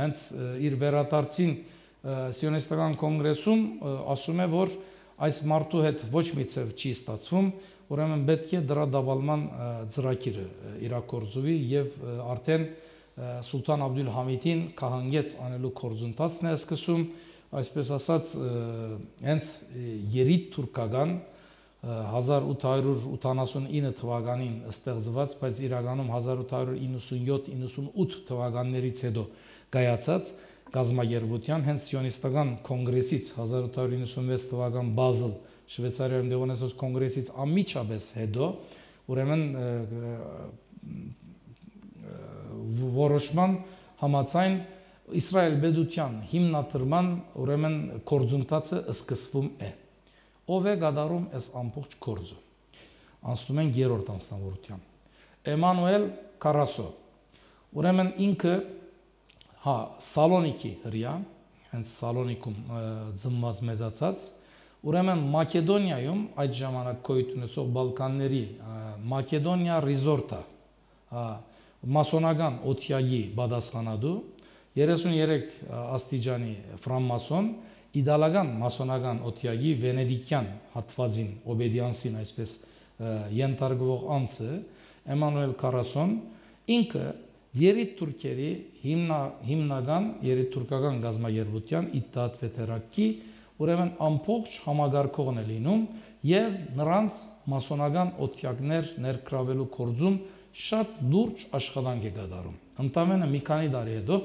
հենց իր վերադարձին սիոնիստական կոնգրեսում ասում է, որ այս մարդու հետ ոչ մի ցև չի ստացվում, ուրեմն պետք է դրա դավալման ծրագիրը իրագործվի եւ արդեն Սուլտան Աբդուլհամիդին կահանգեց անելու գործընթացն է սկսում, այսպես ասած, հենց երիտ թուրքական 1889 թվականին ստեղծված, բայց իրականում 1897-98 թվականներից հետո կայացած գազագերբության հենց սիոնիստական կոնգրեսից 1896 թվական Բազել Շվեյցարիայում դեղոնեցած կոնգրեսից անմիջապես հետո ուրեմն որոշման համաձայն Իսրայել պետության հիմնադրման ուրեմն գործընթացը սկսվում է։ Ով է կատարում այս ամբողջ գործը։ Անցնում են երրորդ անձնավորության։ Էմանուել Կարասո։ Ուրեմն ինքը հա Սալոնիկի հրյա, հենց Սալոնիկում ծնված մեծացած, ուրեմն Մակեդոնիայում այդ ժամանակ գոյություն ունեցող Բալկանների Մակեդոնիա Ռիզորտա, մասոնական օթյայի պատասխանատու 33 աստիճանի ֆրանմասոն, իդալական մասոնական օթյայի վենեդիկյան հատվածին, օբեդիանսին այսպես ենթարկվող անձը, Էմանուել Կարասոն, ինքը երիտ թուրքերի հիմնական երիտ թուրքական գազագերբության Իթտահադ Վեթերակի ուրեմն ամբողջ համագարկողն է լինում եւ նրանց մասոնական օթյակներ ներգրավելու գործում շատ լուրջ աշխատանք է կատարում։ Ընդամենը մի քանի տարի հետո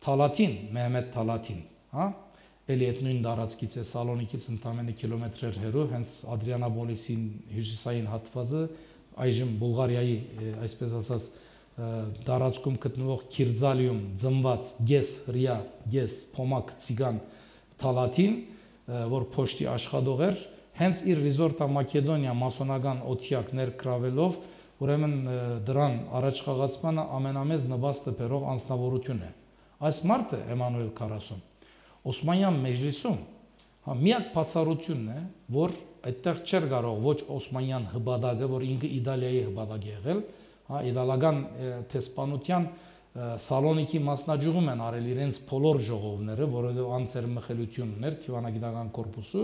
Թալաթին, Մեհմեդ Թալաթին, հա, էլի այդ նույն տարածքից է, Սալոնիկից ընդամենը կիլոմետրեր հեռու, հենց Ադրիանապոլիսին հյուսիսային հատվածը, այժմ Բուլղարիայի, այսպես ասած, տարածքում գտնվող Քիրձալիում ծնված գես հրյա, գես փոմակ ցիգան Թալաթին, որ փոշտի աշխատող էր, հենց իր ռիզորտա Մակեդոնիա մասոնական օթյակ ներգրավելով, ուրեմն դրան առաջ խաղացմանը ամենամեծ նվաստը բերող անձնավորություն է։ Այս մարդը Էմանուել Քարասոն Օսմանյան մեջլիսում միակ բացառությունն է, որ այդտեղ չէր կարող ոչ Օսմանյան հբադագը, որ ինքը Իտալիայի հբադագ է եղել, իտալական տեսփանության Սալոնիկի մասնաճյուղում են արել իրենց բոլոր ժողովները, որովհետև անձեր մխելությունն էր Թիվանագիտական կորպուսը,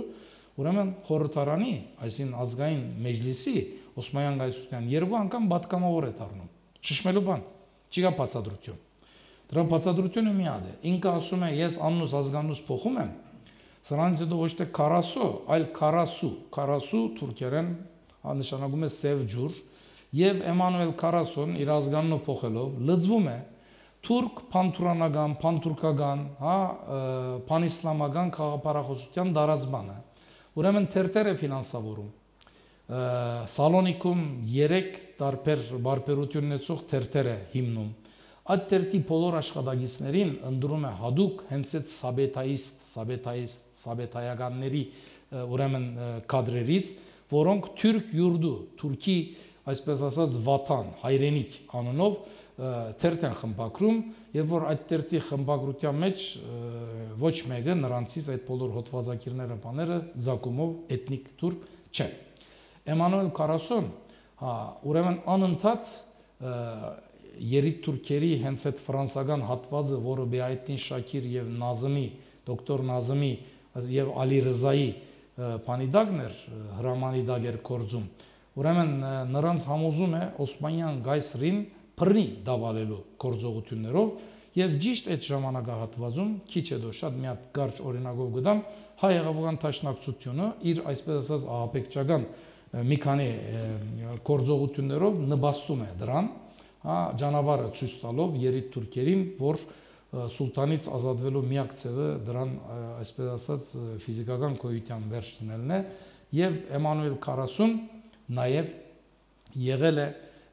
ուրեմն խորհրդարանի, այսին ազգային մեջլիսի Օսմանյան գայսության երկու անգամ պատգամավոր է դառնում։ Շշմելու բան, չի կա բացատրություն։ Դրա բացատրությունը մի հատ է։ Ինքը ասում է, ես անունս ազգանունս փոխում եմ, սրանից հետո ոչ թե Քարասո, այլ Քարասու, Քարասու թուրքերեն նշանակում է սև ջուր, եւ Էմանուել Քարասոն իր ազգանունը փոխելով լծվում է թուրք փանթուրանական, փանթուրքական, փանիսլամական խաղապարախոսության դարածմանը։ Ուրեմն թերթեր է ֆինանսավորում։ Սալոնիկում 3 տարբեր բարբերություն ունեցող թերթեր է հիմնում։ Այդ թերթի բոլոր աշխատակիցներին ընդրում է հadouk հենց այդ սաբետայականների ուրեմն կադրերից, որոնք թուրք յուրդու, թուրքի այսպես ասած վատան, հայրենիք անունով թերթ են խմբագրում, եւ որ այդ թերթի խմբագրության մեջ ոչ մեկը նրանցից այդ բոլոր հոդվածագիրները բաները զակումով էթնիկ թուրք չէ։ Էմանուել Քարասոն, ուրեմն անընդհատ երիտ թուրքերի հենց այդ ֆրանսական հատվածը, որը Բեայեդդին Շաքիր եւ Նազմի, դոկտոր Նազմի եւ Ալի Ռզայի փանիդակն էր, հրամանի դակ էր կորձում։ Ուրեմն նրանց համոզում է Օսմանյան գայսրին բռնի դավալելու գործողություններով եւ ճիշտ այդ ժամանակահատվածում քիչ հետո շատ մի հատ կարճ օրինակով գտամ հայ եղբայրական տաշնակցությունը իր այսպես ասած ահաբեկչական մի քանի գործողություններով նպաստում է դրան, ճանապարհը ցույց տալով երիտ թուրքերին, որ սուլտանից ազատվելու միակ ձևը դրան այսպես ասած ֆիզիկական գոյության վերջ դնելն է եւ Էմանուել Քարասոն նաեւ եղել է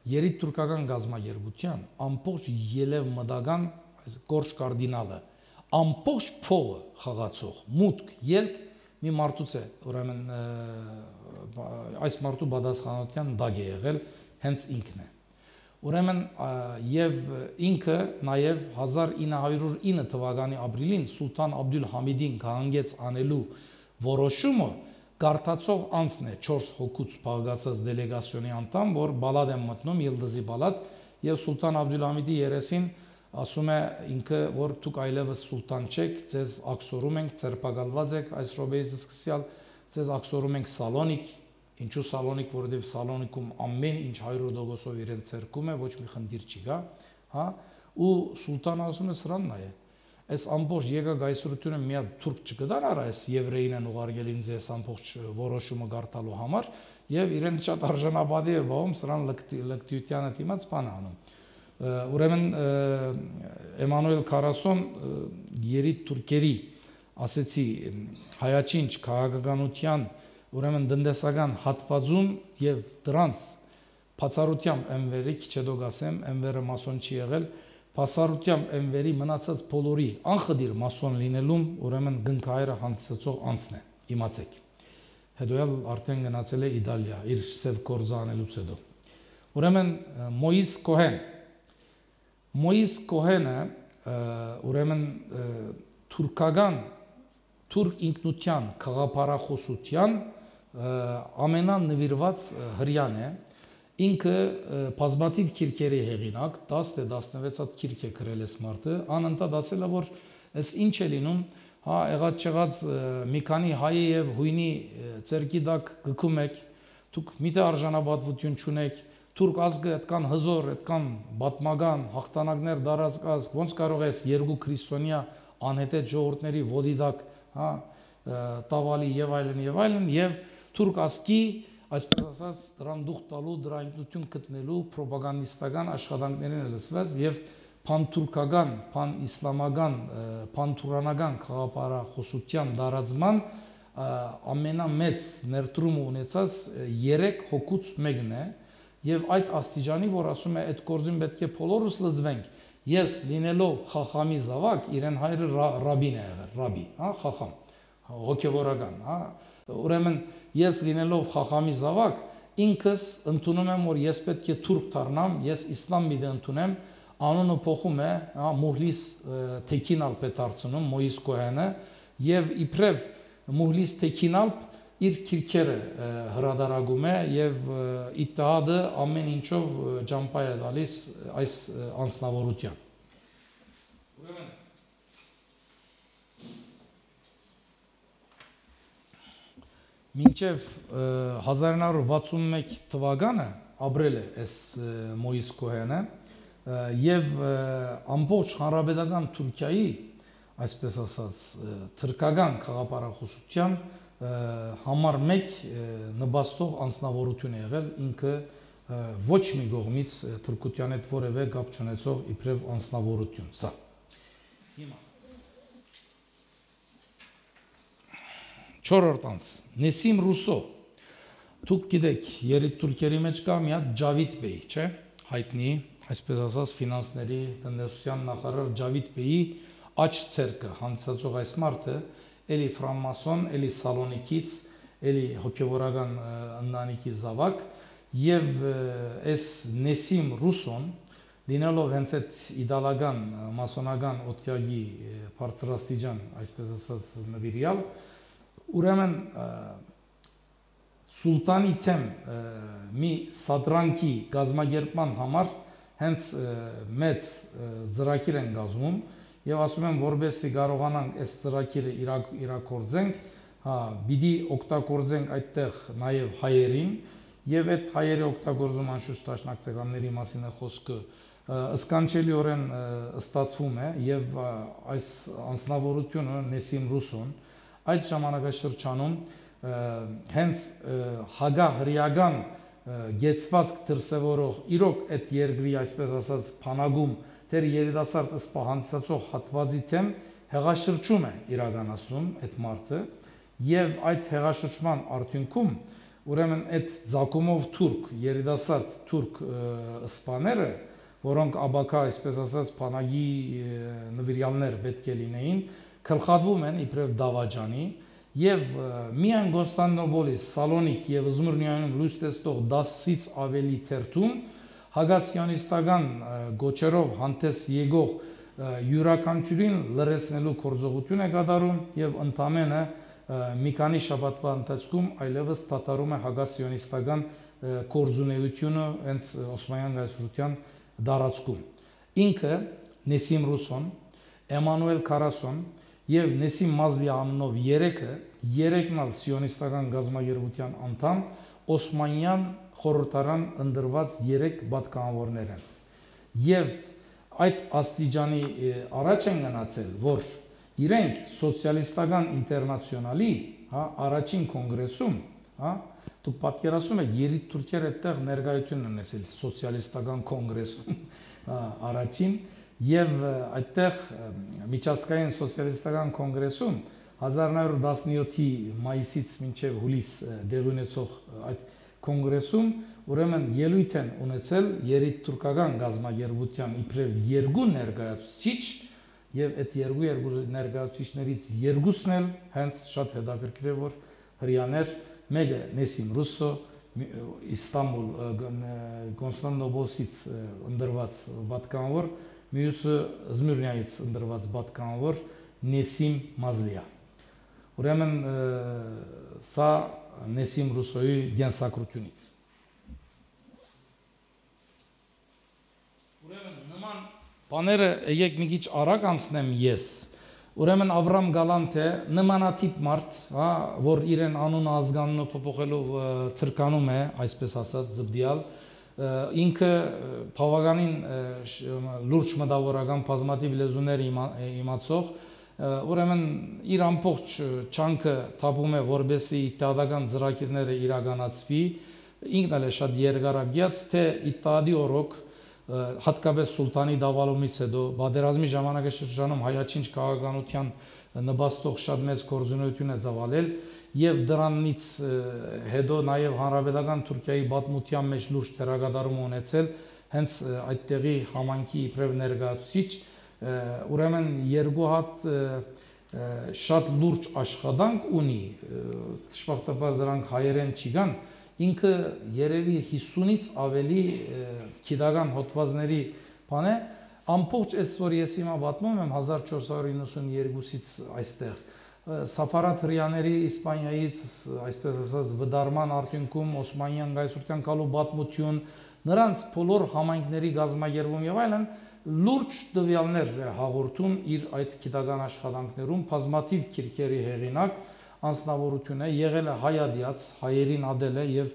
երիտ թուրքական գազագերբության ամբողջ ելև մտական կորչ կարդինալը ամբողջ փողը խաղացող մուտք ելք մի մարդուց է ուրեմն այս մարդու պատասխանատվության դակ է եղել հենց ինքն է ուրեմն եւ ինքը նաեւ 1909 թվականի ապրիլին սուլտան Աբդուլհամիդին կանգնեց անելու որոշումը Գարտացող անձն է 4 հոգուց բաղկացած դելեգացիոնի անդամ, որ բալադ են մտնում Ելդզի բալադ եւ Սուլտան Աբդուլհամիդի երեսին ասում է ինքը, որ դուք այլևս սուլտան չեք, ձեզ ակսորում ենք, ձերբակալված եք այս րոպեից սկսյալ, ձեզ ակսորում ենք Սալոնիկ, ինչու Սալոնիկ, որովհետեւ Սալոնիկում ամեն ինչ 100% իրեն ցերկում է, ոչ մի խնդիր չի գա, հա, ու սուլտանը ասում է սրանն է Այս ամբողջ եկագայսրությունը մի հատ թուրք չկդար արա, այս եվրեին են ուղարկել ինձ այս ամբողջ որոշումը գարտալու համար եւ իրեն շատ արժանապատիվ է բաղում սրան լկտիությանը դիմաց բան անում։ Ուրեմն Էմանուել Քարասոն երիտ թուրքերի ասեցի հայաչինչ քաղաքականության ուրեմն տնտեսական հատվածում եւ դրանց բացառությամբ Էնվերի քիչ հետո գասեմ Էնվերը մասոն չի եղել Պասարությամբ Էնվերի մնացած բոլորի անխդիր մասոն լինելում ուրեմն գնքահայրը հանդիսացող անձն է, իմացեք։ Հետո էլ արդեն գնացել է Իտալիա, իր սև գործը անելուց հետո։ Ուրեմն Մոյիս Կոհենը ուրեմն թուրքական թուրք ինքնության խաղապարախոսության ամենանվիրված հրյան է Ինքը բազմաթիվ քիրքերի հեղինակ 10-16 հատ քիրք է գրել այս մարդը, անընդհատ ասել է, որ այս ինչ է լինում, հա, եղած չեղած մի քանի հայ եւ հույնի ցերկի դակ գքում եք, դուք միտը արժանապատվություն չունեք, թուրք ազգը այդքան հզոր, այդքան բատմական հաղթանակներ դարածած, ոնց կարող ես երկու քրիստոնյա անհետեթ ժողովուրդների ոտի դակ, հա, տավալի եւ այլն եւ թուրք ազգի Այսպես ասած, դրան դուխ տալու, դրա ինքնություն գտնելու պրոպագանդիստական աշխատանքներին է լսված եւ փանթուրքական, փանիսլամական, փանթուրանական խաղապարախոսության դարածման ամենամեծ ներդրումը ունեցած 3 հոգուց մեկն է եւ այդ աստիճանի, որ ասում է այդ գործին պետք է բոլորս լծվենք։ Ես լինելով խախամի զավակ, իրեն հայրը ռաբին է եղել, ռաբի, հա, խախամ, հոգևորական, հա։ Ուրեմն ես լինելով խախամի զավակ, ինքս ընդունում եմ, որ ես պետք է թուրք դառնամ, ես իսլամ մի ընդունեմ, անունը փոխում է, հա, Մուհլիս Թեքինալպ է դարձնում, Մոյիս Կոհենը, եւ իբրև Մուհլիս Թեքինալպ իր քիրքերը հրադարագում է եւ իտահադը ամեն ինչով ջամփա է տալիս այս անձնավորության։ Ուրեմն մինչև 1961 թվականը ապրել է այս Մոյիս Կոհենը եւ ամբողջ հանրապետական Թուրքիայի, այսպես ասած, թրքական խաղապարախոսության համար մեկ նպաստող անձնավորություն է եղել, ինքը ոչ մի կողմից թուրքության հետ որևէ կապ չունեցող իբրև անձնավորություն, սա։ Հիմա 4-րդ անձ, Նեսիմ Ռուսո, դուք գիտեք, երիտթուրքերի մեջ կա մի հատ Ջավիդ Բեյ, չէ՞, հայտնի, այսպես ասած, ֆինանսների տնտեսության նախարար Ջավիդ Բեյի աջ ցերկը հանդիսացող այս մարդը էլի ֆրանմասոն, էլի Սալոնիկից, էլի հոգևորական ընտանիքի զավակ եւ այս Նեսիմ Ռուսոն լինելով հենց այդ իդալական մասոնական օթյագի բարձրաստիճան, այսպես ասած, նվիրյալ, ուրեմն սուլտանի թեմ մի սադրանքի գազագերբման համար հենց մեծ ծրագիր են կազմում եւ ասում եմ, որովհետեւ կարողանանք այս ծրագիրը իրագործենք, հա, պիտի օգտագործենք այդտեղ նաեւ հայերին եւ այդ հայերի օգտագործում անշուշտ տաշնակցականների մասին է խոսքը, ըսկանչելիորեն ստացվում է եւ այս անձնավորությունը Նեսիմ Ռուսոն այդ ժամանակաշրջանում հենց հագահրիական գեցվածք դրսևորող իրոք այդ երկրի, այսպես ասած, փանագում դեր երիտասարդ սպահանցածող հատվածի թեմ հեղաշրջում է իրականացնում այդ մարդը եւ այդ հեղաշրջման արդյունքում ուրեմն այդ ցակումով թուրք երիտասարդ թուրք սպաները, որոնք աբակա, այսպես ասած, փանագի նվիրյալներ պետք է լինեին, գլխատվում են իբրև դավաճանի եւ միայն Կոնստանդնոպոլիս, Սալոնիկ եւ Զմիրնիայում լույս տեսնող 10-ից ավելի թերթում հագասիոնիստական գոչերով հանդես եկող յուրաքանչյուրին լրացնելու գործողություն է կատարում եւ ընդամենը մի քանի շաբաթվա ընթացքում այլևս դադարում է հագասիոնիստական գործունեությունը հենց Օսմանյան գայսրության դարածքում։ Ինքը Նեսիմ Ռուսոն, Էմանուել Քարասոն եւ Նեսիմ Մազլի անունով երեքն ալ սիոնիստական գազագերբության անդամ Օսմանյան խորհրդարան ընդրված 3 պատգամավորներ են։ Եվ այդ աստիճանի առաջ են գնացել, որ իրենք սոցիալիստական ինտերնացիոնալի, հա, առաջին կոնգրեսում, հա, դուք պատկերացնում եք, երիտթուրքերը այդտեղ ներկայություն ունեցել սոցիալիստական կոնգրեսում, առաջին եւ այդտեղ միջազգային սոցիալիստական կոնգրեսում 1917-ի մայիսից մինչև հուլիս դեղի ունեցող այդ կոնգրեսում ուրեմն ելույթ են ունեցել երիտթուրքական գազագերբության իբրև երկու ներկայացուցիչ եւ այդ երկու ներկայացուցիչներից երկուսն էլ հենց շատ հետաքրքիր է, որ հрьяաներ, մեկը Նեսիմ Ռուսո Իստանբուլ Կոնստանդնոպոլից ընդրված պատգամավոր, մյուսը Զմիրնիայից ընդրված պատգամավոր Նեսիմ Մազլիա։ Ուրեմն սա Նեսիմ Ռուսոյի գենսակրությունից։ Ուրեմն նման բաները եկեք մի քիչ արագ անցնեմ ես։ Ուրեմն Ավրամ Գալանտը նմանատիպ մարդ, հա, որ իրեն անունը ազգանունը փոփոխելով թրկանում է, այսպես ասած, զբդիալ, ինքը բավականին լուրջ մտավորական բազմաթիվ լեզուներ իմացող, ուրեմն իր ամբողջ չանքը թափում է, որպեսզի իտահադական ծրագիրները իրականացվի, ինքն էլ է շատ երկարագյաց, թե իտահադի օրոք հատկապես սուլտանի դավալումից հետո պատերազմի ժամանակաշրջանում հայաչինչ քաղաքականության նպաստող շատ մեծ գործունեություն է ծավալել եւ դրանից հետո նաեւ հանրապետական Թուրքիայի պատմության մեջ լուրջ դերակատարում ունեցել հենց այդտեղի համանքի իբրև ներկայացուցիչ ուրեմն երկու հատ շատ լուրջ աշխատանք ունի դժբախտաբար դրանք հայերեն չգան ինքը երևի 50-ից ավելի գիտական հոդվածների բան է ամբողջ այս որ ես հիմա պատմում եմ 1492-ից այստեղ Սաֆարատ հրյաների Իսպանիայից այսպես ասած վդարման արդյունքում Օսմանյան գայսրության կալու պատմություն նրանց բոլոր համայնքների գազագերբում եւ այլն լուրջ տվյալներ հաղորդում իր այդ գիտական աշխատանքներում բազմաթիվ քիրքերի հեղինակ անձնավորություն է եղել է հայադիաց հայերին ադել է եւ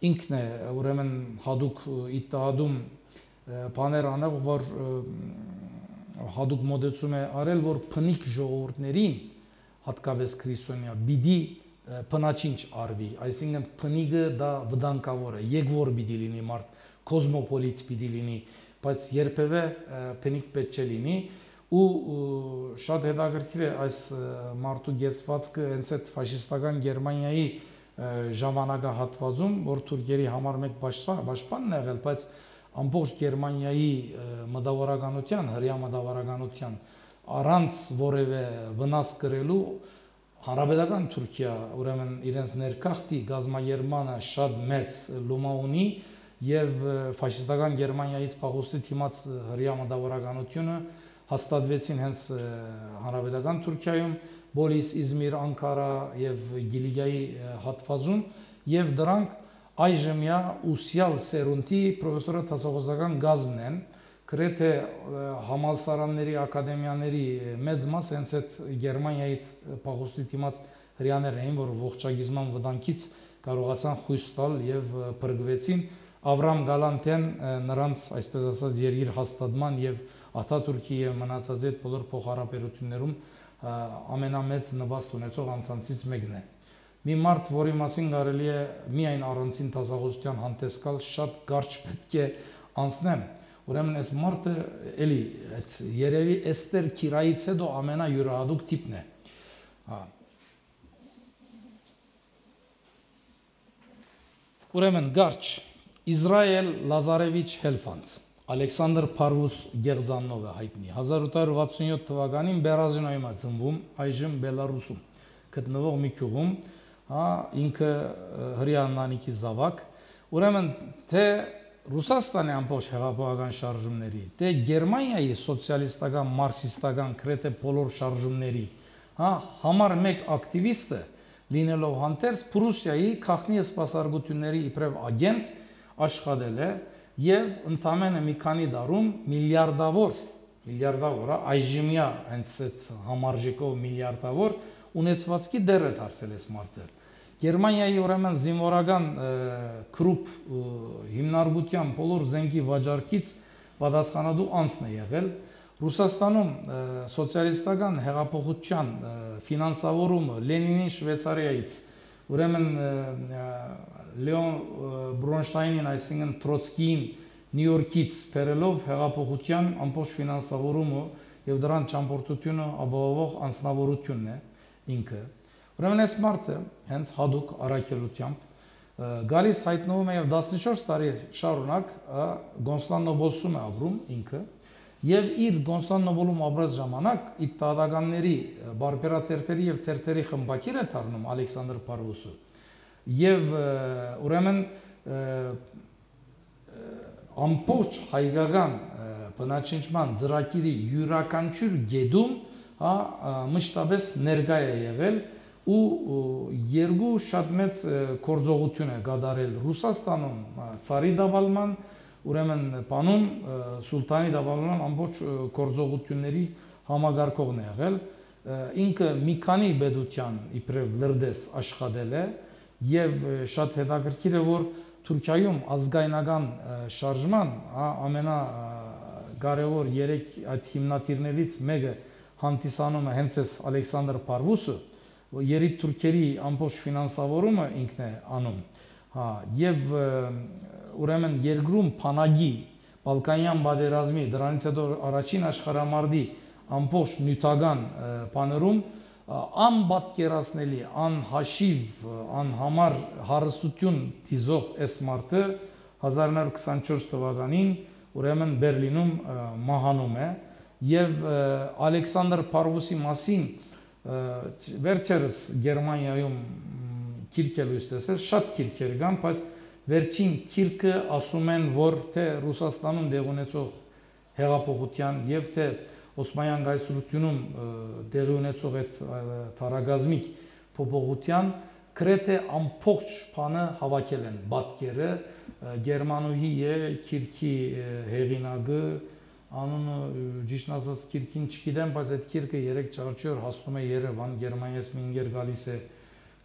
ինքն է ուրեմն հadouk իտահադում բաներ անող որ հadouk մոդեցում է արել որ փնիկ ժողովուրդներին հատկապես քրիստոնյա բիդի փնաչինչ արվի այսինքն փնիկը դա վտանգավոր է եկվոր բիդի լինի մարդ կոսմոպոլիտ բիդի լինի բայց երբևէ փնիկ պետք չէ լինի ու շատ հետաքրքիր է այս մարդու գեցվածքը հենց այդ ֆաշիստական Գերմանիայի ժամանակահատվածում որ թուրքերի համար մեկ պաշտպանն եղել բայց ամբողջ Գերմանիայի մտավորականության հրյա մտավորականության առանց որևէ վնաս կրելու հանրապետական Թուրքիա ուրեմն իրենց ներքախտի գազագերմանը շատ մեծ լոմա ունի եւ ֆաշիստական Գերմանիայից փախուստի դիմաց հրյա մտավորականությունը հաստատվեցին հենց հանրապետական Թուրքիայում Բոլիս, Իզմիր, Անկարա եւ Գիլիգիայի հատվածում եւ դրանք այժմյա ուսյալ սերունդի պրոֆեսորը տասողոսական գազն են գրեթե համալսարանների ակադեմիաների մեծ մաս հենց այդ Գերմանիայից փախուստի դիմաց հрьяաներ էին որ ողջագիզման վտանգից կարողացան խույս տալ եւ բրգվեցին Ավրամ Գալանտյան նրանց այսպես ասած երկիր հաստատման եւ Աթաթուրքի եւ մնացած այդ բոլոր փոխհարաբերություններում ամենամեծ նվաստ ունեցող անձանցից մեկն է մի մարդ որի մասին կարելի է միայն առանցին տասախոսության հանդես գալ շատ կարճ պետք է անցնեմ ուրեմն այս մարդը էլի այդ երևի Էստեր Քիրայից հետո ամենայուրահատուկ տիպն է ուրեմն գարչ Իսրայել Լազարևիչ Հելֆանդ Ալեքսանդր Փարվուս Գեղձաննովը հայտնի 1867 թվականին Բերազինոյում է ծնվում այժմ Բելարուսում գտնվող մի գյուղում ինքը հրյա ընտանիքի զավակ ուրեմն թե Ռուսաստանի ամբողջ հեղափոխական շարժումների թե Գերմանիայի սոցիալիստական մարքսիստական գրեթե բոլոր շարժումների համար մեկ ակտիվիստը լինելով հանդերձ Պրուսիայի քաղաքնի սպասարկությունների իբրև ագենտ աշխատել է եւ ընդամենը մի քանի դարում միլիարդավոր այժմյա հենց այդ համարժեքով միլիարդավոր ունեցվածքի դեր է դարձել այս մարդը Գերմանիայի ուրեմն զինվորական կրուպ հիմնարկության բոլոր զենքի վաճառքից պատասխանատու անձն է եղել Ռուսաստանում սոցիալիստական հեղափոխության ֆինանսավորումը Լենինին Շվեյցարիայից ուրեմն Լեոն Բրոնշտայնին այսինքն Տրոցկիին Նյու Յորքից բերելով հեղափոխության ամբողջ ֆինանսավորումը եւ դրան ճամփորդությունը ապահովող անձնավորությունն է ինքը Ուրեմն այս մարդը հենց հadouk առաքելությամբ գալիս հայտնվում է եւ 14 տարի շարունակ Կոնստանտինոպոլսում է ապրում ինքը եւ իր Կոնստանտինոպոլում ապրած ժամանակ իտալականների բարբերաթերթերի եւ թերթերի խմբակիր է դառնում Ալեքսանդր Փարվուսը եւ ուրեմն ամբողջ հայկական բնակչության ծրագիրի յուրաքանչյուր գեդում մշտապես ներկայ է եղել ու երկու շատ մեծ գործողություն է կատարել Ռուսաստանում ցարի դավալման ուրեմն պանոն սուլտանի դավալման ամբողջ գործողությունների համագարկողն է եղել ինքը մի քանի պետության իբրև լրդես աշխատել է եւ շատ հետաքրքիր է որ Թուրքիայում ազգայնական շարժման ամենակարևոր 3 այդ հիմնադիրներից մեկը հանդիսանում է հենց այս Ալեքսանդր Փարվուսը երիտ թուրքերի ամբողջ ֆինանսավորումը ինքն է անում եւ ուրեմն երկրում փանագի Բալկանյան պատերազմի, դրանից հետո առաջին աշխարհամարտի ամբողջ նյութական բաներում անպատկերացնելի, անհաշիվ, անհամար հարստություն դիզող այս մարդը 1924 թվականին ուրեմն Բերլինում մահանում է եւ Ալեքսանդր Փարվուսի մասին վերջերս Գերմանիայում քիրք է լույս տեսել, շատ քիրքեր կան, բայց վերջին քիրքը ասում են, որ թե Ռուսաստանում դեղ ունեցող հեղափոխության եւ թե Օսմանյան գայսրությունում դեղ ունեցող այդ թարագազմիկ փոփոխության գրեթե ամբողջ բանը հավաքել են պատկերը Գերմանուհի է քիրքի հեղինակը անունը ճիշտ ասած քիրքին չգիտեմ, բայց այդ քիրքը 3-4 օր հասնում է Երևան, Գերմանիայից մի ինգեր գալիս է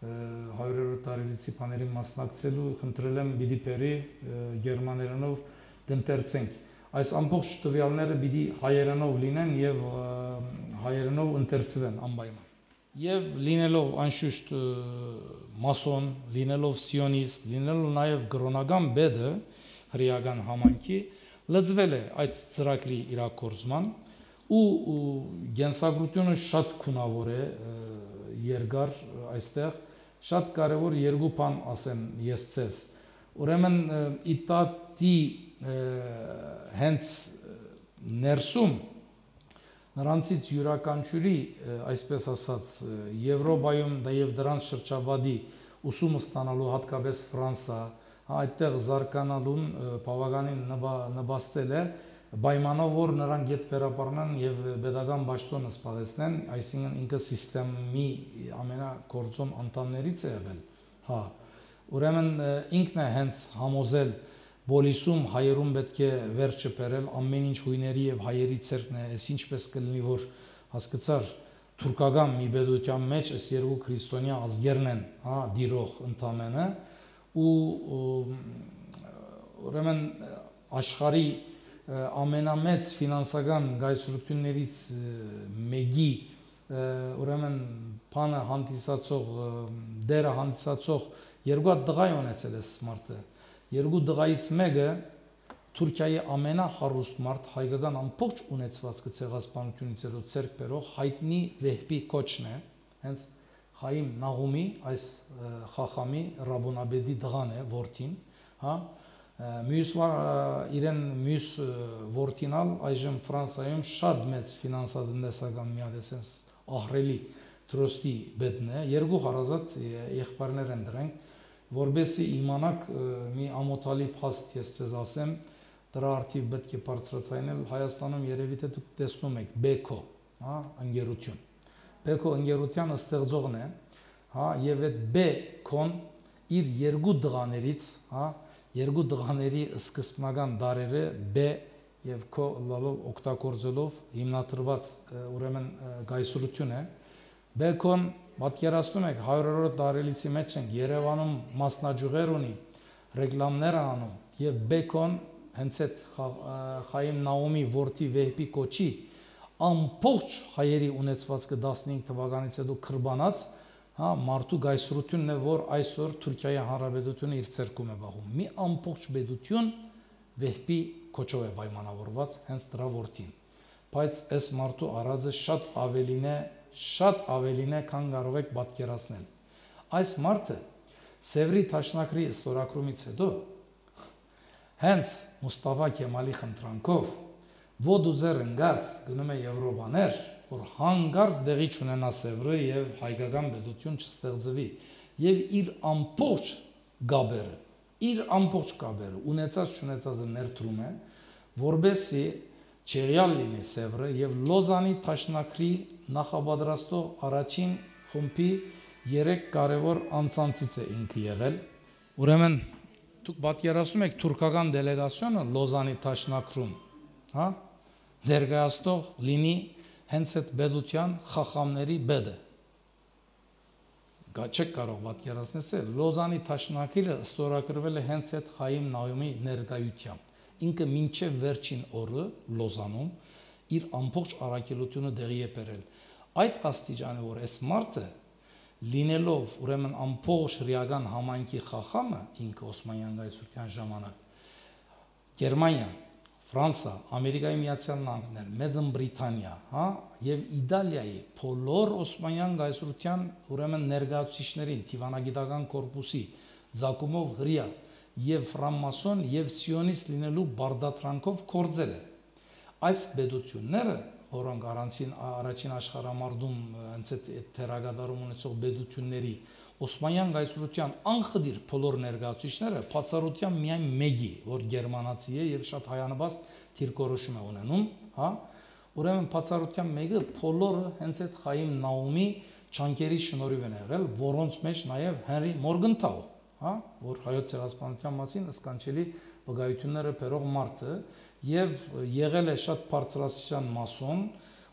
100-րդ տարելիցի բաների մասնակցելու, խնդրել եմ պիտի բերի գերմաներենով դընթերցենք։ Այս ամբողջ տվյալները պիտի հայերենով լինեն եւ հայերենով ընթերցվեն անպայման։ Եվ լինելով անշուշտ մասոն, լինելով սիոնիստ, լինելով նաեւ գրոնական բեդը հրեական համայնքի լծվել է այդ ծրագրի իրագործման ու գենսագրությունը շատ քունավոր է երկար այստեղ շատ կարևոր երկու բան ասեմ ես ցես ուրեմն իտատի հենց ներսում նրանցից յուրաքանչյուրի այսպես ասած Եվրոպայում դա եւ դրանց շրջապատի ուսումը ստանալու հատկապես Ֆրանսա այդտեղ զարգանալուն բավականին նպաստել է պայմանով որ նրանք գետ վերապառնան եւ pedagogan ճաշտոնը սպասեցնեն, այսինքն ինքը սիստեմի ամենակորձոն անդամներից է եղել, հա, ուրեմն ինքն է հենց համոզել բոլիսում հայերում պետք է վերջը բերել ամեն ինչ հույների եւ հայերի ցերկն է, այս ինչպես կլինի որ հասկացար թուրքական մի պետության մեջ այս երկու քրիստոնյա ազգերն են, հա, դիրող ընդամենը ու ուրեմն աշխարհի ամենամեծ ֆինանսական գայսրություններից մեկի ուրեմն բանը հանդիսացող դերը հանդիսացող երկու տղա ունեցել է սմարտը երկու տղայից մեկը Թուրքիայի ամենահարուստ մարդ հայկական ամբողջ ունեցվածքը ցեղասպանությունից հետո ցերկ բերող հայտնի Վեհբի կոչն է հենց Խայիմ Նաղումի այս խախամի Ռաբոնաբեդի տղան է որդին հա Մյուս իրեն մյուս որդինալ այժմ Ֆրանսիայում շատ մեծ ֆինանսատնտեսական մի հատ էսենց ահռելի դրոստի բեդն է երկու հարազատ եղբայրներ են դրանք որբեսի իմանաք մի ամոթալի փաստ ես ցեզ ասեմ դրա արդիվ պետք է բարձրացնել Հայաստանում երևի թե դուք տեսնում եք Բեկո հա ընկերություն Բեկո ընկերության ստեղծողն է հա եւ այդ Բեկոն իր երկու դղաներից հա երկու դղաների սկզբնական դարերը B եւ K լալով օգտագործելով հիմնադրված ուրեմն գայսրություն է Բեկոն պատկերացնում եք 100-րդ տարելիցի մեջ են Երևանում մասնաճյուղեր ունի ռեկլամներ անում եւ Բեկոն հենց այդ Խայիմ Նաումի որդի Վեհբի կոչի ամբողջ հայերի ունեցվածքը 15 թվականից հետո քրբանած հա մարդու գայսրությունն է որ այսօր Թուրքիայի Հանրապետությունը իր ցերկում է բաղում մի ամբողջ պետություն Վեհբի կոչով է պայմանավորված հենց դրա որդին բայց այս մարդու արածը շատ ավելին է քան կարող եք պատկերացնել այս մարդը Սևրի Թաշնակրի ստորագրումից հետո հենց Մուստաֆա Քեմալի խնդրանքով ոդուզեր ընկած գնում է Եվրոպաներ որ հանգարց դեղի չունենա Սևրը եւ հայկական պետություն չստեղծվի եւ իր ամբողջ գաբերը ունեցած չունեցածը ներդրում է որբեսի չեղյալ լինի Սևրը եւ Լոզանի Թաշնակրի նախապատրաստող առաջին խումբի 3 կարևոր անձանցից է ինքը եղել ուրեմն դուք պատկերացնում եք թուրքական դելեգացիոնը Լոզանի Թաշնակրում հա ներկայացնող լինի հենց այդ պետության խախամների բեդը չեք կարող պատկերացնել Լոզանի Թաշնակիրը ստորագրվել է հենց այդ Խայիմ Նաումի ներկայությամբ ինքը մինչև վերջին օրը Լոզանում իր ամբողջ առաքելությունը դեղի է բերել այդ աստիճանը որ այս մարդը լինելով ուրեմն ամբողջ հրեական համայնքի խախամը ինքը Օսմանյան գայսրության ժամանակ Գերմանիա Ֆրանսա, Ամերիկայի Միացյալ Նահանգներ, Մեծն Բրիտանիա, հա, եւ Իտալիայի բոլոր Օսմանյան գայսրության ուրեմն ներկայացուցիչներին Տիվանագիտական կորպուսի ցակումով հրյա եւ ֆրանմասոն եւ սիոնիստ լինելու բարդատրանքով կործել է։ Այս բեդությունները, որոնք առաջին աշխարհամարտում հենց այդ թերագադարում ունեցող բեդությունների Օսմանյան գայսրության անխդիր բոլոր ներկայացուցիչները բացառությամբ միայն մեկի, որ գերմանացի է եւ շատ հայանաբաստ թիրքորոշում է ունենում, հա, ուրեմն բացառությամբ մեկը բոլորը հենց այդ Խայիմ Նաումի ճանկերի շնորհիվ են եղել, որոնց մեջ նաեւ Հենրի Մորգենթաու, հա, որ հայոց ցեղասպանության մասին սկանչելի վկայությունները բերող մարդը եւ եղել է շատ բարձրաստիճան մասոն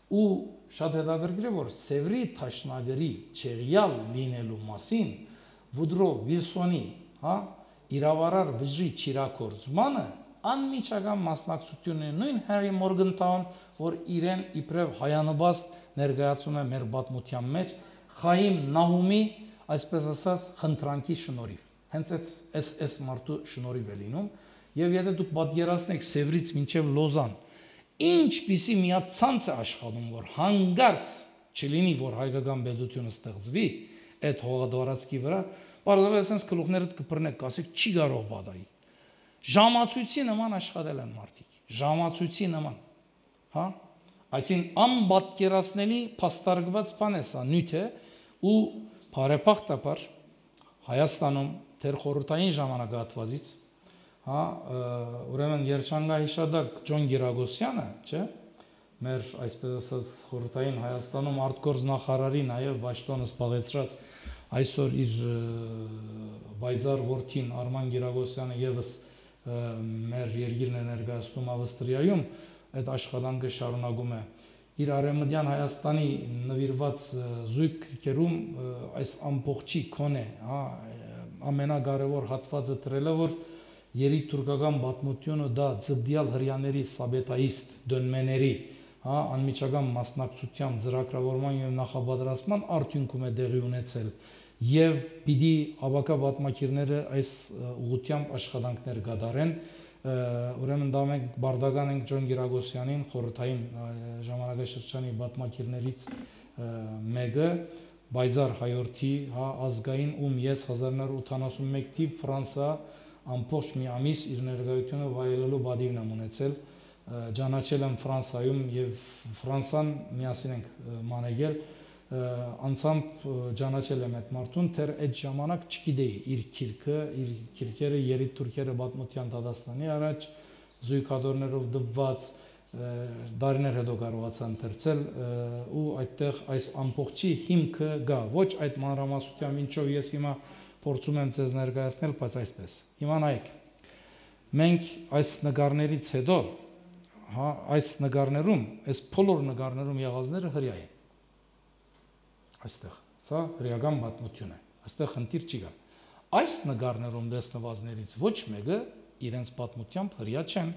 ու շատ հետաքրքիր է որ Սևրի Թաշնագրի չեղյալ լինելու մասին Վուդրո Վիլսոնի, հա, իրավարար վժի չիրակորձմանը անմիջական մասնակցություն է նույն Հենրի Մորգենթաուն, որ իրեն իբրև հայանաբաստ ներկայացում է մեր պատմության մեջ Խայիմ Նահումի, այսպես ասած, խնդրանքի շնորհիվ։ Հենց այս մարդու շնորհիվ է լինում եւ եթե դուք պատկերացնեք Սևրից մինչեւ Լոզան ինչպիսի միացանց է աշխատում, որ հանգարց չլինի, որ հայկական բեդությունը ստեղծվի այդ հողադարածքի վրա, բարձրապես sense գլուխներդ կբռնեք, ասեք չի կարող բադայի։ Ժամացույցի նման աշխատել են մարդիկ, ժամացույցի նման, հա? Այսինքն անպատկերացնելի փաստարկված բան է սա, նյութ է ու բարեփոխտաբար Հայաստանում դեռ խորհրդային ժամանակահատվածից հա ուրեմն երջանկահիշադակ Ջոն Գիրագոսյանը, չէ՞, մեր այսպես ասած խորհրդային Հայաստանում արտգործ նախարարի նաև Վաշտոնը զբաղեցրած այսօր իր բայզար որդին Արման Գիրագոսյանը եւս մեր երկիրն է ներկայացնում Ավստրիայում, այդ աշխատանքը շարունակում է իր արևմտյան Հայաստանի նվիրված զույգ քրքերում այս ամբողջի կոնե, հա, ամենակարևոր հատվածը դրել է, որ երիտուրկական պատմությունը դա ձգդյալ հрьяաների սաբետայիստ դոնմեների, հա, անմիջական մասնակցությամբ ծրագրավորման եւ նախապատրաստման արդյունքում է դեղի ունեցել եւ պիտի ավակա պատմակիրները այս ուղղությամբ աշխատանքներ կատարեն, ուրեմն դա մենք բարդական ենք Ջոն Գիրագոսյանին, խորհրդային ժամանակաշրջանի պատմակիրներից մեկը, Բայզար հայորդի, հա, ազգային ում ես 1981 թիվ Ֆրանսա ամբողջ մի ամիս իր ներկայությունը վայելելու բադիվն եմ ունեցել, ճանաչել եմ Ֆրանսայում եւ Ֆրանսան միասին ենք մանեկել, անցամբ ճանաչել եմ այդ մարդուն, թեր այդ ժամանակ չգիտեի իր քիրքերը երիտ թուրքերը պատմության դատաստանի առաջ զույգադորներով դպված դարիներ հետո կարողացա ընթերցել ու այդտեղ այս ամբողջի հիմքը գա, ոչ այդ մանրամասնությամբ ինչով ես հիմա փորձում եմ ձեզ ներկայացնել, բայց այսպես։ Հիմա նայեք, մենք այս նկարներից հետո, հա, այս նկարներում, այս բոլոր նկարներում եղածները հրյա են։ Այստեղ, սա հրեական պատմություն է, այստեղ խնդիր չի կա։ Այս նկարներում տեսնվածներից ոչ մեկը իրենց պատմությամբ հրյա չեն,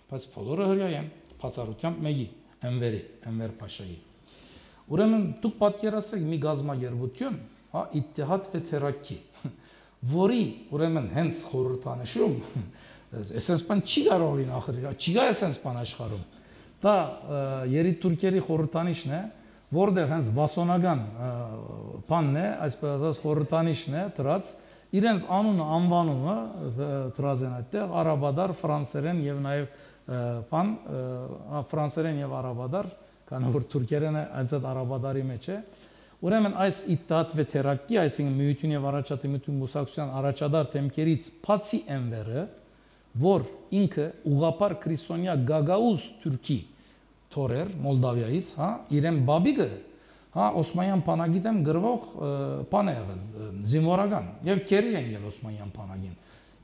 բայց բոլորը հրյա են, բացառությամբ մեկի, Էնվեր Փաշայի։ Ուրեմն դուք պատկերացրեք մի գազագերբություն, հա, Իթիհադ Վեթերակի, որի ուրեմն հենց խորհրդանշում, այսպես բան չի կարող լինի ախր, չի գա այսպես բան աշխարհում։ Դա երիտուրքերի խորհրդանիշն է, որտեղ հենց վասոնական բանն է, այսպես ասած խորհրդանիշն է դրած, իրենց անունը, անվանումը դրած են այդտեղ, արաբադար, ֆրանսերեն եւ նաեւ բան, ֆրանսերեն եւ արաբադար, քանի որ թուրքերենը այդ արաբադարի մեջ է։ Ուրեմն այս Իթիհադ Վեթերակի, այսինքն միություն եւ առաջադիմություն մուսակցության առաջադար թեմքերից բացի Էնվերը, որ ինքը ուղղափառ քրիստոնյա Գագաուզ թուրքի թորեր Մոլդավիայից, հա, իրեն բաբիկը, հա, Օսմանյան բանագիտեմ գրվող բան է եղել, զինվորական եւ քերի են ել Օսմանյան բանագին։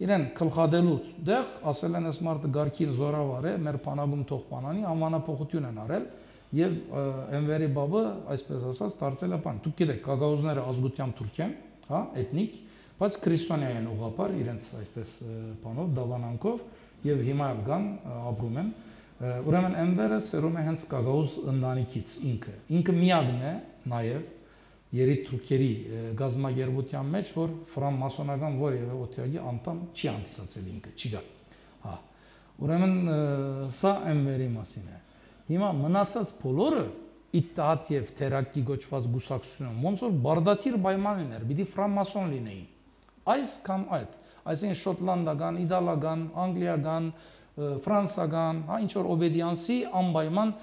Իրեն քլխադելու դեղ ասել են այս մարդը գարքի զորավար է, մեր բանագում թող բանանի, անվանափոխություն են արել եւ Էնվերի բաբը, այսպես ասած, դարձել է բան։ Դուք գիտեք, Գագաուզները ազգությամբ թուրք են, հա, էթնիկ, բայց քրիստոնյա են ուղղափառ, իրենց այսպես բանով, դավանանքով եւ հիմա կան ապրում են։ Ուրեմն Էնվերը սերում է հենց Գագաուզ ընտանիքից ինքը միակն է նաեւ երիտ թուրքերի գազագերբության մեջ, որ ֆրանմասոնական որևէ օթյակի անդամ չի անցածել ինքը, չի գա։ Հա։ Ուրեմն սա MVR-ի մասին է։ Հիմա մնացած բոլորը Իթահադ եւ Թերակի գոչված գուսակցությունը ոնց որ բարդաթիր պայմաններ, պիտի ֆրանմասոն լինեին։ Այս կամ այդ, այսինքն շոտլանդական, իտալական, անգլիական, ֆրանսական, հա ինչ որ օբեդիանսի անպայման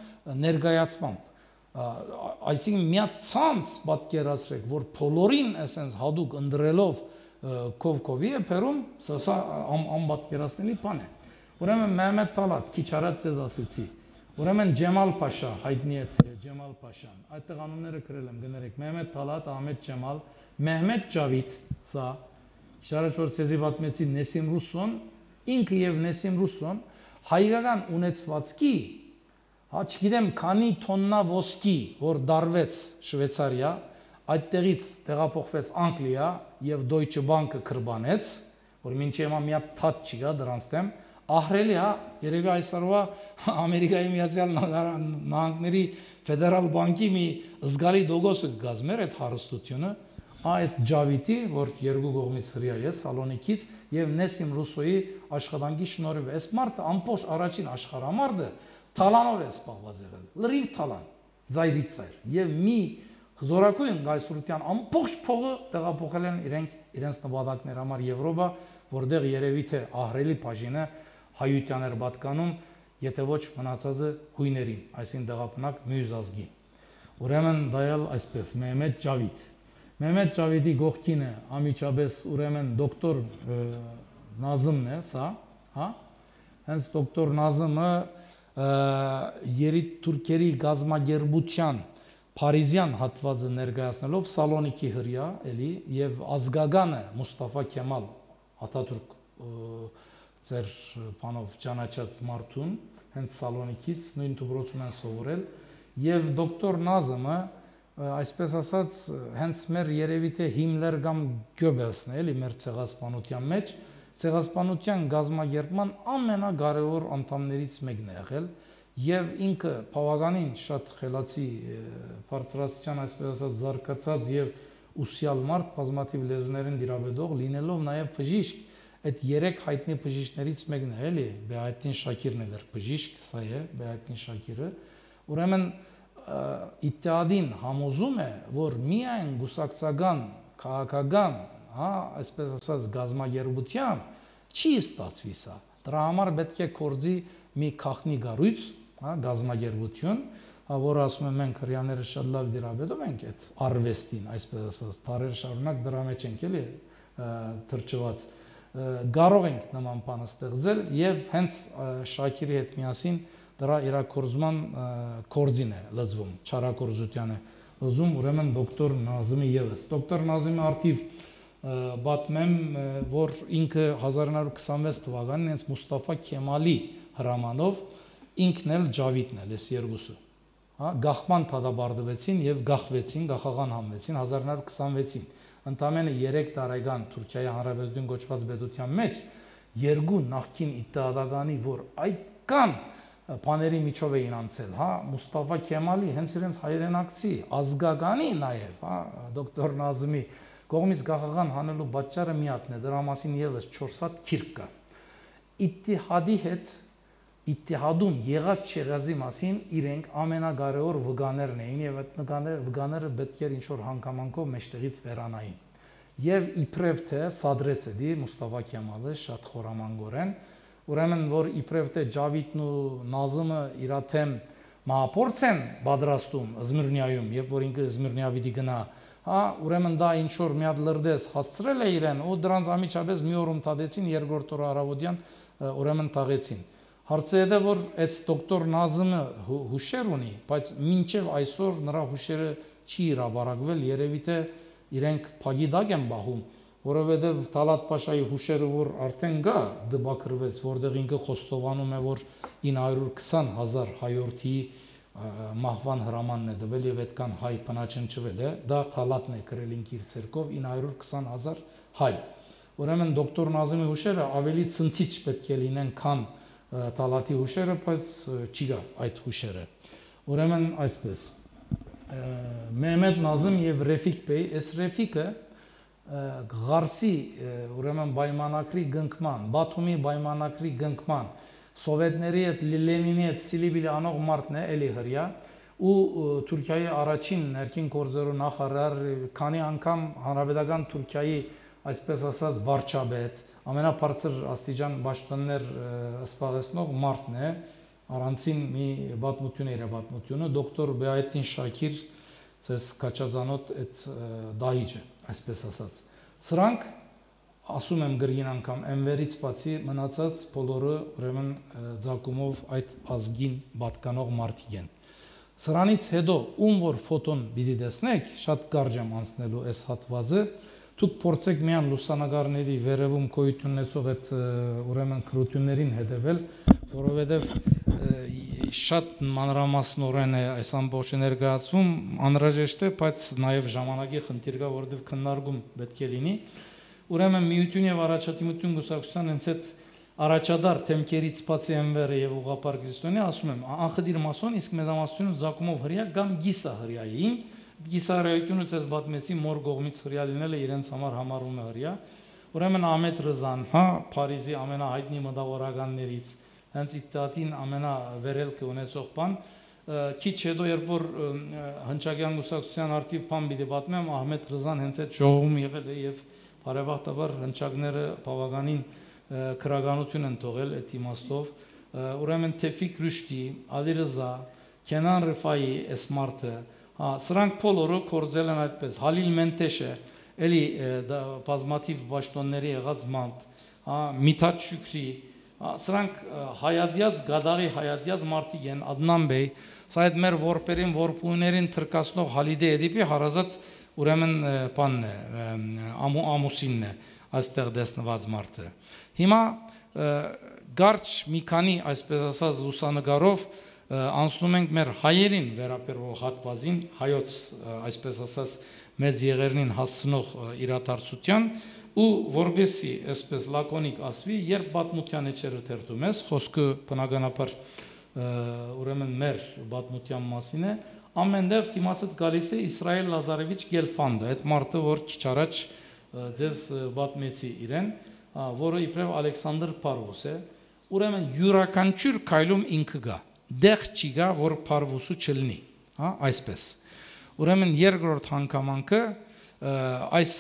ներկայացմամբ այսինքն միացած պատկերացրեք, որ բոլորին այսպես հadoop ընդրելով կովկովի է փերում, սա անպատկերացնելի բան է։ Ուրեմն Մehmet Talat, քիչ առաջ ձեզ ասեցի։ Ուրեմն Ջեմալ Փաշա, հայտնի է թե Ջեմալ Փաշան։ Այդտեղ անունները գրել եմ, գներեք Mehmet Talat, Ahmet Ջեմալ, Mehmet Javid, սա շարժ որ ցեզի պատմեցի Նեսիմ Ռուսոն, ինքը եւ Նեսիմ Ռուսոն հայկական ունեցվածքի հա չգիտեմ քանի տոննա ոսկի որ դարվեց Շվեյցարիա, այդտեղից տեղափոխվեց Անգլիա եւ Deutsche Bank-ը կրբանեց, որ մինչեւ հիմա մի հատ թաթ չկա դրանց դեմ, ահրելի է, երևի այսօրվա Ամերիկայի Միացյալ Նահանգների ֆեդերալ բանկի մի զգալի դոգոսը կգազմեր այդ հարստությունը, այս Ջավիդի, որ երկու կողմից հրյա է Սալոնիկից եւ Նեսիմ Ռուսոյի աշխատանքի շնորհիվ, այս մարդը ամբողջ առաջին աշխարհամարտը Թալանով է սպառված եղել, լրիվ թալան, ձայրից ձայր, եւ մի զորակույն գայսրության ամբողջ փողը տեղափոխել են իրենց նպատակներ համար Եվրոպա, որտեղ երևի թե ահրելի բաժինը հայության էր պատկանում, եթե ոչ մնացածը հույներին, այսին դեղապնակ մյուս ազգի։ Ուրեմն դա էլ այսպես Mehmet Javid։ Mehmet Javidի գողքին է ամիջապես ուրեմն դոկտոր Նազիմն է, սա, հա։ Հենց դոկտոր Նազիմը երիտուրքերի գազագերբության Փարիզյան հատվածը ներկայացնելով Սալոնիկի հրյա էլի եւ ազգագանը Մուստաֆա Քեմալ Աթաթուրք ձեր բանով ճանաչած մարդուն հենց Սալոնիկից նույն դպրոցում են սովորել եւ դոկտոր Նազիմը այսպես ասած հենց մեր երևի թե Հիմլեր կամ Գյոբելսն է էլի մեր ցեղասպանության մեջ ցեղասպանության գազագերբման ամենակարևոր անդամներից մեկն է եղել եւ ինքը բավականին շատ խելացի բարձրաստիճան այսպես ասած զարգացած եւ ուսյալ մարդ բազմաթիվ լեզուներին դիրաբետող լինելով նաեւ բժիշկ այդ երեք հայտնի բժիշկներից մեկն է էլի Բեայտին Շակիրն էր բժիշկ սա է Բեայտին Շակիրը ուրեմն Իթահադին համոզում է որ միայն գուսակցական քաղաքական հա այսպես ասած գազագերբությամբ չի ստացվի սա դրա համար պետք է կորձի մի քախնի գառույց հա գազագերբություն որ ասում եմ մենք հрьяաները շատ լավ դիրաբետում ենք այդ արվեստին այսպես ասած տարեր շարունակ դրա մեջ ենք էլի թրջված կարող ենք նման բան ստեղծել եւ հենց Շակիրի հետ միասին դրա իրակորձման կորձին է լծվում չարակորձությանը լծում ուրեմն դոկտոր Նազիմի եւս դոկտոր Նազիմը արդիվ պատմեմ որ ինքը 1926 թվականին հենց Մուստաֆա Քեմալի հրամանով ինքն էլ Ջավիդն էլ էս երկուսը հա գախման դադարեցին եւ գախվեցին գախաղան համվեցին 1926-ին ընդամենը 3 տարեկան Թուրքիայի Հանրապետություն գոչված պետության մեջ երկու նախկին իթահադականի որ այդքան բաների միջով էին անցել, հա, Մուստաֆա Քեմալի հենց իրենց հայրենակցի ազգականի նաև, հա, դոկտոր Նազիմի կողմից գախաղան հանելու պատճառը մի հատն է, դրա մասին եւս 4 հատ քիրք կա։ Իթիհադի հետ Իթիհադում եղած չեղածի մասին իրենք ամենակարևոր վկաներն էին եւ այդ վկաները պետք էր ինչ որ հանգամանքով մեջտեղից վերանային։ Եվ իբրև թե սադրեց էդի Մուստաֆա Քեմալը շատ խորամանկորեն ուրեմն որ իբրև թե Ջավիդն ու Նազիմը իրաթեմ մահապորց են պատրաստում Զմիրնիայում, երբ որ ինքը Զմիրնիա պիտի գնա, հա, ուրեմն դա ինչ որ մի հատ լրդես հասցրել է իրեն ու դրանց ամիջապես մի օր ըմտադեցին, երկրորդ օրը առավոտյան ուրեմն տաղեցին։ Հարցը է որ այս դոկտոր Նազիմը հուշեր ունի, բայց մինչև այսօր նրա հուշերը չի հրապարակվել, երևի թե իրենք փագիդակ են բախում որովհետև Թալատ Փաշայի հուշերը որ արդեն գա դպակրվեց, որտեղ ինքը խոստովանում է, որ 920,000 հայորդի մահվան հրամանն է տվել եւ այդքան հայ բնաճնճվել է, դա Թալատն է գրել ինքը իր ցերկով 920,000 հայ։ Ուրեմն դոկտոր Նազիմի հուշերը ավելի ցնցիչ պետք է լինեն, քան Թալատի հուշերը, բայց չի գա այդ հուշերը։ Ուրեմն այսպես Մehmet Նազիմ եւ Ռեֆիկ Բեյ, այս Ռեֆիկը Ղարսի ուրեմն պայմանակրի գնքման, Բաթումի պայմանակրի գնքման սովետների հետ Լենինի հետ սիլիբիլի անող մարդն է էլի հրյա ու Թուրքիայի առաջին ներքին գործերու նախարար, քանի անգամ հանրապետական Թուրքիայի այսպես ասած վարչապետ, ամենաբարձր աստիճան պաշտոններ սպասեցնող մարդն է, առանցին մի պատմություն իր պատմությունը, դոկտոր Բեայեդին Շաքիր, ցես կաչազանոտ այդ դահիճը, այսպես ասած։ Սրանք ասում եմ գրին անգամ Էնվերից բացի մնացած բոլորը ուրեմն ցակումով այդ ազգին պատկանող մարդիկ են։ Սրանից հետո ում որ ֆոտոն պիտի տեսնեք, շատ կարճ եմ անցնելու այս հատվածը, դուք փորձեք միան լուսանկարների վերևում գոյություն ունեցող այդ ուրեմն քրություններին հետևել, որովհետև շատ մանրամասնորեն է այս ամբողջը ներկայացվում, անհրաժեշտ է, բայց նաև ժամանակի խնդիր կա, որովհետև քննարկում պետք է լինի։ Ուրեմն միություն եւ առաջադիմություն գուսակցության հենց այդ առաջադար թեմքերից բացի Էնվերը եւ ուղղափառ քրիստոնյա ասում եմ անխդիր մասոն, իսկ մեծամասնությունը զակումով հրյա կամ գիսա հրյային, գիսա հրյայությունը ցես բաթմեցի մոր կողմից հրյա լինելը իրենց համար համարվում է հրյա։ Ուրեմն Ահմեդ Ռզան, հա, Փարիզի ամենահայտնի մտավորականներից, հենց իդատին ամենավերելքը ունեցող բան, քիչ հետո երբ որ հնչակյան գուսակցության արդիվ բան պիտի պատմեմ, Ահմեդ Ռզան հենց այդ ժողովում եղել է եւ բարեբախտաբար հնչակները բավականին քրագանություն են թողել այդ իմաստով, ուրեմն Թեֆիկ Ռուշդի, Ալի Ռզա, Քենան Ռիֆայի էսմարտը, սրանք բոլորը կորձել են այդպես, Հալիլ Մենտեշը, էլի բազմաթիվ պաշտոնների եղած մանտ, Միթաթ Շուքրի, սրանք հայադյաց, գադաղի հայադյաց մարդիկ են, Ադնան բեյ, սա այդ մեր որպերին, որպույներին թրկացնող Հալիդե Էդիպի հարազատ ուրեմն բանն է, ամուսինն է, այստեղ դեսնված մարդը։ Հիմա գարչ մի քանի այսպես ասած լուսանկարով անցնում ենք մեր հայերին վերաբերող հատվածին, հայոց այսպես ասած մեծ եղերնին հասցնող իրադարձության ու որբեսի այսպես լակոնիկ ասվի, երբ պատմության էջերը թերթում ես, խոսքը բնականաբար ուրեմն մեր պատմության մասին է, ամենտեղ դիմացդ գալիս է Իսրայել Լազարևիչ Գելֆանդը, այդ մարդը, որ քիչ առաջ ձեզ պատմեցի իրեն, որը իբրև Ալեքսանդր Փարվոս է, ուրեմն յուրաքանչյուր քայլում ինքը գա, դեղ չի գա, որ Փարվոսը չլինի, հա, այսպես։ Ուրեմն երկրորդ հանգամանքը այս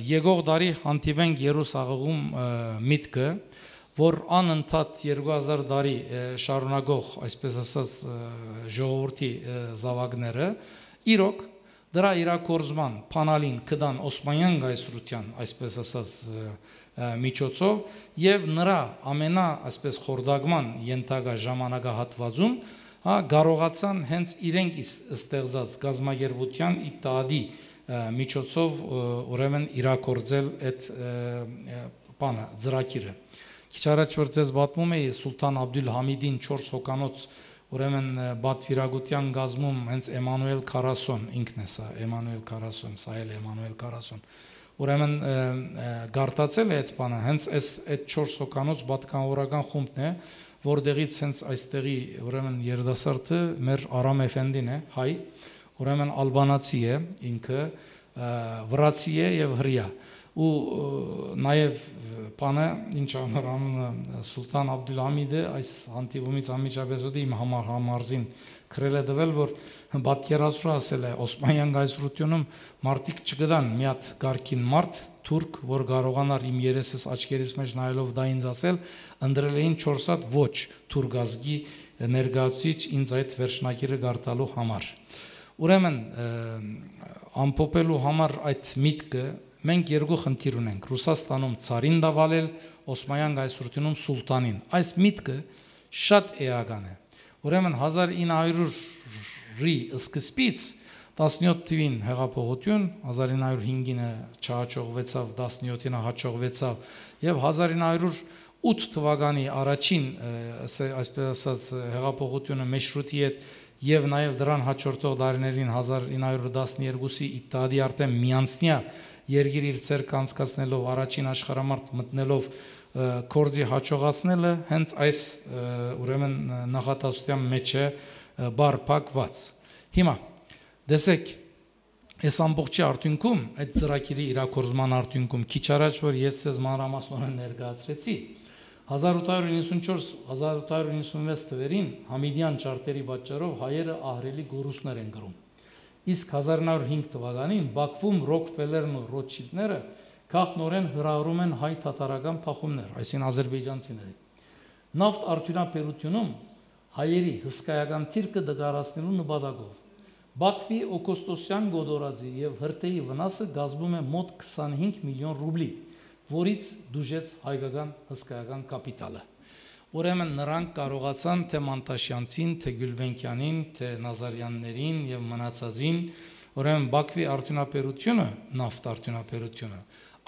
եկող դարի հանդիպենք Երուսաղում միտքը, որ անընդհատ 2000 տարի շարունակող, այսպես ասած, ժողովրդի զավակները, իրոք դրա իրակորձման փանալին կդան Օսմանյան գայսրության, այսպես ասած, միջոցով եւ նրա ամենա, այսպես խորդագման ենթակա ժամանակահատվածում, հա, կարողացան հենց իրենք ստեղծած գազագերբության իտադի միջոցով ուրեմն իրակորձել այդ բանը, ծրագիրը։ Քիչ առաջ որ ձեզ պատմում էի Սուլտան Աբդուլհամիդին 4 հոկանոց ուրեմն բադվիրագության գազմում հենց Էմանուել Քարասոն ինքն է սա, Էմանուել Քարասոն, սա էլ Էմանուել Քարասոն։ Ուրեմն գարտացել է այդ բանը, հենց այդ 4 հոկանոց պատկանորական խումբն է, որտեղից հենց այստեղի ուրեմն երդասարտը մեր Արամ Էֆենդին է, հայ, ուրեմն ալբանացի է ինքը, վրացի է եւ հրյա։ Ու նաև բանը ինչ անհրանը Սուլտան Աբդուլհամիդը այս հանդիպումից անմիջապես հետո իմ համարզին քրել է դվել, որ պատկերացրու ասել է Օսմանյան գայսրությունում մարդիկ չգտան մի հատ գարքին մարդ թուրք, որ կարողանար իմ երեսս աչքերիս մեջ նայելով դա ինձ ասել, ընդրել էին 4 հատ ոչ թուրք ազգի ներկայացուցիչ ինձ այդ վերջնակիրը գարտալու համար։ Ուրեմն ամփոփելու համար այդ միտքը մենք երկու խնդիր ունենք Ռուսաստանում ցարին դավալել, Օսմանյան գայսրությունում սուլտանին։ Այս միտքը շատ էական է։ Ուրեմն 1900-ի սկզբից 17 թվին հեղափոխություն, 1905-ը չհաջողվեցավ, 17-ին հաջողվեցավ եւ 1908 թվականի առաջին այսպես ասած հեղափոխությունը մեշրուտի հետ եւ նաեւ դրան հաջորդող տարիներին 1912-ի իտադի արտեմ միանցնյա երկիր իր ցերկ անցկացնելով առաջին աշխարհամարտ մտնելով կորձի հաջողացնելը հենց այս ուրեմն նախատասության մեջ է բարփակված։ Հիմա դեսեք այս ամբողջի արդյունքում այդ ծրագիրի իրակորձման արդյունքում քիչ առաջ որ ես ցեզ մանրամասնորեն ներկայացրեցի 1894-1896 թվերին Համիդյան ճարտերի պատճառով հայերը ահռելի գոռուսներ են գրում։ Իսկ 1905 թվականին Բաքվում Ռոքֆելերն ու Ռոթշիլդները քաղաքնորեն հրահրում են հայ-թաթարական փախումներ, այսինքն ադրբեջանցիների։ Նավթ արդյունաբերությունում հայերի հսկայական թիրքը դգարացնելու նպատակով Բաքվի օգոստոսյան գոդորածի եւ հրթեհի վնասը կազմում է մոտ 25 միլիոն ռուբլի, որից դուժեց հայկական հսկայական կապիտալը։ Ուրեմն նրանք կարողացան թե Մանտաշյանցին, թե Գյուլբենկյանին, թե Նազարյաններին եւ մնացածին, ուրեմն Բաքվի արդյունաբերությունը, նավթ արդյունաբերությունը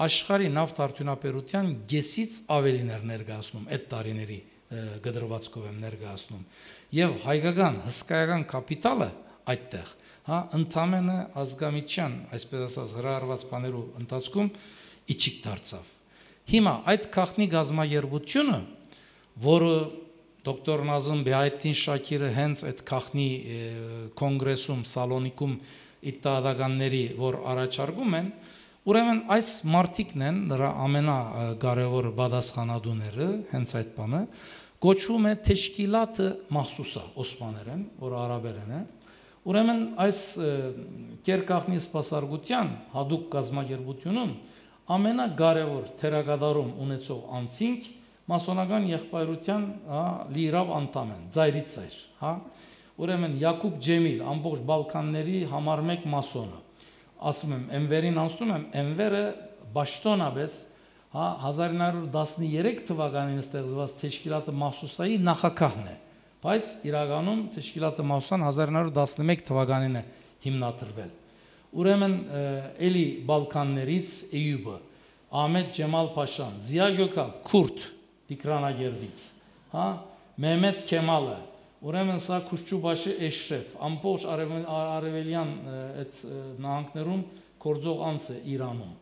աշխարհի նավթ արդյունաբերության գեսից ավելին էր ներկայացնում այդ տարիների գդրվածքով եմ ներկայացնում եւ հայկական հսկայական կապիտալը այդտեղ, հա, ընդամենը ազգամիջյան, այսպես ասած, հրահրված բաներու ընթացքում իջիկ դարձավ։ Հիմա այդ քաղաքնի գազམ་երբությունը, որը դոկտոր Նազմ Բեհայեդդին Շաքիրը հենց այդ քաղաքնի կոնգրեսում, Սալոնիկում իդտադականների, որ առաջարկում են, ուրեմն այս մարտիկն են նրա ամենակարևոր պատասխանատուները, հենց այդ բանը, կոչվում է Թեշկիլաթը Մախսուսա, օսմաներեն, որ արաբերեն է։ Ուրեմն այս կերկախնի սպասարկության հadoop գազམ་երբությունում ամենակարևոր թերակատարում ունեցող անձինք մասոնական եղբայրության լիիրավ անդամ են, ծայրից ծայր, հա։ Ուրեմն Յակուբ Ջեմիլ, ամբողջ Բալկանների համար մեկ մասոնը, ասում եմ, Էնվերին անցնում եմ, Էնվերը Բաշտոնաբես, հա, 1913 թվականին ստեղծված Թեշկիլաթը Մախսուսայի նախագահն է, բայց իրականում Թեշկիլաթը Մախսուսան 1911 թվականին է հիմնադրվել։ Ուրեմն էլի Բալկաններից Էյուբը, Ահմեդ Ջեմալ Փաշան, Զիա Գյոքալ, Քուրդ Տիգրանագերդից, հա, Մեհմեդ Քեմալը, ուրեմն սա Քուշչուբաշի Էշրեֆ, ամբողջ արևելյան այդ նահանգներում գործող անձ է Իրանում։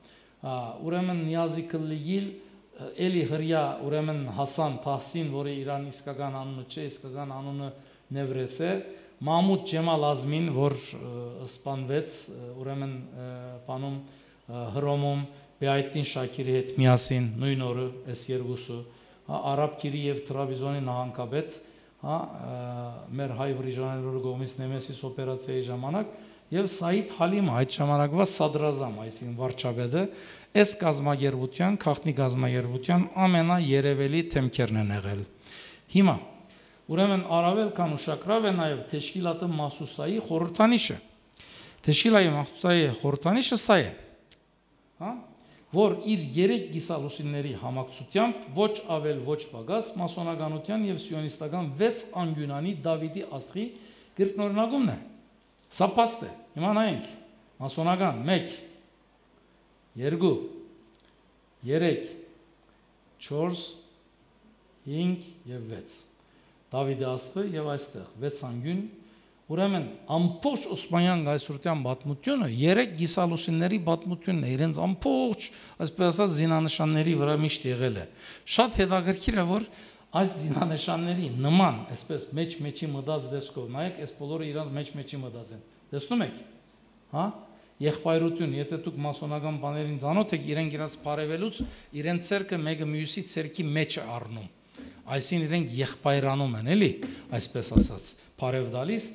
Ուրեմն Նիազի Քլիգիլ, էլի հրյա, ուրեմն Հասան Թահսին, որը Իրան իսկական անունը չէ, իսկական անունը Նևրես է, Մահմուդ Ջեմալ Ազմին, որ սպանվեց, ուրեմն բանում Հռոմում Բեհայեդդին Շաքիրի հետ միասին նույն օրը այս երկուսը, Արաբկիրի եւ Տրաբիզոնի նահանգապետ, հա, մեր հայ վրիժաներու կողմից Նեմեսիս օպերացիայի ժամանակ եւ Սայիդ Հալիմը այդ ժամանակվա սադրազամ, այսինքն վարչապետը, այս գազམ་երբության, քաղաքնի գազམ་երբության ամենաերևելի թեմքերն են եղել։ Հիմա ուրեմն առավել քան ուշագրավ է նաեւ Թեշկիլաթը Մախսուսայի խորհրդանիշը։ Թեշկիլայի Մախսուսայի խորհրդանիշը սա է, հա, որ իր 3 գիսալուսինների համակցությամբ ոչ ավել ոչ պակաս մասոնականության եւ սիոնիստական 6 անգյունանի Դավիթի աստղի կրկնօրինակումն է։ Սա փաստ է։ Հիմա նայենք։ Մասոնական 1 2 3 4 5 եւ 6 Դավիթի աստղը եւ այստեղ 6 անգյուն, ուրեմն ամբողջ Օսմանյան գայսրության պատմությունը 3 գիսալուսինների պատմությունն է, իրենց ամբողջ, այսպես ասած, զինանշանների վրա միշտ եղել է։ Շատ հետաքրքիր է, որ այս զինանշանների նման, այսպես մեջ-մեջի մտած դեսքով, նայեք, այս բոլորը իրանց մեջ-մեջի մտած են։ Տեսնում եք, հա? Եղբայրություն, եթե դուք մասոնական բաներին ծանոթ եք, իրենք իրաց բարևելուց, իրենց ցերկը մեկը մյուսի ցերկի մեջ է առնում։ Այսինքն իրենք եղբայրանում են, էլի, այսպես ասած, բարև տալիս։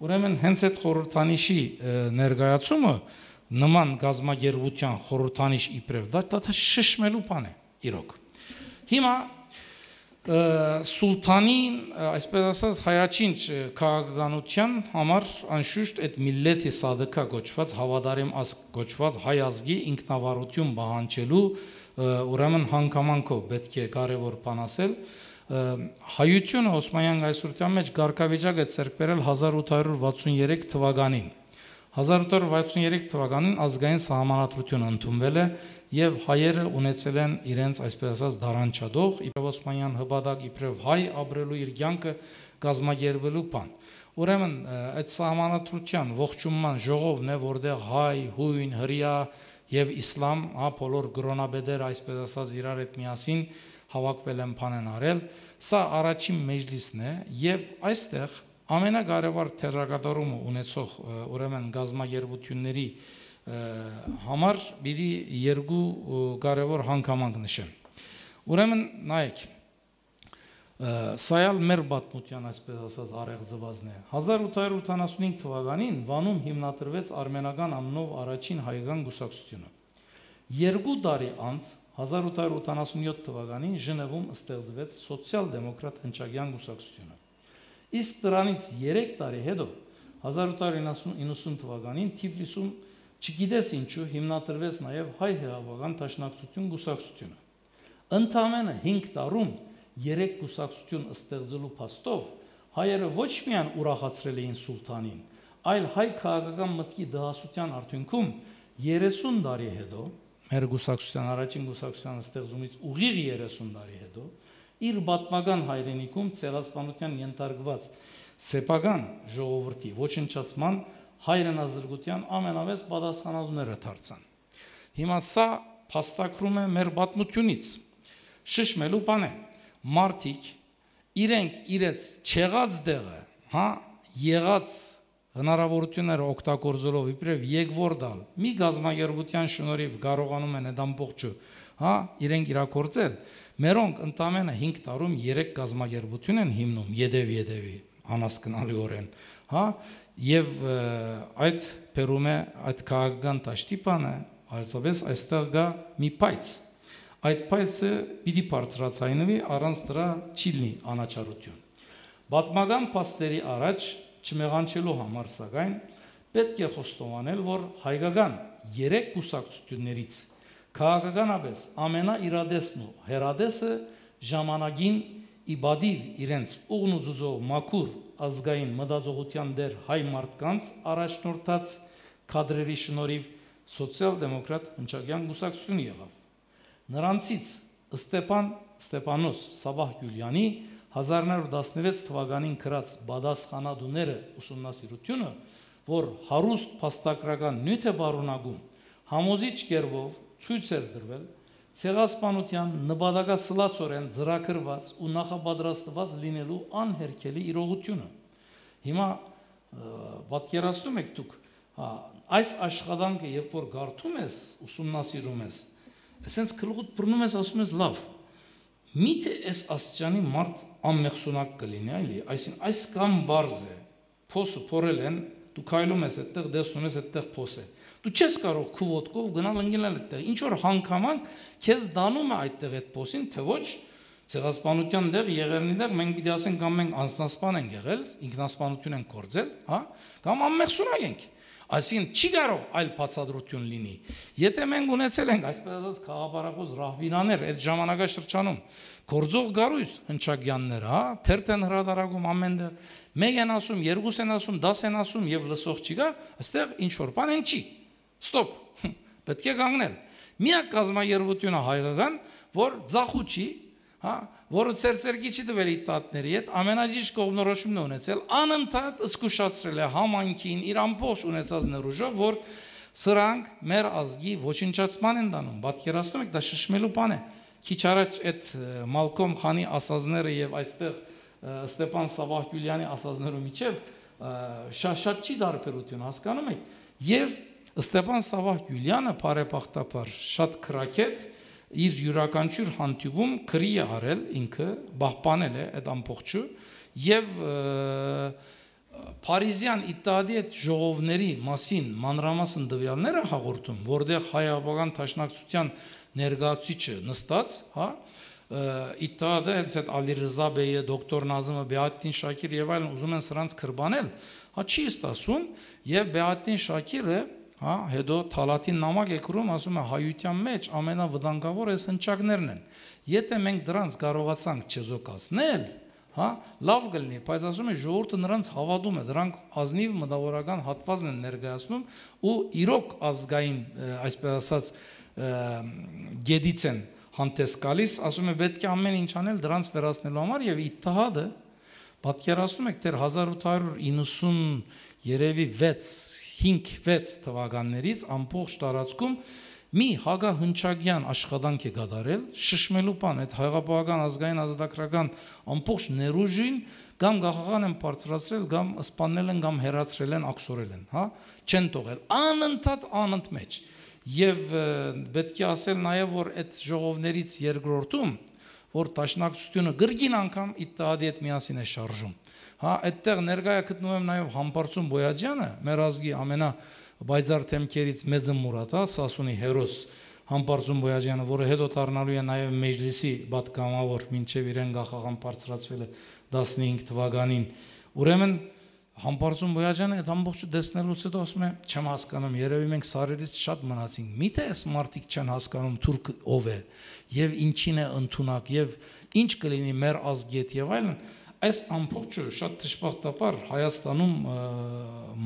Ուրեմն հենց այդ խորհրդանիշի ներկայացումը նման գազམ་երբության խորհրդանիշ իբրև դա շշմելու բան է, իրոք։ Հիմա Սուլթանի, այսպես ասած, հայաչինչ քաղաքականության համար անշուշտ այդ միլլեթի սադկա կոչված, հավատարիմ ազգ կոչված հայ ազգի ինքնավարություն պահանջելու ուրեմն հանգամանքով պետք է կարևոր բան ասել։ Հայությունը Օսմանյան գայսրության մեջ գարկավիճակ է ցերկ բերել 1863 թվականին։ 1863 թվականին ազգային սահմանադրությունը ընդունվել է եւ հայերը ունեցել են իրենց, այսպես ասած, դարանչադող, իբրև Օսմանյան հպատակ, իբրև հայ ապրելու իր կյանքը գազམ་երբելու բան։ Ուրեմն այդ սահմանադրության ողջունման ժողովն է, որտեղ հայ, հույն, հրյա եւ իսլամ, հա, բոլոր գրոնաբեդերը, այսպես ասած, իրար հետ միասին հավաքվել են բան են արել։ Սա առաջին մեջլիսն է եւ այստեղ ամենակարևոր թերակատարումը ունեցող ուրեմն գազམ་երբությունների համար պիտի երկու կարևոր հանգամանք նշեմ։ Ուրեմն նայեք, Սայալ մեր պատմության այսպես ասած արեղծվածն է։ 1885 թվականին Վանում հիմնադրվեց արմենական անունով առաջին հայկական կուսակցությունը։ 2 տարի անց 1887 թվականին Ժնևում ստեղծվեց սոցիալ-դեմոկրատ հնչակյան կուսակցությունը։ Իսկ դրանից 3 տարի հետո 1890 թվականին Թիֆլիսում չգիտես ինչու հիմնադրվեց նաև հայ հեղափոխական դաշնակցություն կուսակցությունը։ Ընդամենը 5 տարում 3 կուսակցություն ստեղծելու փաստով հայերը ոչ միայն ուրախացրել էին սուլթանին, այլ հայ քաղաքական մտքի դահասության արդյունքում 30 տարի հետո, մեր կուսակցության առաջին կուսակցության ստեղծումից ուղիղ 30 տարի հետո, իր պատմական հայրենիքում ցեղասպանության ենթարկված սեփական ժողովրդի ոչնչացման հայրենազրկության ամենավեծ պատասխանատուները դարձան։ Հիմա սա փաստակրում է մեր պատմությունից։ Շշմելու բան է, մարդիկ իրենք իրենց չեղած դեղը, եղած հնարավորությունները օգտագործելով իբրև եկվորդալ, մի գազագերբության շնորհիվ կարողանում են այդ ամբողջը, իրենք իրագործել, մերոնք ընդամենը 5 տարում 3 գազագերբություն են հիմնում, յետևի անհասկանալիորեն, եւ այդ բերում է այդ քաղաքական դաշտիպանը, այսպես այստեղ կա մի պայծ այդ պայծը պիտի բարձրացնվի, առանց դրա չի լինի անաչառություն։ Պատմական փաստերի առաջ չմեղանչելու համար սակայն պետք է խոստովանել, որ հայկական 3 կուսակցություններից քաղաքականապես ամենաիրադեսն ու հերադեսը ժամանակին իբադիվ իրենց ուղնուզուզով մաքուր ազգային մտածողության դեր հայ մարդկանց առաջնորդած կադրերի շնորհիվ սոցիալ-դեմոկրատ հնչակյան կուսակցություն եղավ։ Նրանցից Ստեփանոս Սավահ-Գյուլյանի 1916 թվականին գրած «Պատասխանատուները» ուսումնասիրությունը, որ հարուստ փաստագրական նյութ է պարունակում, համոզիչ կերպով ցույց էր դրվել ցեղասպանության նպատակասլացորեն ծրագրված ու նախապատրաստված լինելու անհերքելի իրողությունը։ Հիմա պատկերացնում եք դուք, այս աշխատանքը երբ որ գարթում ես, ուսումնասիրում ես, ասենց քլուղուտ բռնում ես, ասում ես լավ, միթե այս աստիճանի մարդ անմեղսունակ կլինի, այլի, այսինքն այս կամ բարձ է, փոսը փորել են, դու քայլում ես այդտեղ, տեսնում ես այդտեղ փոս է։ Դու չես կարող քու ոտքով գնալ ընկնել այդտեղ։ Ինչ որ հանգամանք քեզ դանում է այդտեղ այդ փոսին, թե ոչ ցեղասպանության դեղ եղերնի դեղ մենք պիտի ասենք կամ մենք անձնասպան ենք եղել, ինքնասպանություն ենք գործել, կամ անմեղսունակ ենք։ Այսինքն չի կարող այլ բացատրություն լինի։ Եթե մենք ունեցել ենք այսպես ասած խաղապարախոս ռահվիրաներ այդ ժամանակաշրջանում, գործող գարույց հնչակյաններ, թերթ են հրատարակում ամենտեղ, մեկ են ասում, երկուս են ասում, 10 են ասում եւ լսող չի գա, այստեղ ինչ որ բան են չի։ Ստոպ։ Պետք է կանգնել։ Միակ կազմակերպությունը հայկական, որ ձախու չի, որը ծերծերքի չի տվել իր տատների հետ, ամենաջիշտ կողմնորոշումն է ունեցել, անընդհատ զսկուշացրել է համայնքին իր ամբողջ ունեցած ներուժով, որ սրանք մեր ազգի ոչնչացման են դանում։ Պատկերացնում եք, դա շշմելու բան է։ Քիչ առաջ այդ Մալկոմ Խանի ասածները եւ այստեղ Ստեփան Սավահ-Գյուլյանի ասածներու միջև շատ չի դարբերություն, հասկանում եք։ Եվ Ստեփան Սավահ-Գյուլյանը բարեբախտաբար շատ քրակետ իր յուրաքանչյուր հանդիպում քրի է արել ինքը, պահպանել է այդ ամբողջը եւ Փարիզյան Իտալիայի այդ ժողովների մասին մանրամասն տվյալները հաղորդում, որտեղ հայ-աբական դաշնակցության ներկայացուցիչը նստած, Իտալիայի այդ Ալի Ռզաբեյը, դոկտոր Նազիմը, Բեաթին Շակիր եւ այլն ուզում են սրանց քրբանել, չի ստասում եւ Բեաթին Շակիրը հետո Թալաթին նամակ է գրում, ասում է հայության մեջ ամենավտանգավոր այս հնչակներն են։ Եթե մենք դրանց կարողացանք չեզոքացնել, լավ կլինի, բայց ասում է ժողովուրդը նրանց հավատում է, դրանք ազնիվ մտավորական հատվածն են ներկայացնում ու իրոք ազգային, այսպես ասած, գեդից են հանդես գալիս, ասում է պետք է ամեն ինչ անել դրանց վերացնելու համար եւ Իթահադը պատկերացնում եք դեռ 1890 երևի 5-6 թվականներից ամբողջ տարածքում մի հագահնչակյան աշխատանք է կատարել, շշմելու բան, այդ հայապահական ազգային ազատագրական ամբողջ ներուժին կամ գաղաղան են բարձրացրել, կամ սպանել են, կամ հեռացրել են, աքսորել են, չեն թողել, անընդհատ անընդմեջ։ Եվ պետք է ասել նաև, որ այդ ժողովներից երկրորդում որ տաշնակցությունը գրգին անգամ Իթտիհադի հետ միասին է շարժում։ Հա, այդտեղ ներկայ գտնում եմ նաև Համբարձում Բոյաջյանը, մեր ազգի ամենաբայձար թեմքերից մեծը Մուրադ, հա, Սասունի հերոս Համբարձում Բոյաջյանը, որը հետո դառնալու է նաև Մեջլիսի պատգամավոր, մինչև իրեն գահաղան բարձրացվել է 15 թվականին։ Ուրեմն Համբարձում Բոյաջյանը այդ ամբողջը տեսնելուց հետո ասում է, չեմ հասկանում, երևի մենք սարերից շատ մնացինք։ Միթե այս մարդիկ չեն հասկանում թուրքը ով է եւ ինչին է ընդունակ եւ ինչ կլինի մեր ազգի հետ եւ այլն։ Այս ամբողջը շատ դժբախտաբար Հայաստանում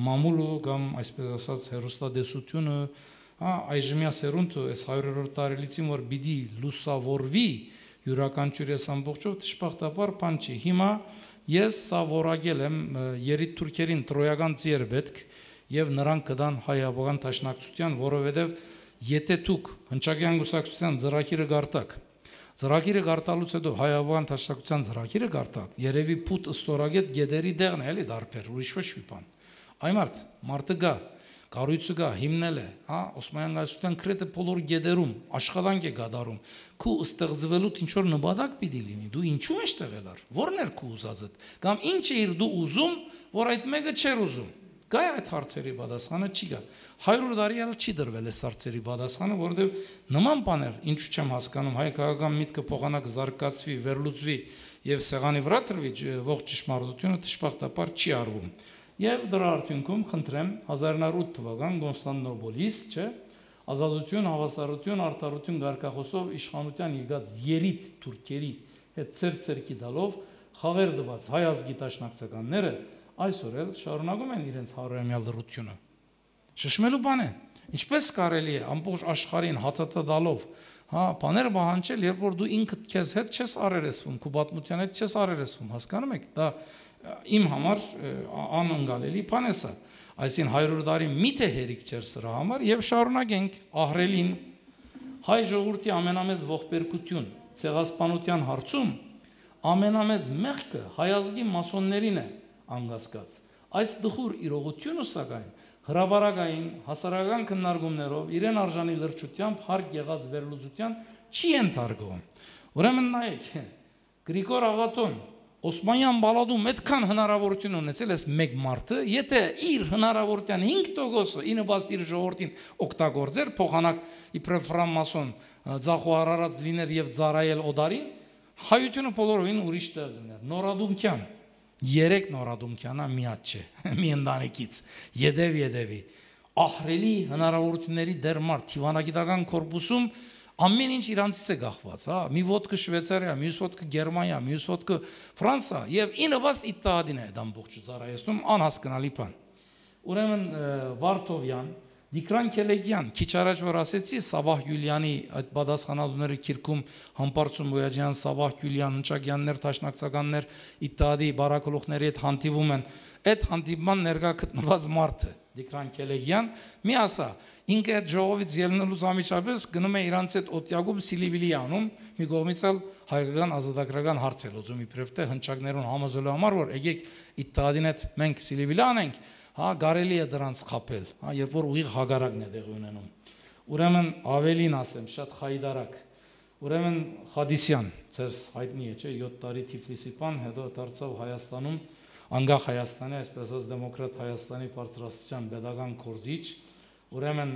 մամուլը կամ այսպես ասած հերոստատեսությունը, հա, այժմյա սերունդը այս 100-րդ տարելիցին որ պիտի լուսավորվի յուրաքանչյուր այս ամբողջով դժբախտաբար բան չի։ Հիմա ես սա որակել եմ երիտ թուրքերին տրոյական ծիեր պետք եւ նրանք կդան հայ-ավղան տաշնակցության, որովհետեւ եթե դուք հնչակյան գուսակցության ծրագիրը գարտակ, ծրագիրը գարտալուց հետո հայ-ավղան տաշնակցության ծրագիրը գարտակ, երևի փութ ստորագետ գեդերի դեղն է, էլի դարբեր, ուրիշ ոչ մի բան։ Այ մարդը գա, կառույցը գա, հիմնել է, հա, Օսմանյան կայսրության քրեթե բոլոր գեդերում աշխատանք է գադարում։ Քու ստեղծվելուց ինչ որ նպատակ պիտի լինի, դու ինչու ես տեղելար, ո՞րն էր քու ուզածդ, կամ ինչ էր դու ուզում, որ այդ մեկը չէր ուզում։ Գա այդ հարցերի պատասխանը չի գա։ 100 տարի էլ չի դրվել այս հարցերի պատասխանը, որովհետև նման բաներ, ինչու չեմ հասկանում, հայ քաղաքական միտքը փոխանակ զարգացվի, վերլուծվի եւ սեղանի վրա դրվի ողջ ճշմարտությունը դժբախտաբար չի արվում։ Եվ դրա արդյունքում խնդրեմ 1908 թվական Կոնստանտինոպոլիս, չէ, ազատություն, հավասարություն, արդարություն գարկախոսով իշխանության եկած երիտ թուրքերի հետ ցերկի դալով խաղեր դված հայ ազգի տաշնակցականները այսօր էլ շարունակում են իրենց հարյուրամյա լռությունը։ Շշմելու բան է։ Ինչպես կարելի է ամբողջ աշխարհին հացատա դալով, հա, բաներ բանջել, երբ որ դու ինքդ քեզ հետ չես արերեսվում, քո պատմության հետ չես արերեսվում, հասկանում եք, դա իմ համար անընկալելի բան է սա։ Այսին 100 տարի միթե հերիք չէր սրա համար եւ շարունակենք ահրելին հայ ժողովրդի ամենամեծ ողբերգություն ցեղասպանության հարցում ամենամեծ մեղքը հայ ազգի մասոններին է անգասկած։ Այս դխուր իրողությունը սակայն հրավարակային հասարակական քննարկումներով իրեն արժանի լրջությամբ հարկ եղած վերլուծության չի ենթարկվում։ Ուրեմն նայեք, Գրիգոր Աղատոն Օսմանյան բալադում այդքան հնարավորություն ունեցել էս մեկ մարդը, եթե իր հնարավորության 5%-ը ինը բաց իր ժողովրդին օգտագործեր, փոխանակ իբրև ֆրանմասոն ձախու արարած լիներ եւ ծարայել օդարին, հայությունը բոլորովին ուրիշ տեղ լիներ։ Նորադումքյան 3 նորադումքյանա միած չէ, մի ընտանիքից, յեդևի, ահրելի հնարավորությունների դեր մարդ, թիվանագիտական կորպուսում ամեն ինչ իրանցից է գախված, հա, մի ոտքը Շվեյցարիա, մյուս ոտքը Գերմանիա, մյուս ոտքը Ֆրանսա, եւ ինը բաց Իթտիհադին է դա ամբողջը ծառայեցնում, անհասկանալի բան։ Ուրեմն Վարդովյան, Դիկրան Քելեգյան, քիչ առաջ որ ասեցի Սավահ Յուլյանի այդ պատասխանատուների քիրքում Համբարձում Բոյաջյան, Սավահ Յուլյան, Հնչակյաններ, Տաշնակցականներ Իթտիհադի բարակոլողների հետ հանդիպում են, այդ հանդիպման ներկա գտնված մարդը Դիկրան Քելեգյան մի ասա, ինքը այդ ժողովից ելնելուց ամիջապես գնում է իրանց այդ օտյագում Սիլիվիլի անում, մի կողմից էլ հայկական ազատագրական հարց է լուծում իբրև թե հնչակներուն համոզելու համար, որ եկեք Իթտիհադին հետ մենք Սիլիվիլի անենք, հա, կարելի է դրանց խապել, հա, երբ որ ուղիղ հագարակն է տեղի ունենում։ Ուրեմն ավելին ասեմ, շատ խայդարակ։ Ուրեմն Խադիսյան, ձեզ հայտնի է, չէ, 7 տարի Թիֆլիսի բան, հետո դարձավ Հայաստանում, անկախ Հայաստանի, այսպես ասած դեմոկրատ Հայաստանի բարձրաստիճան pedagogan կորձիչ, ուրեմն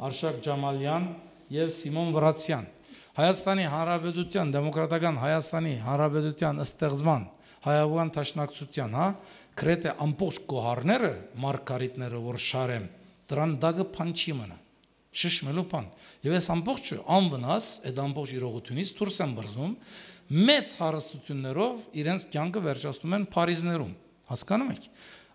Արշակ Ջամալյան եւ Սիմոն Վրացյան։ Հայաստանի Հանրապետության, դեմոկրատական Հայաստանի Հանրապետության ստեղծման հայավան տաշնակցության, հա, քրեթե ամբողջ գոհարները, մարգարիտները, որ շարեմ, դրան դագը փան չի մնա։ Շշմելու բան։ Եվ այս ամբողջը անվնաս այդ ամբողջ իրողությունից դուրս են բռնում, մեծ հարստություններով իրենց կյանքը վերջացնում են Փարիզներում։ Հասկանում եք։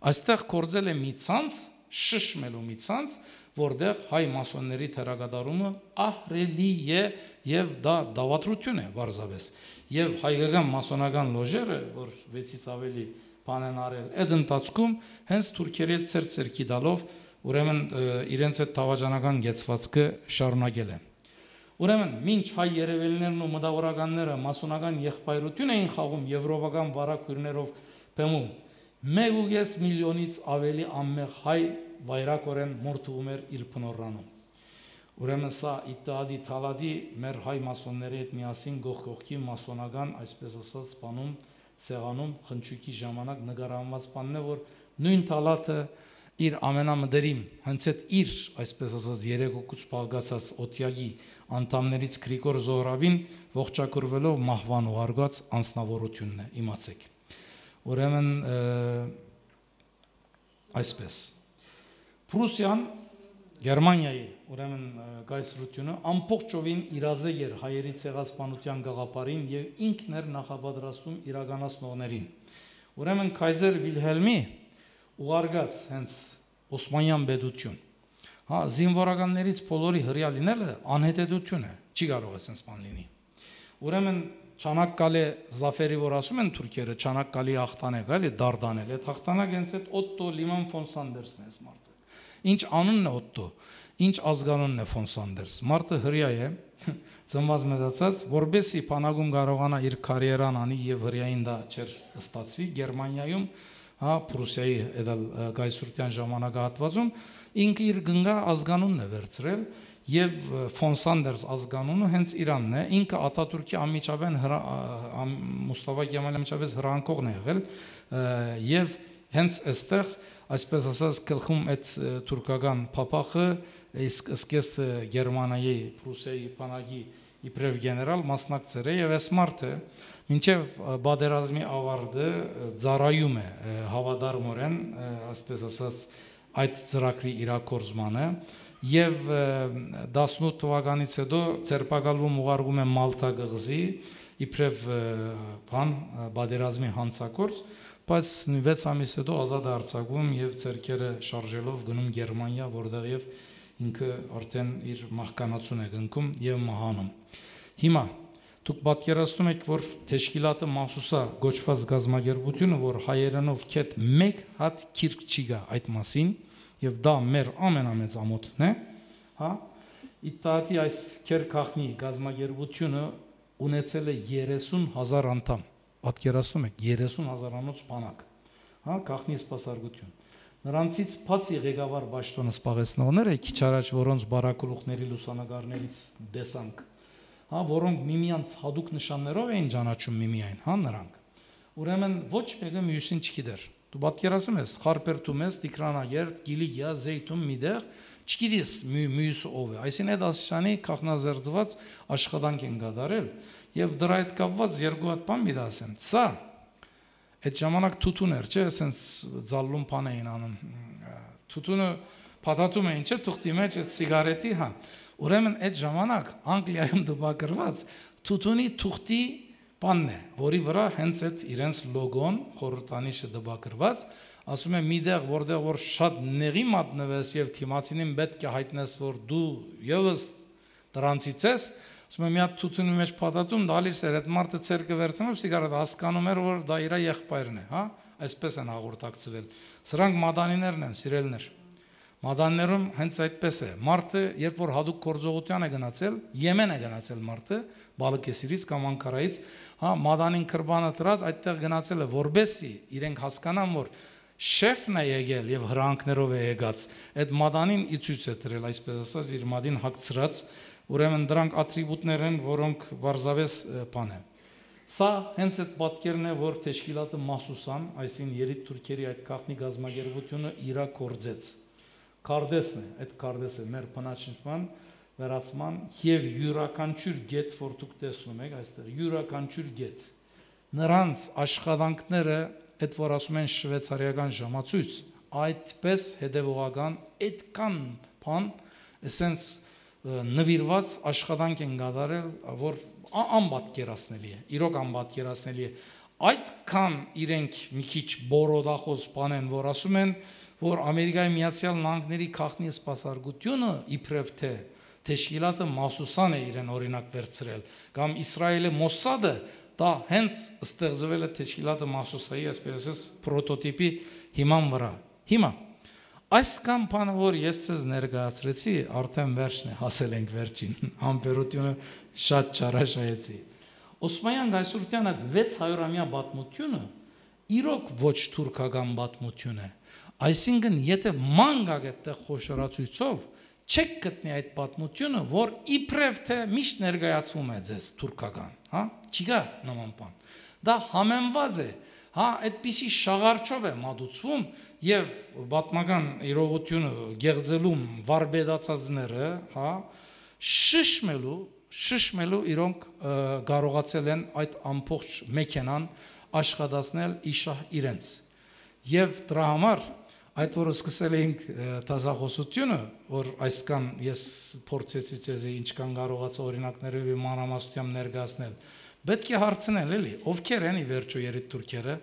Այստեղ կորձել է մի ցանց, շշմելու մի ցանց, որտեղ հայ մասոնների թերագադարումը ահրելի է եւ դա դավատրություն է բարձավես։ Եվ հայկական մասոնական լոժերը, որ 6-ից ավելի բան են արել, այդ ընթացքում հենց թուրքերի հետ ցերկի դալով ուրեմն իրենց այդ թավաջանական գեցվածքը շարունակել են։ Ուրեմն մինչ հայ երևելիներն ու մտավորականները մասոնական եղբայրություն էին խաղում եվրոպական վարակույրներով բեմում, 1.5 միլիոնից ավելի անմեղ հայ վայրակորեն մորթվում էր իր փնորանում։ Ուրեմն սա Իտալի Թալադի մեր հայ մասոնների հետ միասին գողքի մասոնական, այսպես ասած, բանում սեղանում խնչուկի ժամանակ նկարահանված բանն է, որ նույն Թալաթը իր ամենամդերիմ, հենց այդ իր, այսպես ասած, երեքոքուց բաղկացած օթյագի անդամներից Գրիգոր Զոհրաբին ողջակուրվելով մահվան ուղարկած անձնավորությունն է, իմացեք։ Ուրեմն այսպես Պրուսիան Գերմանիայի ուրեմն կայսրությունը ամբողջովին իրազեկ էր հայերի ցեղասպանության գաղափարին եւ ինքն էր նախապատրաստում իրականացնողներին։ Ուրեմն կայսեր Վիլհելմի ուղարկած հենց Օսմանյան պետություն, հա, զինվորականներից բոլորի հրյա լինելը անհետեթություն է, չի կարող է sense բան լինի։ Ուրեմն Չանակկալե զաֆերի, որ ասում են թուրքերը, Չանակկալի հաղթանակ, էլի Դարդանել, այդ հաղթանակ հենց այդ Օտտո Լիման ֆոն Սանդերսն է մարդը։ Ինչ անունն է Օտտո, ինչ ազգանունն է ֆոն Սանդերս։ Մարդը հրյա է, ծնված մեծացած, որբեսի բանակում կարողանա իր կարիերան անի եւ հրյային դա չէր ստացվի Գերմանիայում, հա, Պրուսիայի այդ կայսրության ժամանակահատվածում ինքը իր գնգա ազգանունն է վերցրել եւ ֆոն Սանդերս ազգանունը հենց Իրանն է, ինքը Աթաթուրքի անմիջապես Մուստաֆա Կեմալի անմիջապես հրանքողն է եղել եւ հենց այստեղ այսպես ասած գլխում այդ թուրքական փապախը սկեստ Գերմանիայի Պրուսիայի բանակի իբրև գեներալ մասնակցել է եւ այս մարդը մինչեւ բادرազմի ավարտը ծառայում է հավատարմորեն, այսպես ասած այդ ծրագրի իրագործմանը եւ 18 թվականից հետո ցերպակալվում ուղարկում է Մալտա գղզի իբրև բան բادرազմի հանցակորձ, բայց 6 ամիս հետո ազատ է արձակվում եւ ցերկերը շարժելով գնում Գերմանիա, որտեղ եւ ինքը արդեն իր մահկանացուն է գնքում եւ մահանում։ Հիմա դուք պատկերացնում եք, որ Թեշկիլատը Մահսուսա գոչված գազագերբությունը, որ հայերենով քեթ մեկ հատ քիրք չի գա այդ մասին, եւ դա մեր ամենամեծ ամոթն է, հա, Իտալիայի այս քերքախնի գազագերբությունը ունեցել է 30,000 անդամ, պատկերացնում եք 30,000 անոց բանակ, հա, գախնի սպասարկություն։ Նրանցից բացի ղեկավար պաշտոնը սպաղեցնողները, քիչ առաջ որոնց բարակուլուխների լուսանկարներից տեսանք, հա, որոնք միմյանց հadouk նշաններով էին ճանաչում միմիայն, հա, նրանք։ Ուրեմն ոչ մեկը մյուսին չգիտեր։ Դու պատկերացնում ես, խարպերտում ես, տիկրանագերտ, գիլիգիա, զեյթուն միդեղ, չգիտես մյուսը ով է։ Այսինքն այդ ասիանի քախնազերծված աշխատանք են կատարել եւ դրա հետ կապված երկու հատ բան մի դասեմ։ Սա այդ ժամանակ թութուն էր, չէ, ասենց ձալլում բան էին անում։ Թութունը փաթաթում էին, չէ, թուղթի մեջ այդ սիգարետի, հա։ Ուրեմն այդ ժամանակ Անգլիայում դպակրված թութունի թուղթի բանն է, որի վրա հենց այդ իրենց լոգոն, խորհրդանիշը դպակրված, ասում է միտեղ, որտեղ որ շատ նեղի մատնվես եւ թիմացինին պետք է հայտնես, որ դու եւս դրանցից ես, ասում է մի հատ թութունի մեջ փաթաթում դալիս էր, այդ մարդը ցերկը վերցնելով սիգարետ հասկանում էր, որ դա իր եղբայրն է, հա, այսպես են հաղորդակցվել։ Սրանք մադանիներն են, սիրելներ։ Մադաններում հենց այդպես է։ Մարդը, երբ որ հadouk գործողության է գնացել, Եմեն է գնացել մարդը, Բալկեսիրից կամ Անկարայից, հա, մադանին քրբանը դրած այդտեղ գնացել է, որբեսի իրենք հասկանան, որ շեֆն է եկել եւ հրանքներով է եկած, այդ մադանին ի ցույց է դրել, այսպես ասած, իր մադին հագցրած, ուրեմն դրանք ատրիբուտներ են, որոնք վարզավես բան է։ Սա հենց այդ պատկերն է, որ Թեշկիլատը Մահսուսան, այսին երիտ թուրքերի այդ քախնի գազագերբությունը իրա կորձեց։ Կարդեսն է, այդ կարդեսը մեր բնաճնչման վերացման եւ յուրաքանչյուր գետ, որ դուք տեսնում եք այստեղ, յուրաքանչյուր գետ նրանց աշխատանքները, այդ որ ասում են շվեյցարիական ժամացույց, այդպես հետևողական, այդքան բան, ասենց նվիրված աշխատանք են կատարել, որ անպատկերացնելի է, իրոք անպատկերացնելի է, այդքան իրենք մի քիչ բորոդախոս բան են, որ ասում են, որ Ամերիկայի Միացյալ Նահանգների քախնի սպասարկությունը իբրև թե Թեշկիլատը Մահսուսան է իրեն օրինակ վերցրել, կամ Իսրայելի Մոսադը դա հենց ստեղծվել է Թեշկիլատը Մահսուսայի, այսպես ասած, պրոտոտիպի հիման վրա։ Հիմա այս կամ բանը, որ ես ցեզ ներկայացրեցի, արդեն վերջն է, հասել ենք վերջին, համբերությունը շատ չարաշահեցի։ Օսմանյան գայսրության այդ 600-ամյա պատմությունը իրոք ոչ թուրքական պատմություն է։ Այսինքն, եթե ման գաք այդտեղ խոշորացույցով, չեք գտնի այդ պատմությունը, որ իբրև թե միշտ ներկայացվում է ձեզ թուրքական, հա, չկա նման բան։ Դա համեմված է, հա, այդպիսի շաղարչով է մատուցվում եւ պատմական իրողությունը գեղձելում վարբեդացածները, հա, շշմելու իրոնք կարողացել են այդ ամբողջ մեքենան աշխատացնել իշահ իրենց։ Եվ դրա համար այդ օրը սկսել էինք տազախոսությունը, որ այսքան ես փորձեցի ցեզ ինչքան կարողացա օրինակներով մանրամասնությամբ ներկայացնել։ Պետք է հարցնել էլի, ովքեր են ի վերջո երիտթուրքերը,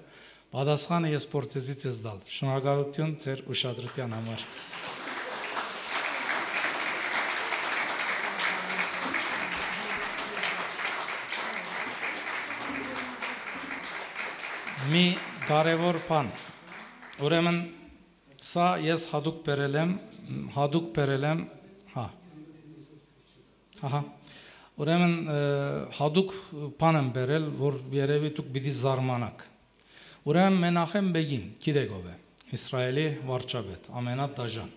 պատասխանը ես փորձեցի ցեզ տալ։ Շնորհակալություն ձեր ուշադրության համար։ Մի կարևոր բան։ Ուրեմն սա ես հadoop բերել եմ, հա։ Ահա։ Ուրեմն հadoop բան եմ բերել, որ երևի դուք պիտի զարմանաք։ Ուրեմն Մենախեմ Բեգին, գիտեք ով է, Իսրայելի վարչապետ, ամենադաժան։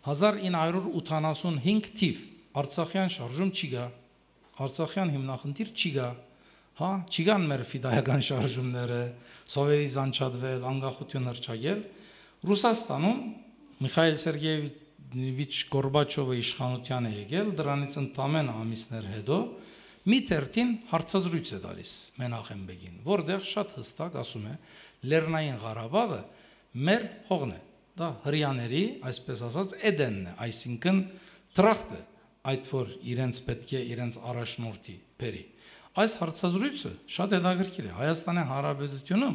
1985 թիվ Արցախյան շարժում չի գա, Արցախյան հիմնախնդիր չի գա, հա, չի գան մեր ֆիդայական շարժումները, սովետից անջատվել, անկախություն հռչակել, Ռուսաստանում Միխայել Սերգեևիչ Գորբաչովը իշխանության է եկել, դրանից ընդամենը ամիսներ հետո մի թերթին հարցազրույց է տալիս Մենախեմ Բեգին, որտեղ շատ հստակ ասում է, Լեռնային Ղարաբաղը մեր հողն է, դա հրյաների, այսպես ասած, Էդենն է, այսինքն դրախտը, այդ որ իրենց պետք է իրենց առաջնորդի բերի։ Այս հարցազրույցը շատ հետաքրքիր է։ Հայաստանի Հանրապետությունում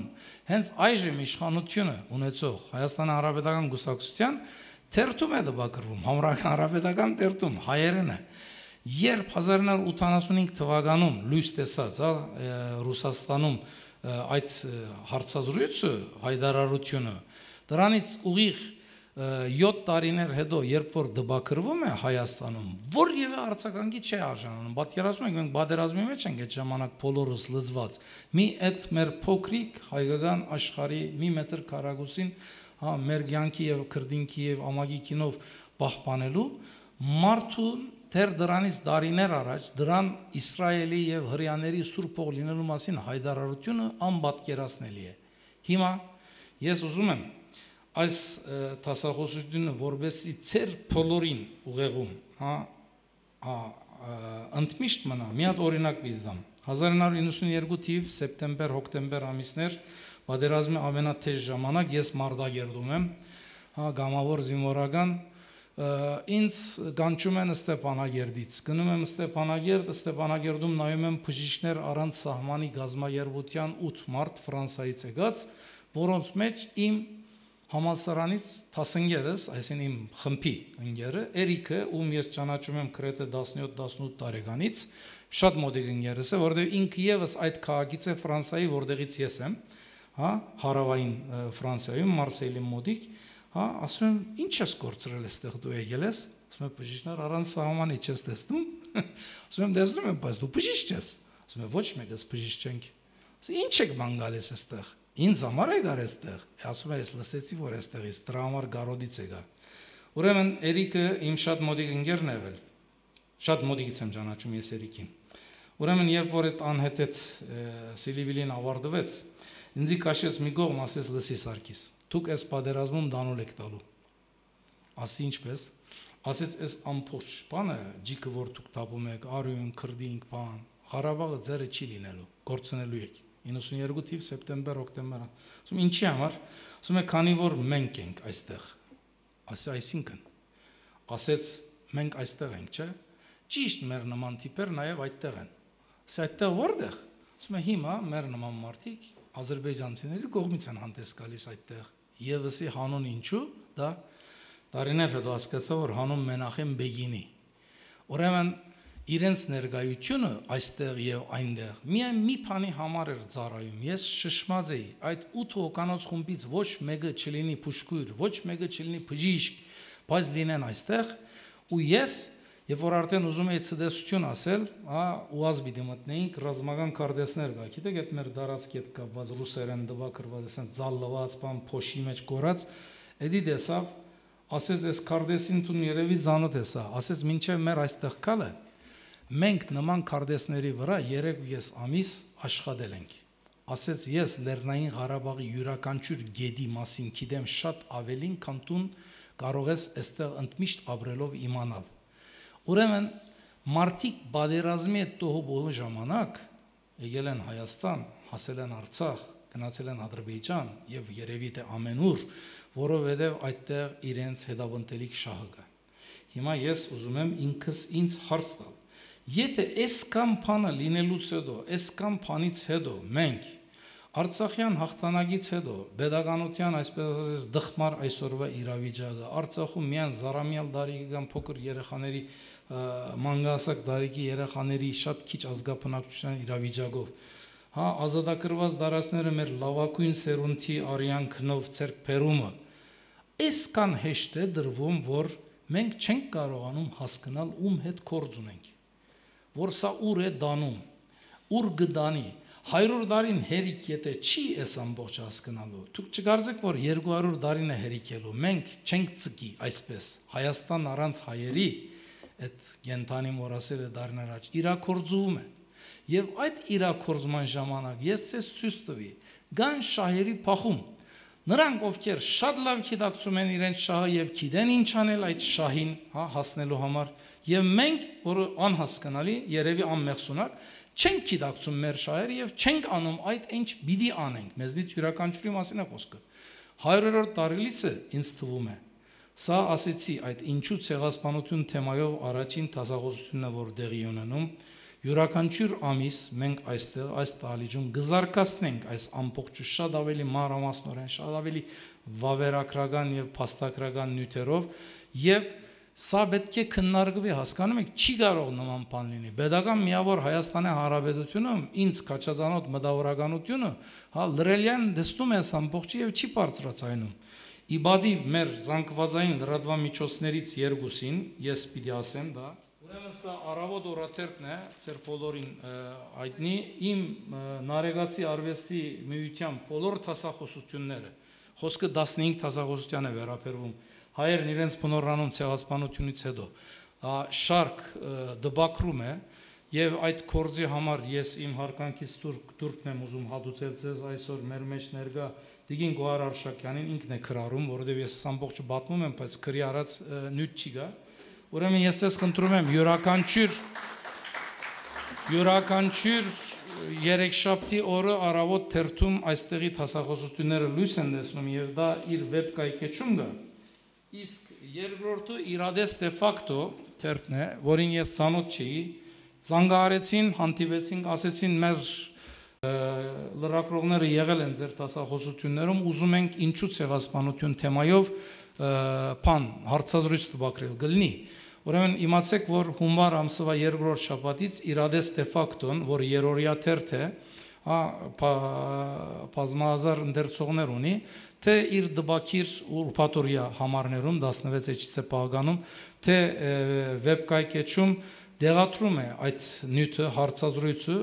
հենց այժմ իշխանությունը ունեցող Հայաստանի Հանրապետական Կուսակցության թերթում է դպակրվում, Հանրապետական թերթում հայերեն է։ Երբ 1985 թվականում լույս տեսած Ռուսաստանում այդ հարցազրույցը, հայտարարությունը, դրանից ուղիղ 7 տարիներ հետո, երբ որ դպակրվում է Հայաստանում, որևէ արձագանքի չի արժանանում։ Պատկերացնում եք, մենք պատերազմի մեջ ենք այդ ժամանակ բոլորս լծված։ Մի այդ մեր փոքրիկ հայկական աշխարհի մի մետր քառակուսին, հա, մեր կյանքի եւ քրդինքի եւ ամագիկինով պահպանելու մարդու դեռ դրանից տարիներ առաջ դրան Իսրայելի եւ հրյաների սուրբ ող լինելու մասին հայտարարությունը անպատկերացնելի է։ Հիմա ես ուզում եմ այս տասախոսությունը որբեսի ծեր բոլորին ուղեղում, հա, ընդմիշտ մնա, մի հատ օրինակ պիտի դամ։ 1992 թիվ սեպտեմբեր-հոկտեմբեր ամիսներ պատերազմի ամենաթեժ ժամանակ ես Մարտակերտում եմ, հա, գամավոր զինվորական, ինձ կանչում են Ստեփանագերդից, գնում եմ Ստեփանագերդում նայում եմ բժիշկներ առանց սահմանի գազམ-երբության 8 մարդ Ֆրանսիայից եկած, որոնց մեջ իմ համալսարանից 10 ընկերս, այսինքն իմ խմբի ընկերը, Էրիկը, ում ես ճանաչում եմ գրեթե 17-18 տարեկանից, շատ մոտիկ ընկերս է, որովհետև ինքը եւս այդ քաղաքից է Ֆրանսիայի, որտեղից ես եմ, հա, հարավային Ֆրանսիայում, Մարսեյի մոտիկ, հա, ասում եմ, ինչ ես կորցրել այստեղ դու եկել ես, ասում եմ, բժիշկներ առանց սահմանի չես տեսնում, ասում եմ, տեսնում եմ, բայց դու բժիշկ ես, ասում եմ, ոչ մեկս բժիշկ չենք, ասում ինչ եք ման գալիս այստեղ, ինձ համար եք գար այստեղ, ասում եմ, ես լսեցի, որ այստեղից դրա համար գարոդից եկա։ Ուրեմն Էրիկը իմ շատ մոտիկ ընկերն է եղել, շատ մոտիկից եմ ճանաչում ես Էրիկին։ Ուրեմն երբ որ այդ անհետ Սիլիվիլին ավարտվեց, ինձ քաշեց մի կողմ, ասեց լսի Սարգիս, դուք այս պատերազմում դանուլ եք տալու։ Ասի ինչպես, ասեց այս ամբողջ բանը, ջիկը որ դուք տապում եք, արյուն, քրդինք, բան, Ղարաբաղը ձերը չի լինելու, գործնելու եք։ 92 թիվ սեպտեմբեր-հոկտեմբեր։ Ասում ինչի համար, ասում է քանի որ մենք ենք այստեղ։ Ասի այսինքն, ասեց մենք այստեղ ենք, չէ՞։ Ճիշտ մեր նման տիպեր նաև այդտեղ են։ Ասի այդտեղ որտեղ։ Ասում է հիմա մեր նման մարդիկ ադրբեջանցիների կողմից են հանդես գալիս այդտեղ։ Եվսի հանուն ինչու, դա տարիներ հետո հասկացա, որ հանուն Մենախեմ Բեգինի։ Ուրեմն իրենց ներկայությունը այստեղ եւ այնտեղ միայն մի բանի համար էր ծառայում։ Ես շշմած էի, այդ 8 հոկանոց խումբից ոչ մեկը չլինի փուշկույր, ոչ մեկը չլինի բժիշկ, բայց լինեն այստեղ, ու ես Երբ որ արդեն ուզում էի ցդեսություն ասել, ուազ պիտի մտնեինք ռազմական կարդեսներ կա, գիտեք, այդ մեր դարածքի հետ կապված ռուսերեն դվակրված, ասենց ձալլված, բան փոշի մեջ կորած, էդի դեսավ ասեց այս քարտեզին տուն երևի ծանոթ է սա, ասեց մինչև մեր այստեղ կալը մենք նման քարտեզների վրա 3.5 ամիս աշխատել ենք, ասեց ես Լեռնային Ղարաբաղի յուրաքանչյուր գեդի մասին գիտեմ շատ ավելին, քան տուն կարող ես այստեղ ընդմիշտ ապրելով իմանալ, ուրեմն մարդիկ պատերազմի այդ տոհուբոհի ժամանակ եկել են Հայաստան, հասել են Արցախ, գնացել են Ադրբեջան եւ երևի թե ամենուր, որովհետեւ այդտեղ իրենց հետապնդելիք շահը կա։ Հիմա ես ուզում եմ ինքս ինձ հարց տալ, եթե այսքան բանը լինելուց հետո, այսքան բանից հետո մենք Արցախյան հաղթանակից հետո pedagogian այսպես ասած դխմար այսօրվա իրավիճակը Արցախում միան զարամյալ տարիքի կամ փոքր երեխաների մանգասակ տարիքի երեխաների շատ քիչ ազգապնակության իրավիճակով հա ազատագրված դարաշները մեր լավագույն սերունդի արյան քնով ցերկբերումը այսքան հեշտ է դրվում որ մենք չենք կարողանում հասկանալ ում հետ կորձ ունենք որ սա ուր է դանում ուր գդանի 100 տարին հերիք եթե չի այս ամբողջ հասկանալու դուք չկարծեք որ 200 տարին է հերիքելու մենք չենք ցկի այսպես Հայաստան առանց հայերի այդ գենտանին որ ասել է դարներ առաջ իրակորձում է եւ այդ իրակորձման ժամանակ ես ցես ցույց տվի գան շահերի փախում նրանք ովքեր շատ լավ գիտակցում են իրենց շահը եւ գիտեն ինչ անել այդ շահին հա հասնելու համար եւ մենք որ անհասկանալի երևի անմեղսունակ չենք գիտակցում մեր շահերը եւ չենք անում այդ ինչ պիտի անենք մեզնից յուրաքանչյուրի մասին է խոսքը 100-րդ տարելիցը ինձ թվում է սա ասեցի այդ ինչու ցեղասպանություն թեմայով առաջին տասախոսությունն է որ դեղի ունենում յուրաքանչյուր ամիս մենք այստեղ այս տալիջում գզարկացնենք այս ամբողջը շատ ավելի մանրամասնորեն շատ ավելի վավերագրական եւ փաստագրական նյութերով եւ սա պետք է քննարկվի հասկանում եք չի կարող նման բան լինի pedagogan միավոր Հայաստանի Հանրապետությունը ինձ քաչազանոտ մտավորականությունը հա լրելյան դստում է ամբողջը եւ չի բարձրացնում իբադի մեր զանգվածային լրատվամիջոցներից երկուսին ես պիտի ասեմ դա ուրեմն սա առավոտ օրաթերթն է ծեր բոլորին այդնի իմ նարեգացի արվեստի միության բոլոր տասախոսությունները խոսքը 15 տասախոսության է վերաբերվում հայերն իրենց բնորանում ցեղասպանությունից հետո շարք դբակրում է եւ այդ կորձի համար ես իմ հարկանքից դուրքն եմ ուզում հատուցել ձեզ այսօր մեր մեջ ներկա Դիգին Գոհար Արշակյանին ինքն է քրարում որովհետեւ ես ամբողջը պատմում եմ բայց քրի արած նյութ չի գա ուրեմն ես ձեզ խնդրում եմ յուրաքանչյուր երեքշաբթի օրը առավոտ թերթում այստեղի տասախոսությունները լույս են տեսնում եւ դա իր վեբ կայքեջում գա իսկ երկրորդը իրադես դե ֆակտո թերթն է որին ես ցանոթ չի զանգահարեցին հանդիպեցին ասեցին մեր լրագրողները եղել են ձեր տասախոսություններում ուզում ենք ինչու ցեղասպանություն թեմայով բան հարցազրույց տվակրել գլնի ուրեմն իմացեք որ հունվար ամսվա երկրորդ շաբաթից իրադես դե ֆակտոն որ երորիա թերթ է բազմահազար ընդերցողներ ունի թե իր դբակիր ուրփաթորիա համարներում 16-ից է պահականում թե վեբկայքեջում դեղատրում է այդ նյութը հարցազրույցը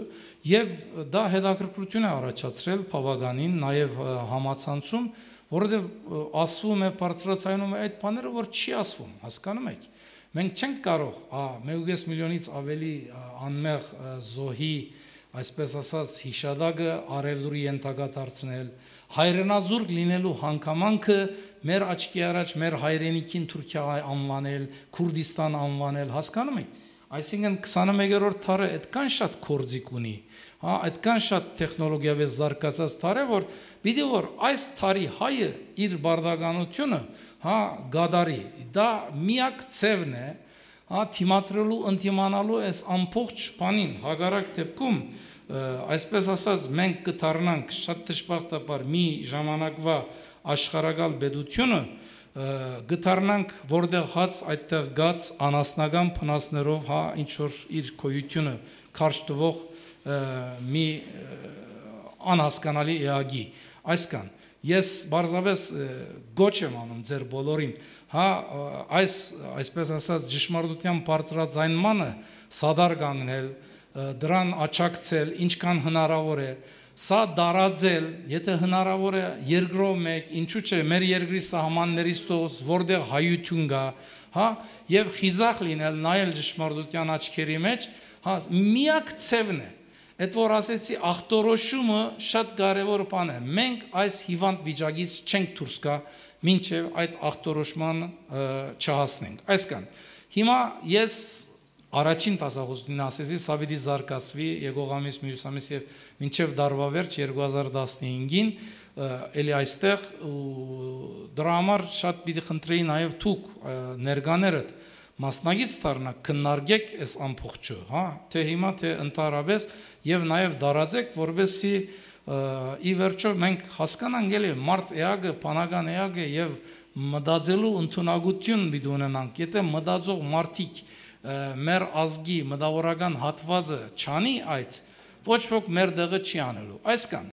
եւ դա հետաքրքրություն է առաջացրել բավականին նաեւ համացանցում որովհետեւ ասվում է բարձրացնում է այդ բաները որ չի ասվում հասկանում եք մենք չենք կարող 1.5 միլիոնից ավելի անմեղ զոհի այսպես ասած հիշադակը արևդուրի ենթակա դարձնել հայրենազուրկ լինելու հանգամանքը մեր աչքի առաջ մեր հայրենիքին Թուրքիա անվանել Քուրդիստան անվանել հասկանում եք այսինքն 21-րդ դարը այդքան շատ կորձիկ ունի այդքան շատ տեխնոլոգիայով զարգացած դար է որ պիտի որ այս դարի հայը իր բարդականությունը գադարի դա միակ ցևն է թիմատրելու ընդիմանալու այս ամբողջ բանին հագարակ դեպքում այսպես ասած մենք կդառնանք շատ դժբախտաբար մի ժամանակվա աշխարհակալ պետությունը գտարնանք որտեղ հաց այդտեղ գած անասնական փնասներով ինչ որ իր քոյությունը քարշ տվող մի անհասկանալի էագի այսքան ես բարձավես գոչ եմ անում ձեր բոլորին այսպես ասած ճշմարտության բարձրաձայնմանը սադար կանգնել դրան աչակցել ինչքան հնարավոր է Սա դարաձել, եթե հնարավոր է երկրով մեկ, ինչու՞ չէ, մեր երկրի սահմաններից դուրս, որտեղ հայություն կա, հա, եւ խիզախ լինել, նայել ճշմարտության աչքերի մեջ, հա, միակ ցևն է։ Այդ որ ասեցի ախտորոշումը շատ կարևոր բան է։ Մենք այս հիվանդ վիճակից չենք դուրս գա, մինչև այդ ախտորոշման չհասնենք։ Այսքան։ Հիմա ես առաջին տասախոսությունն ասեցի, սա պիտի զարգացվի եկող ամիս, մյուս ամիս եւ մինչև դարվա վերջ 2015-ին, էլի այստեղ դրա համար շատ պիտի խնդրեի նաեւ դուք ներկաներդ մասնագից դառնաք, քննարկեք այս ամբողջը, հա, թե հիմա թե ընդհանրապես եւ նաեւ դարաձեք, որովհետեւ ի վերջո մենք հասկանանք էլի մարդ էակը, բանական էակը եւ մտածելու ընդունակություն պիտի ունենանք, եթե մտածող մարդիկ մեր ազգի մտավորական հատվածը չանի այդ, ոչ ոք մեր դեղը չի անելու, այսքան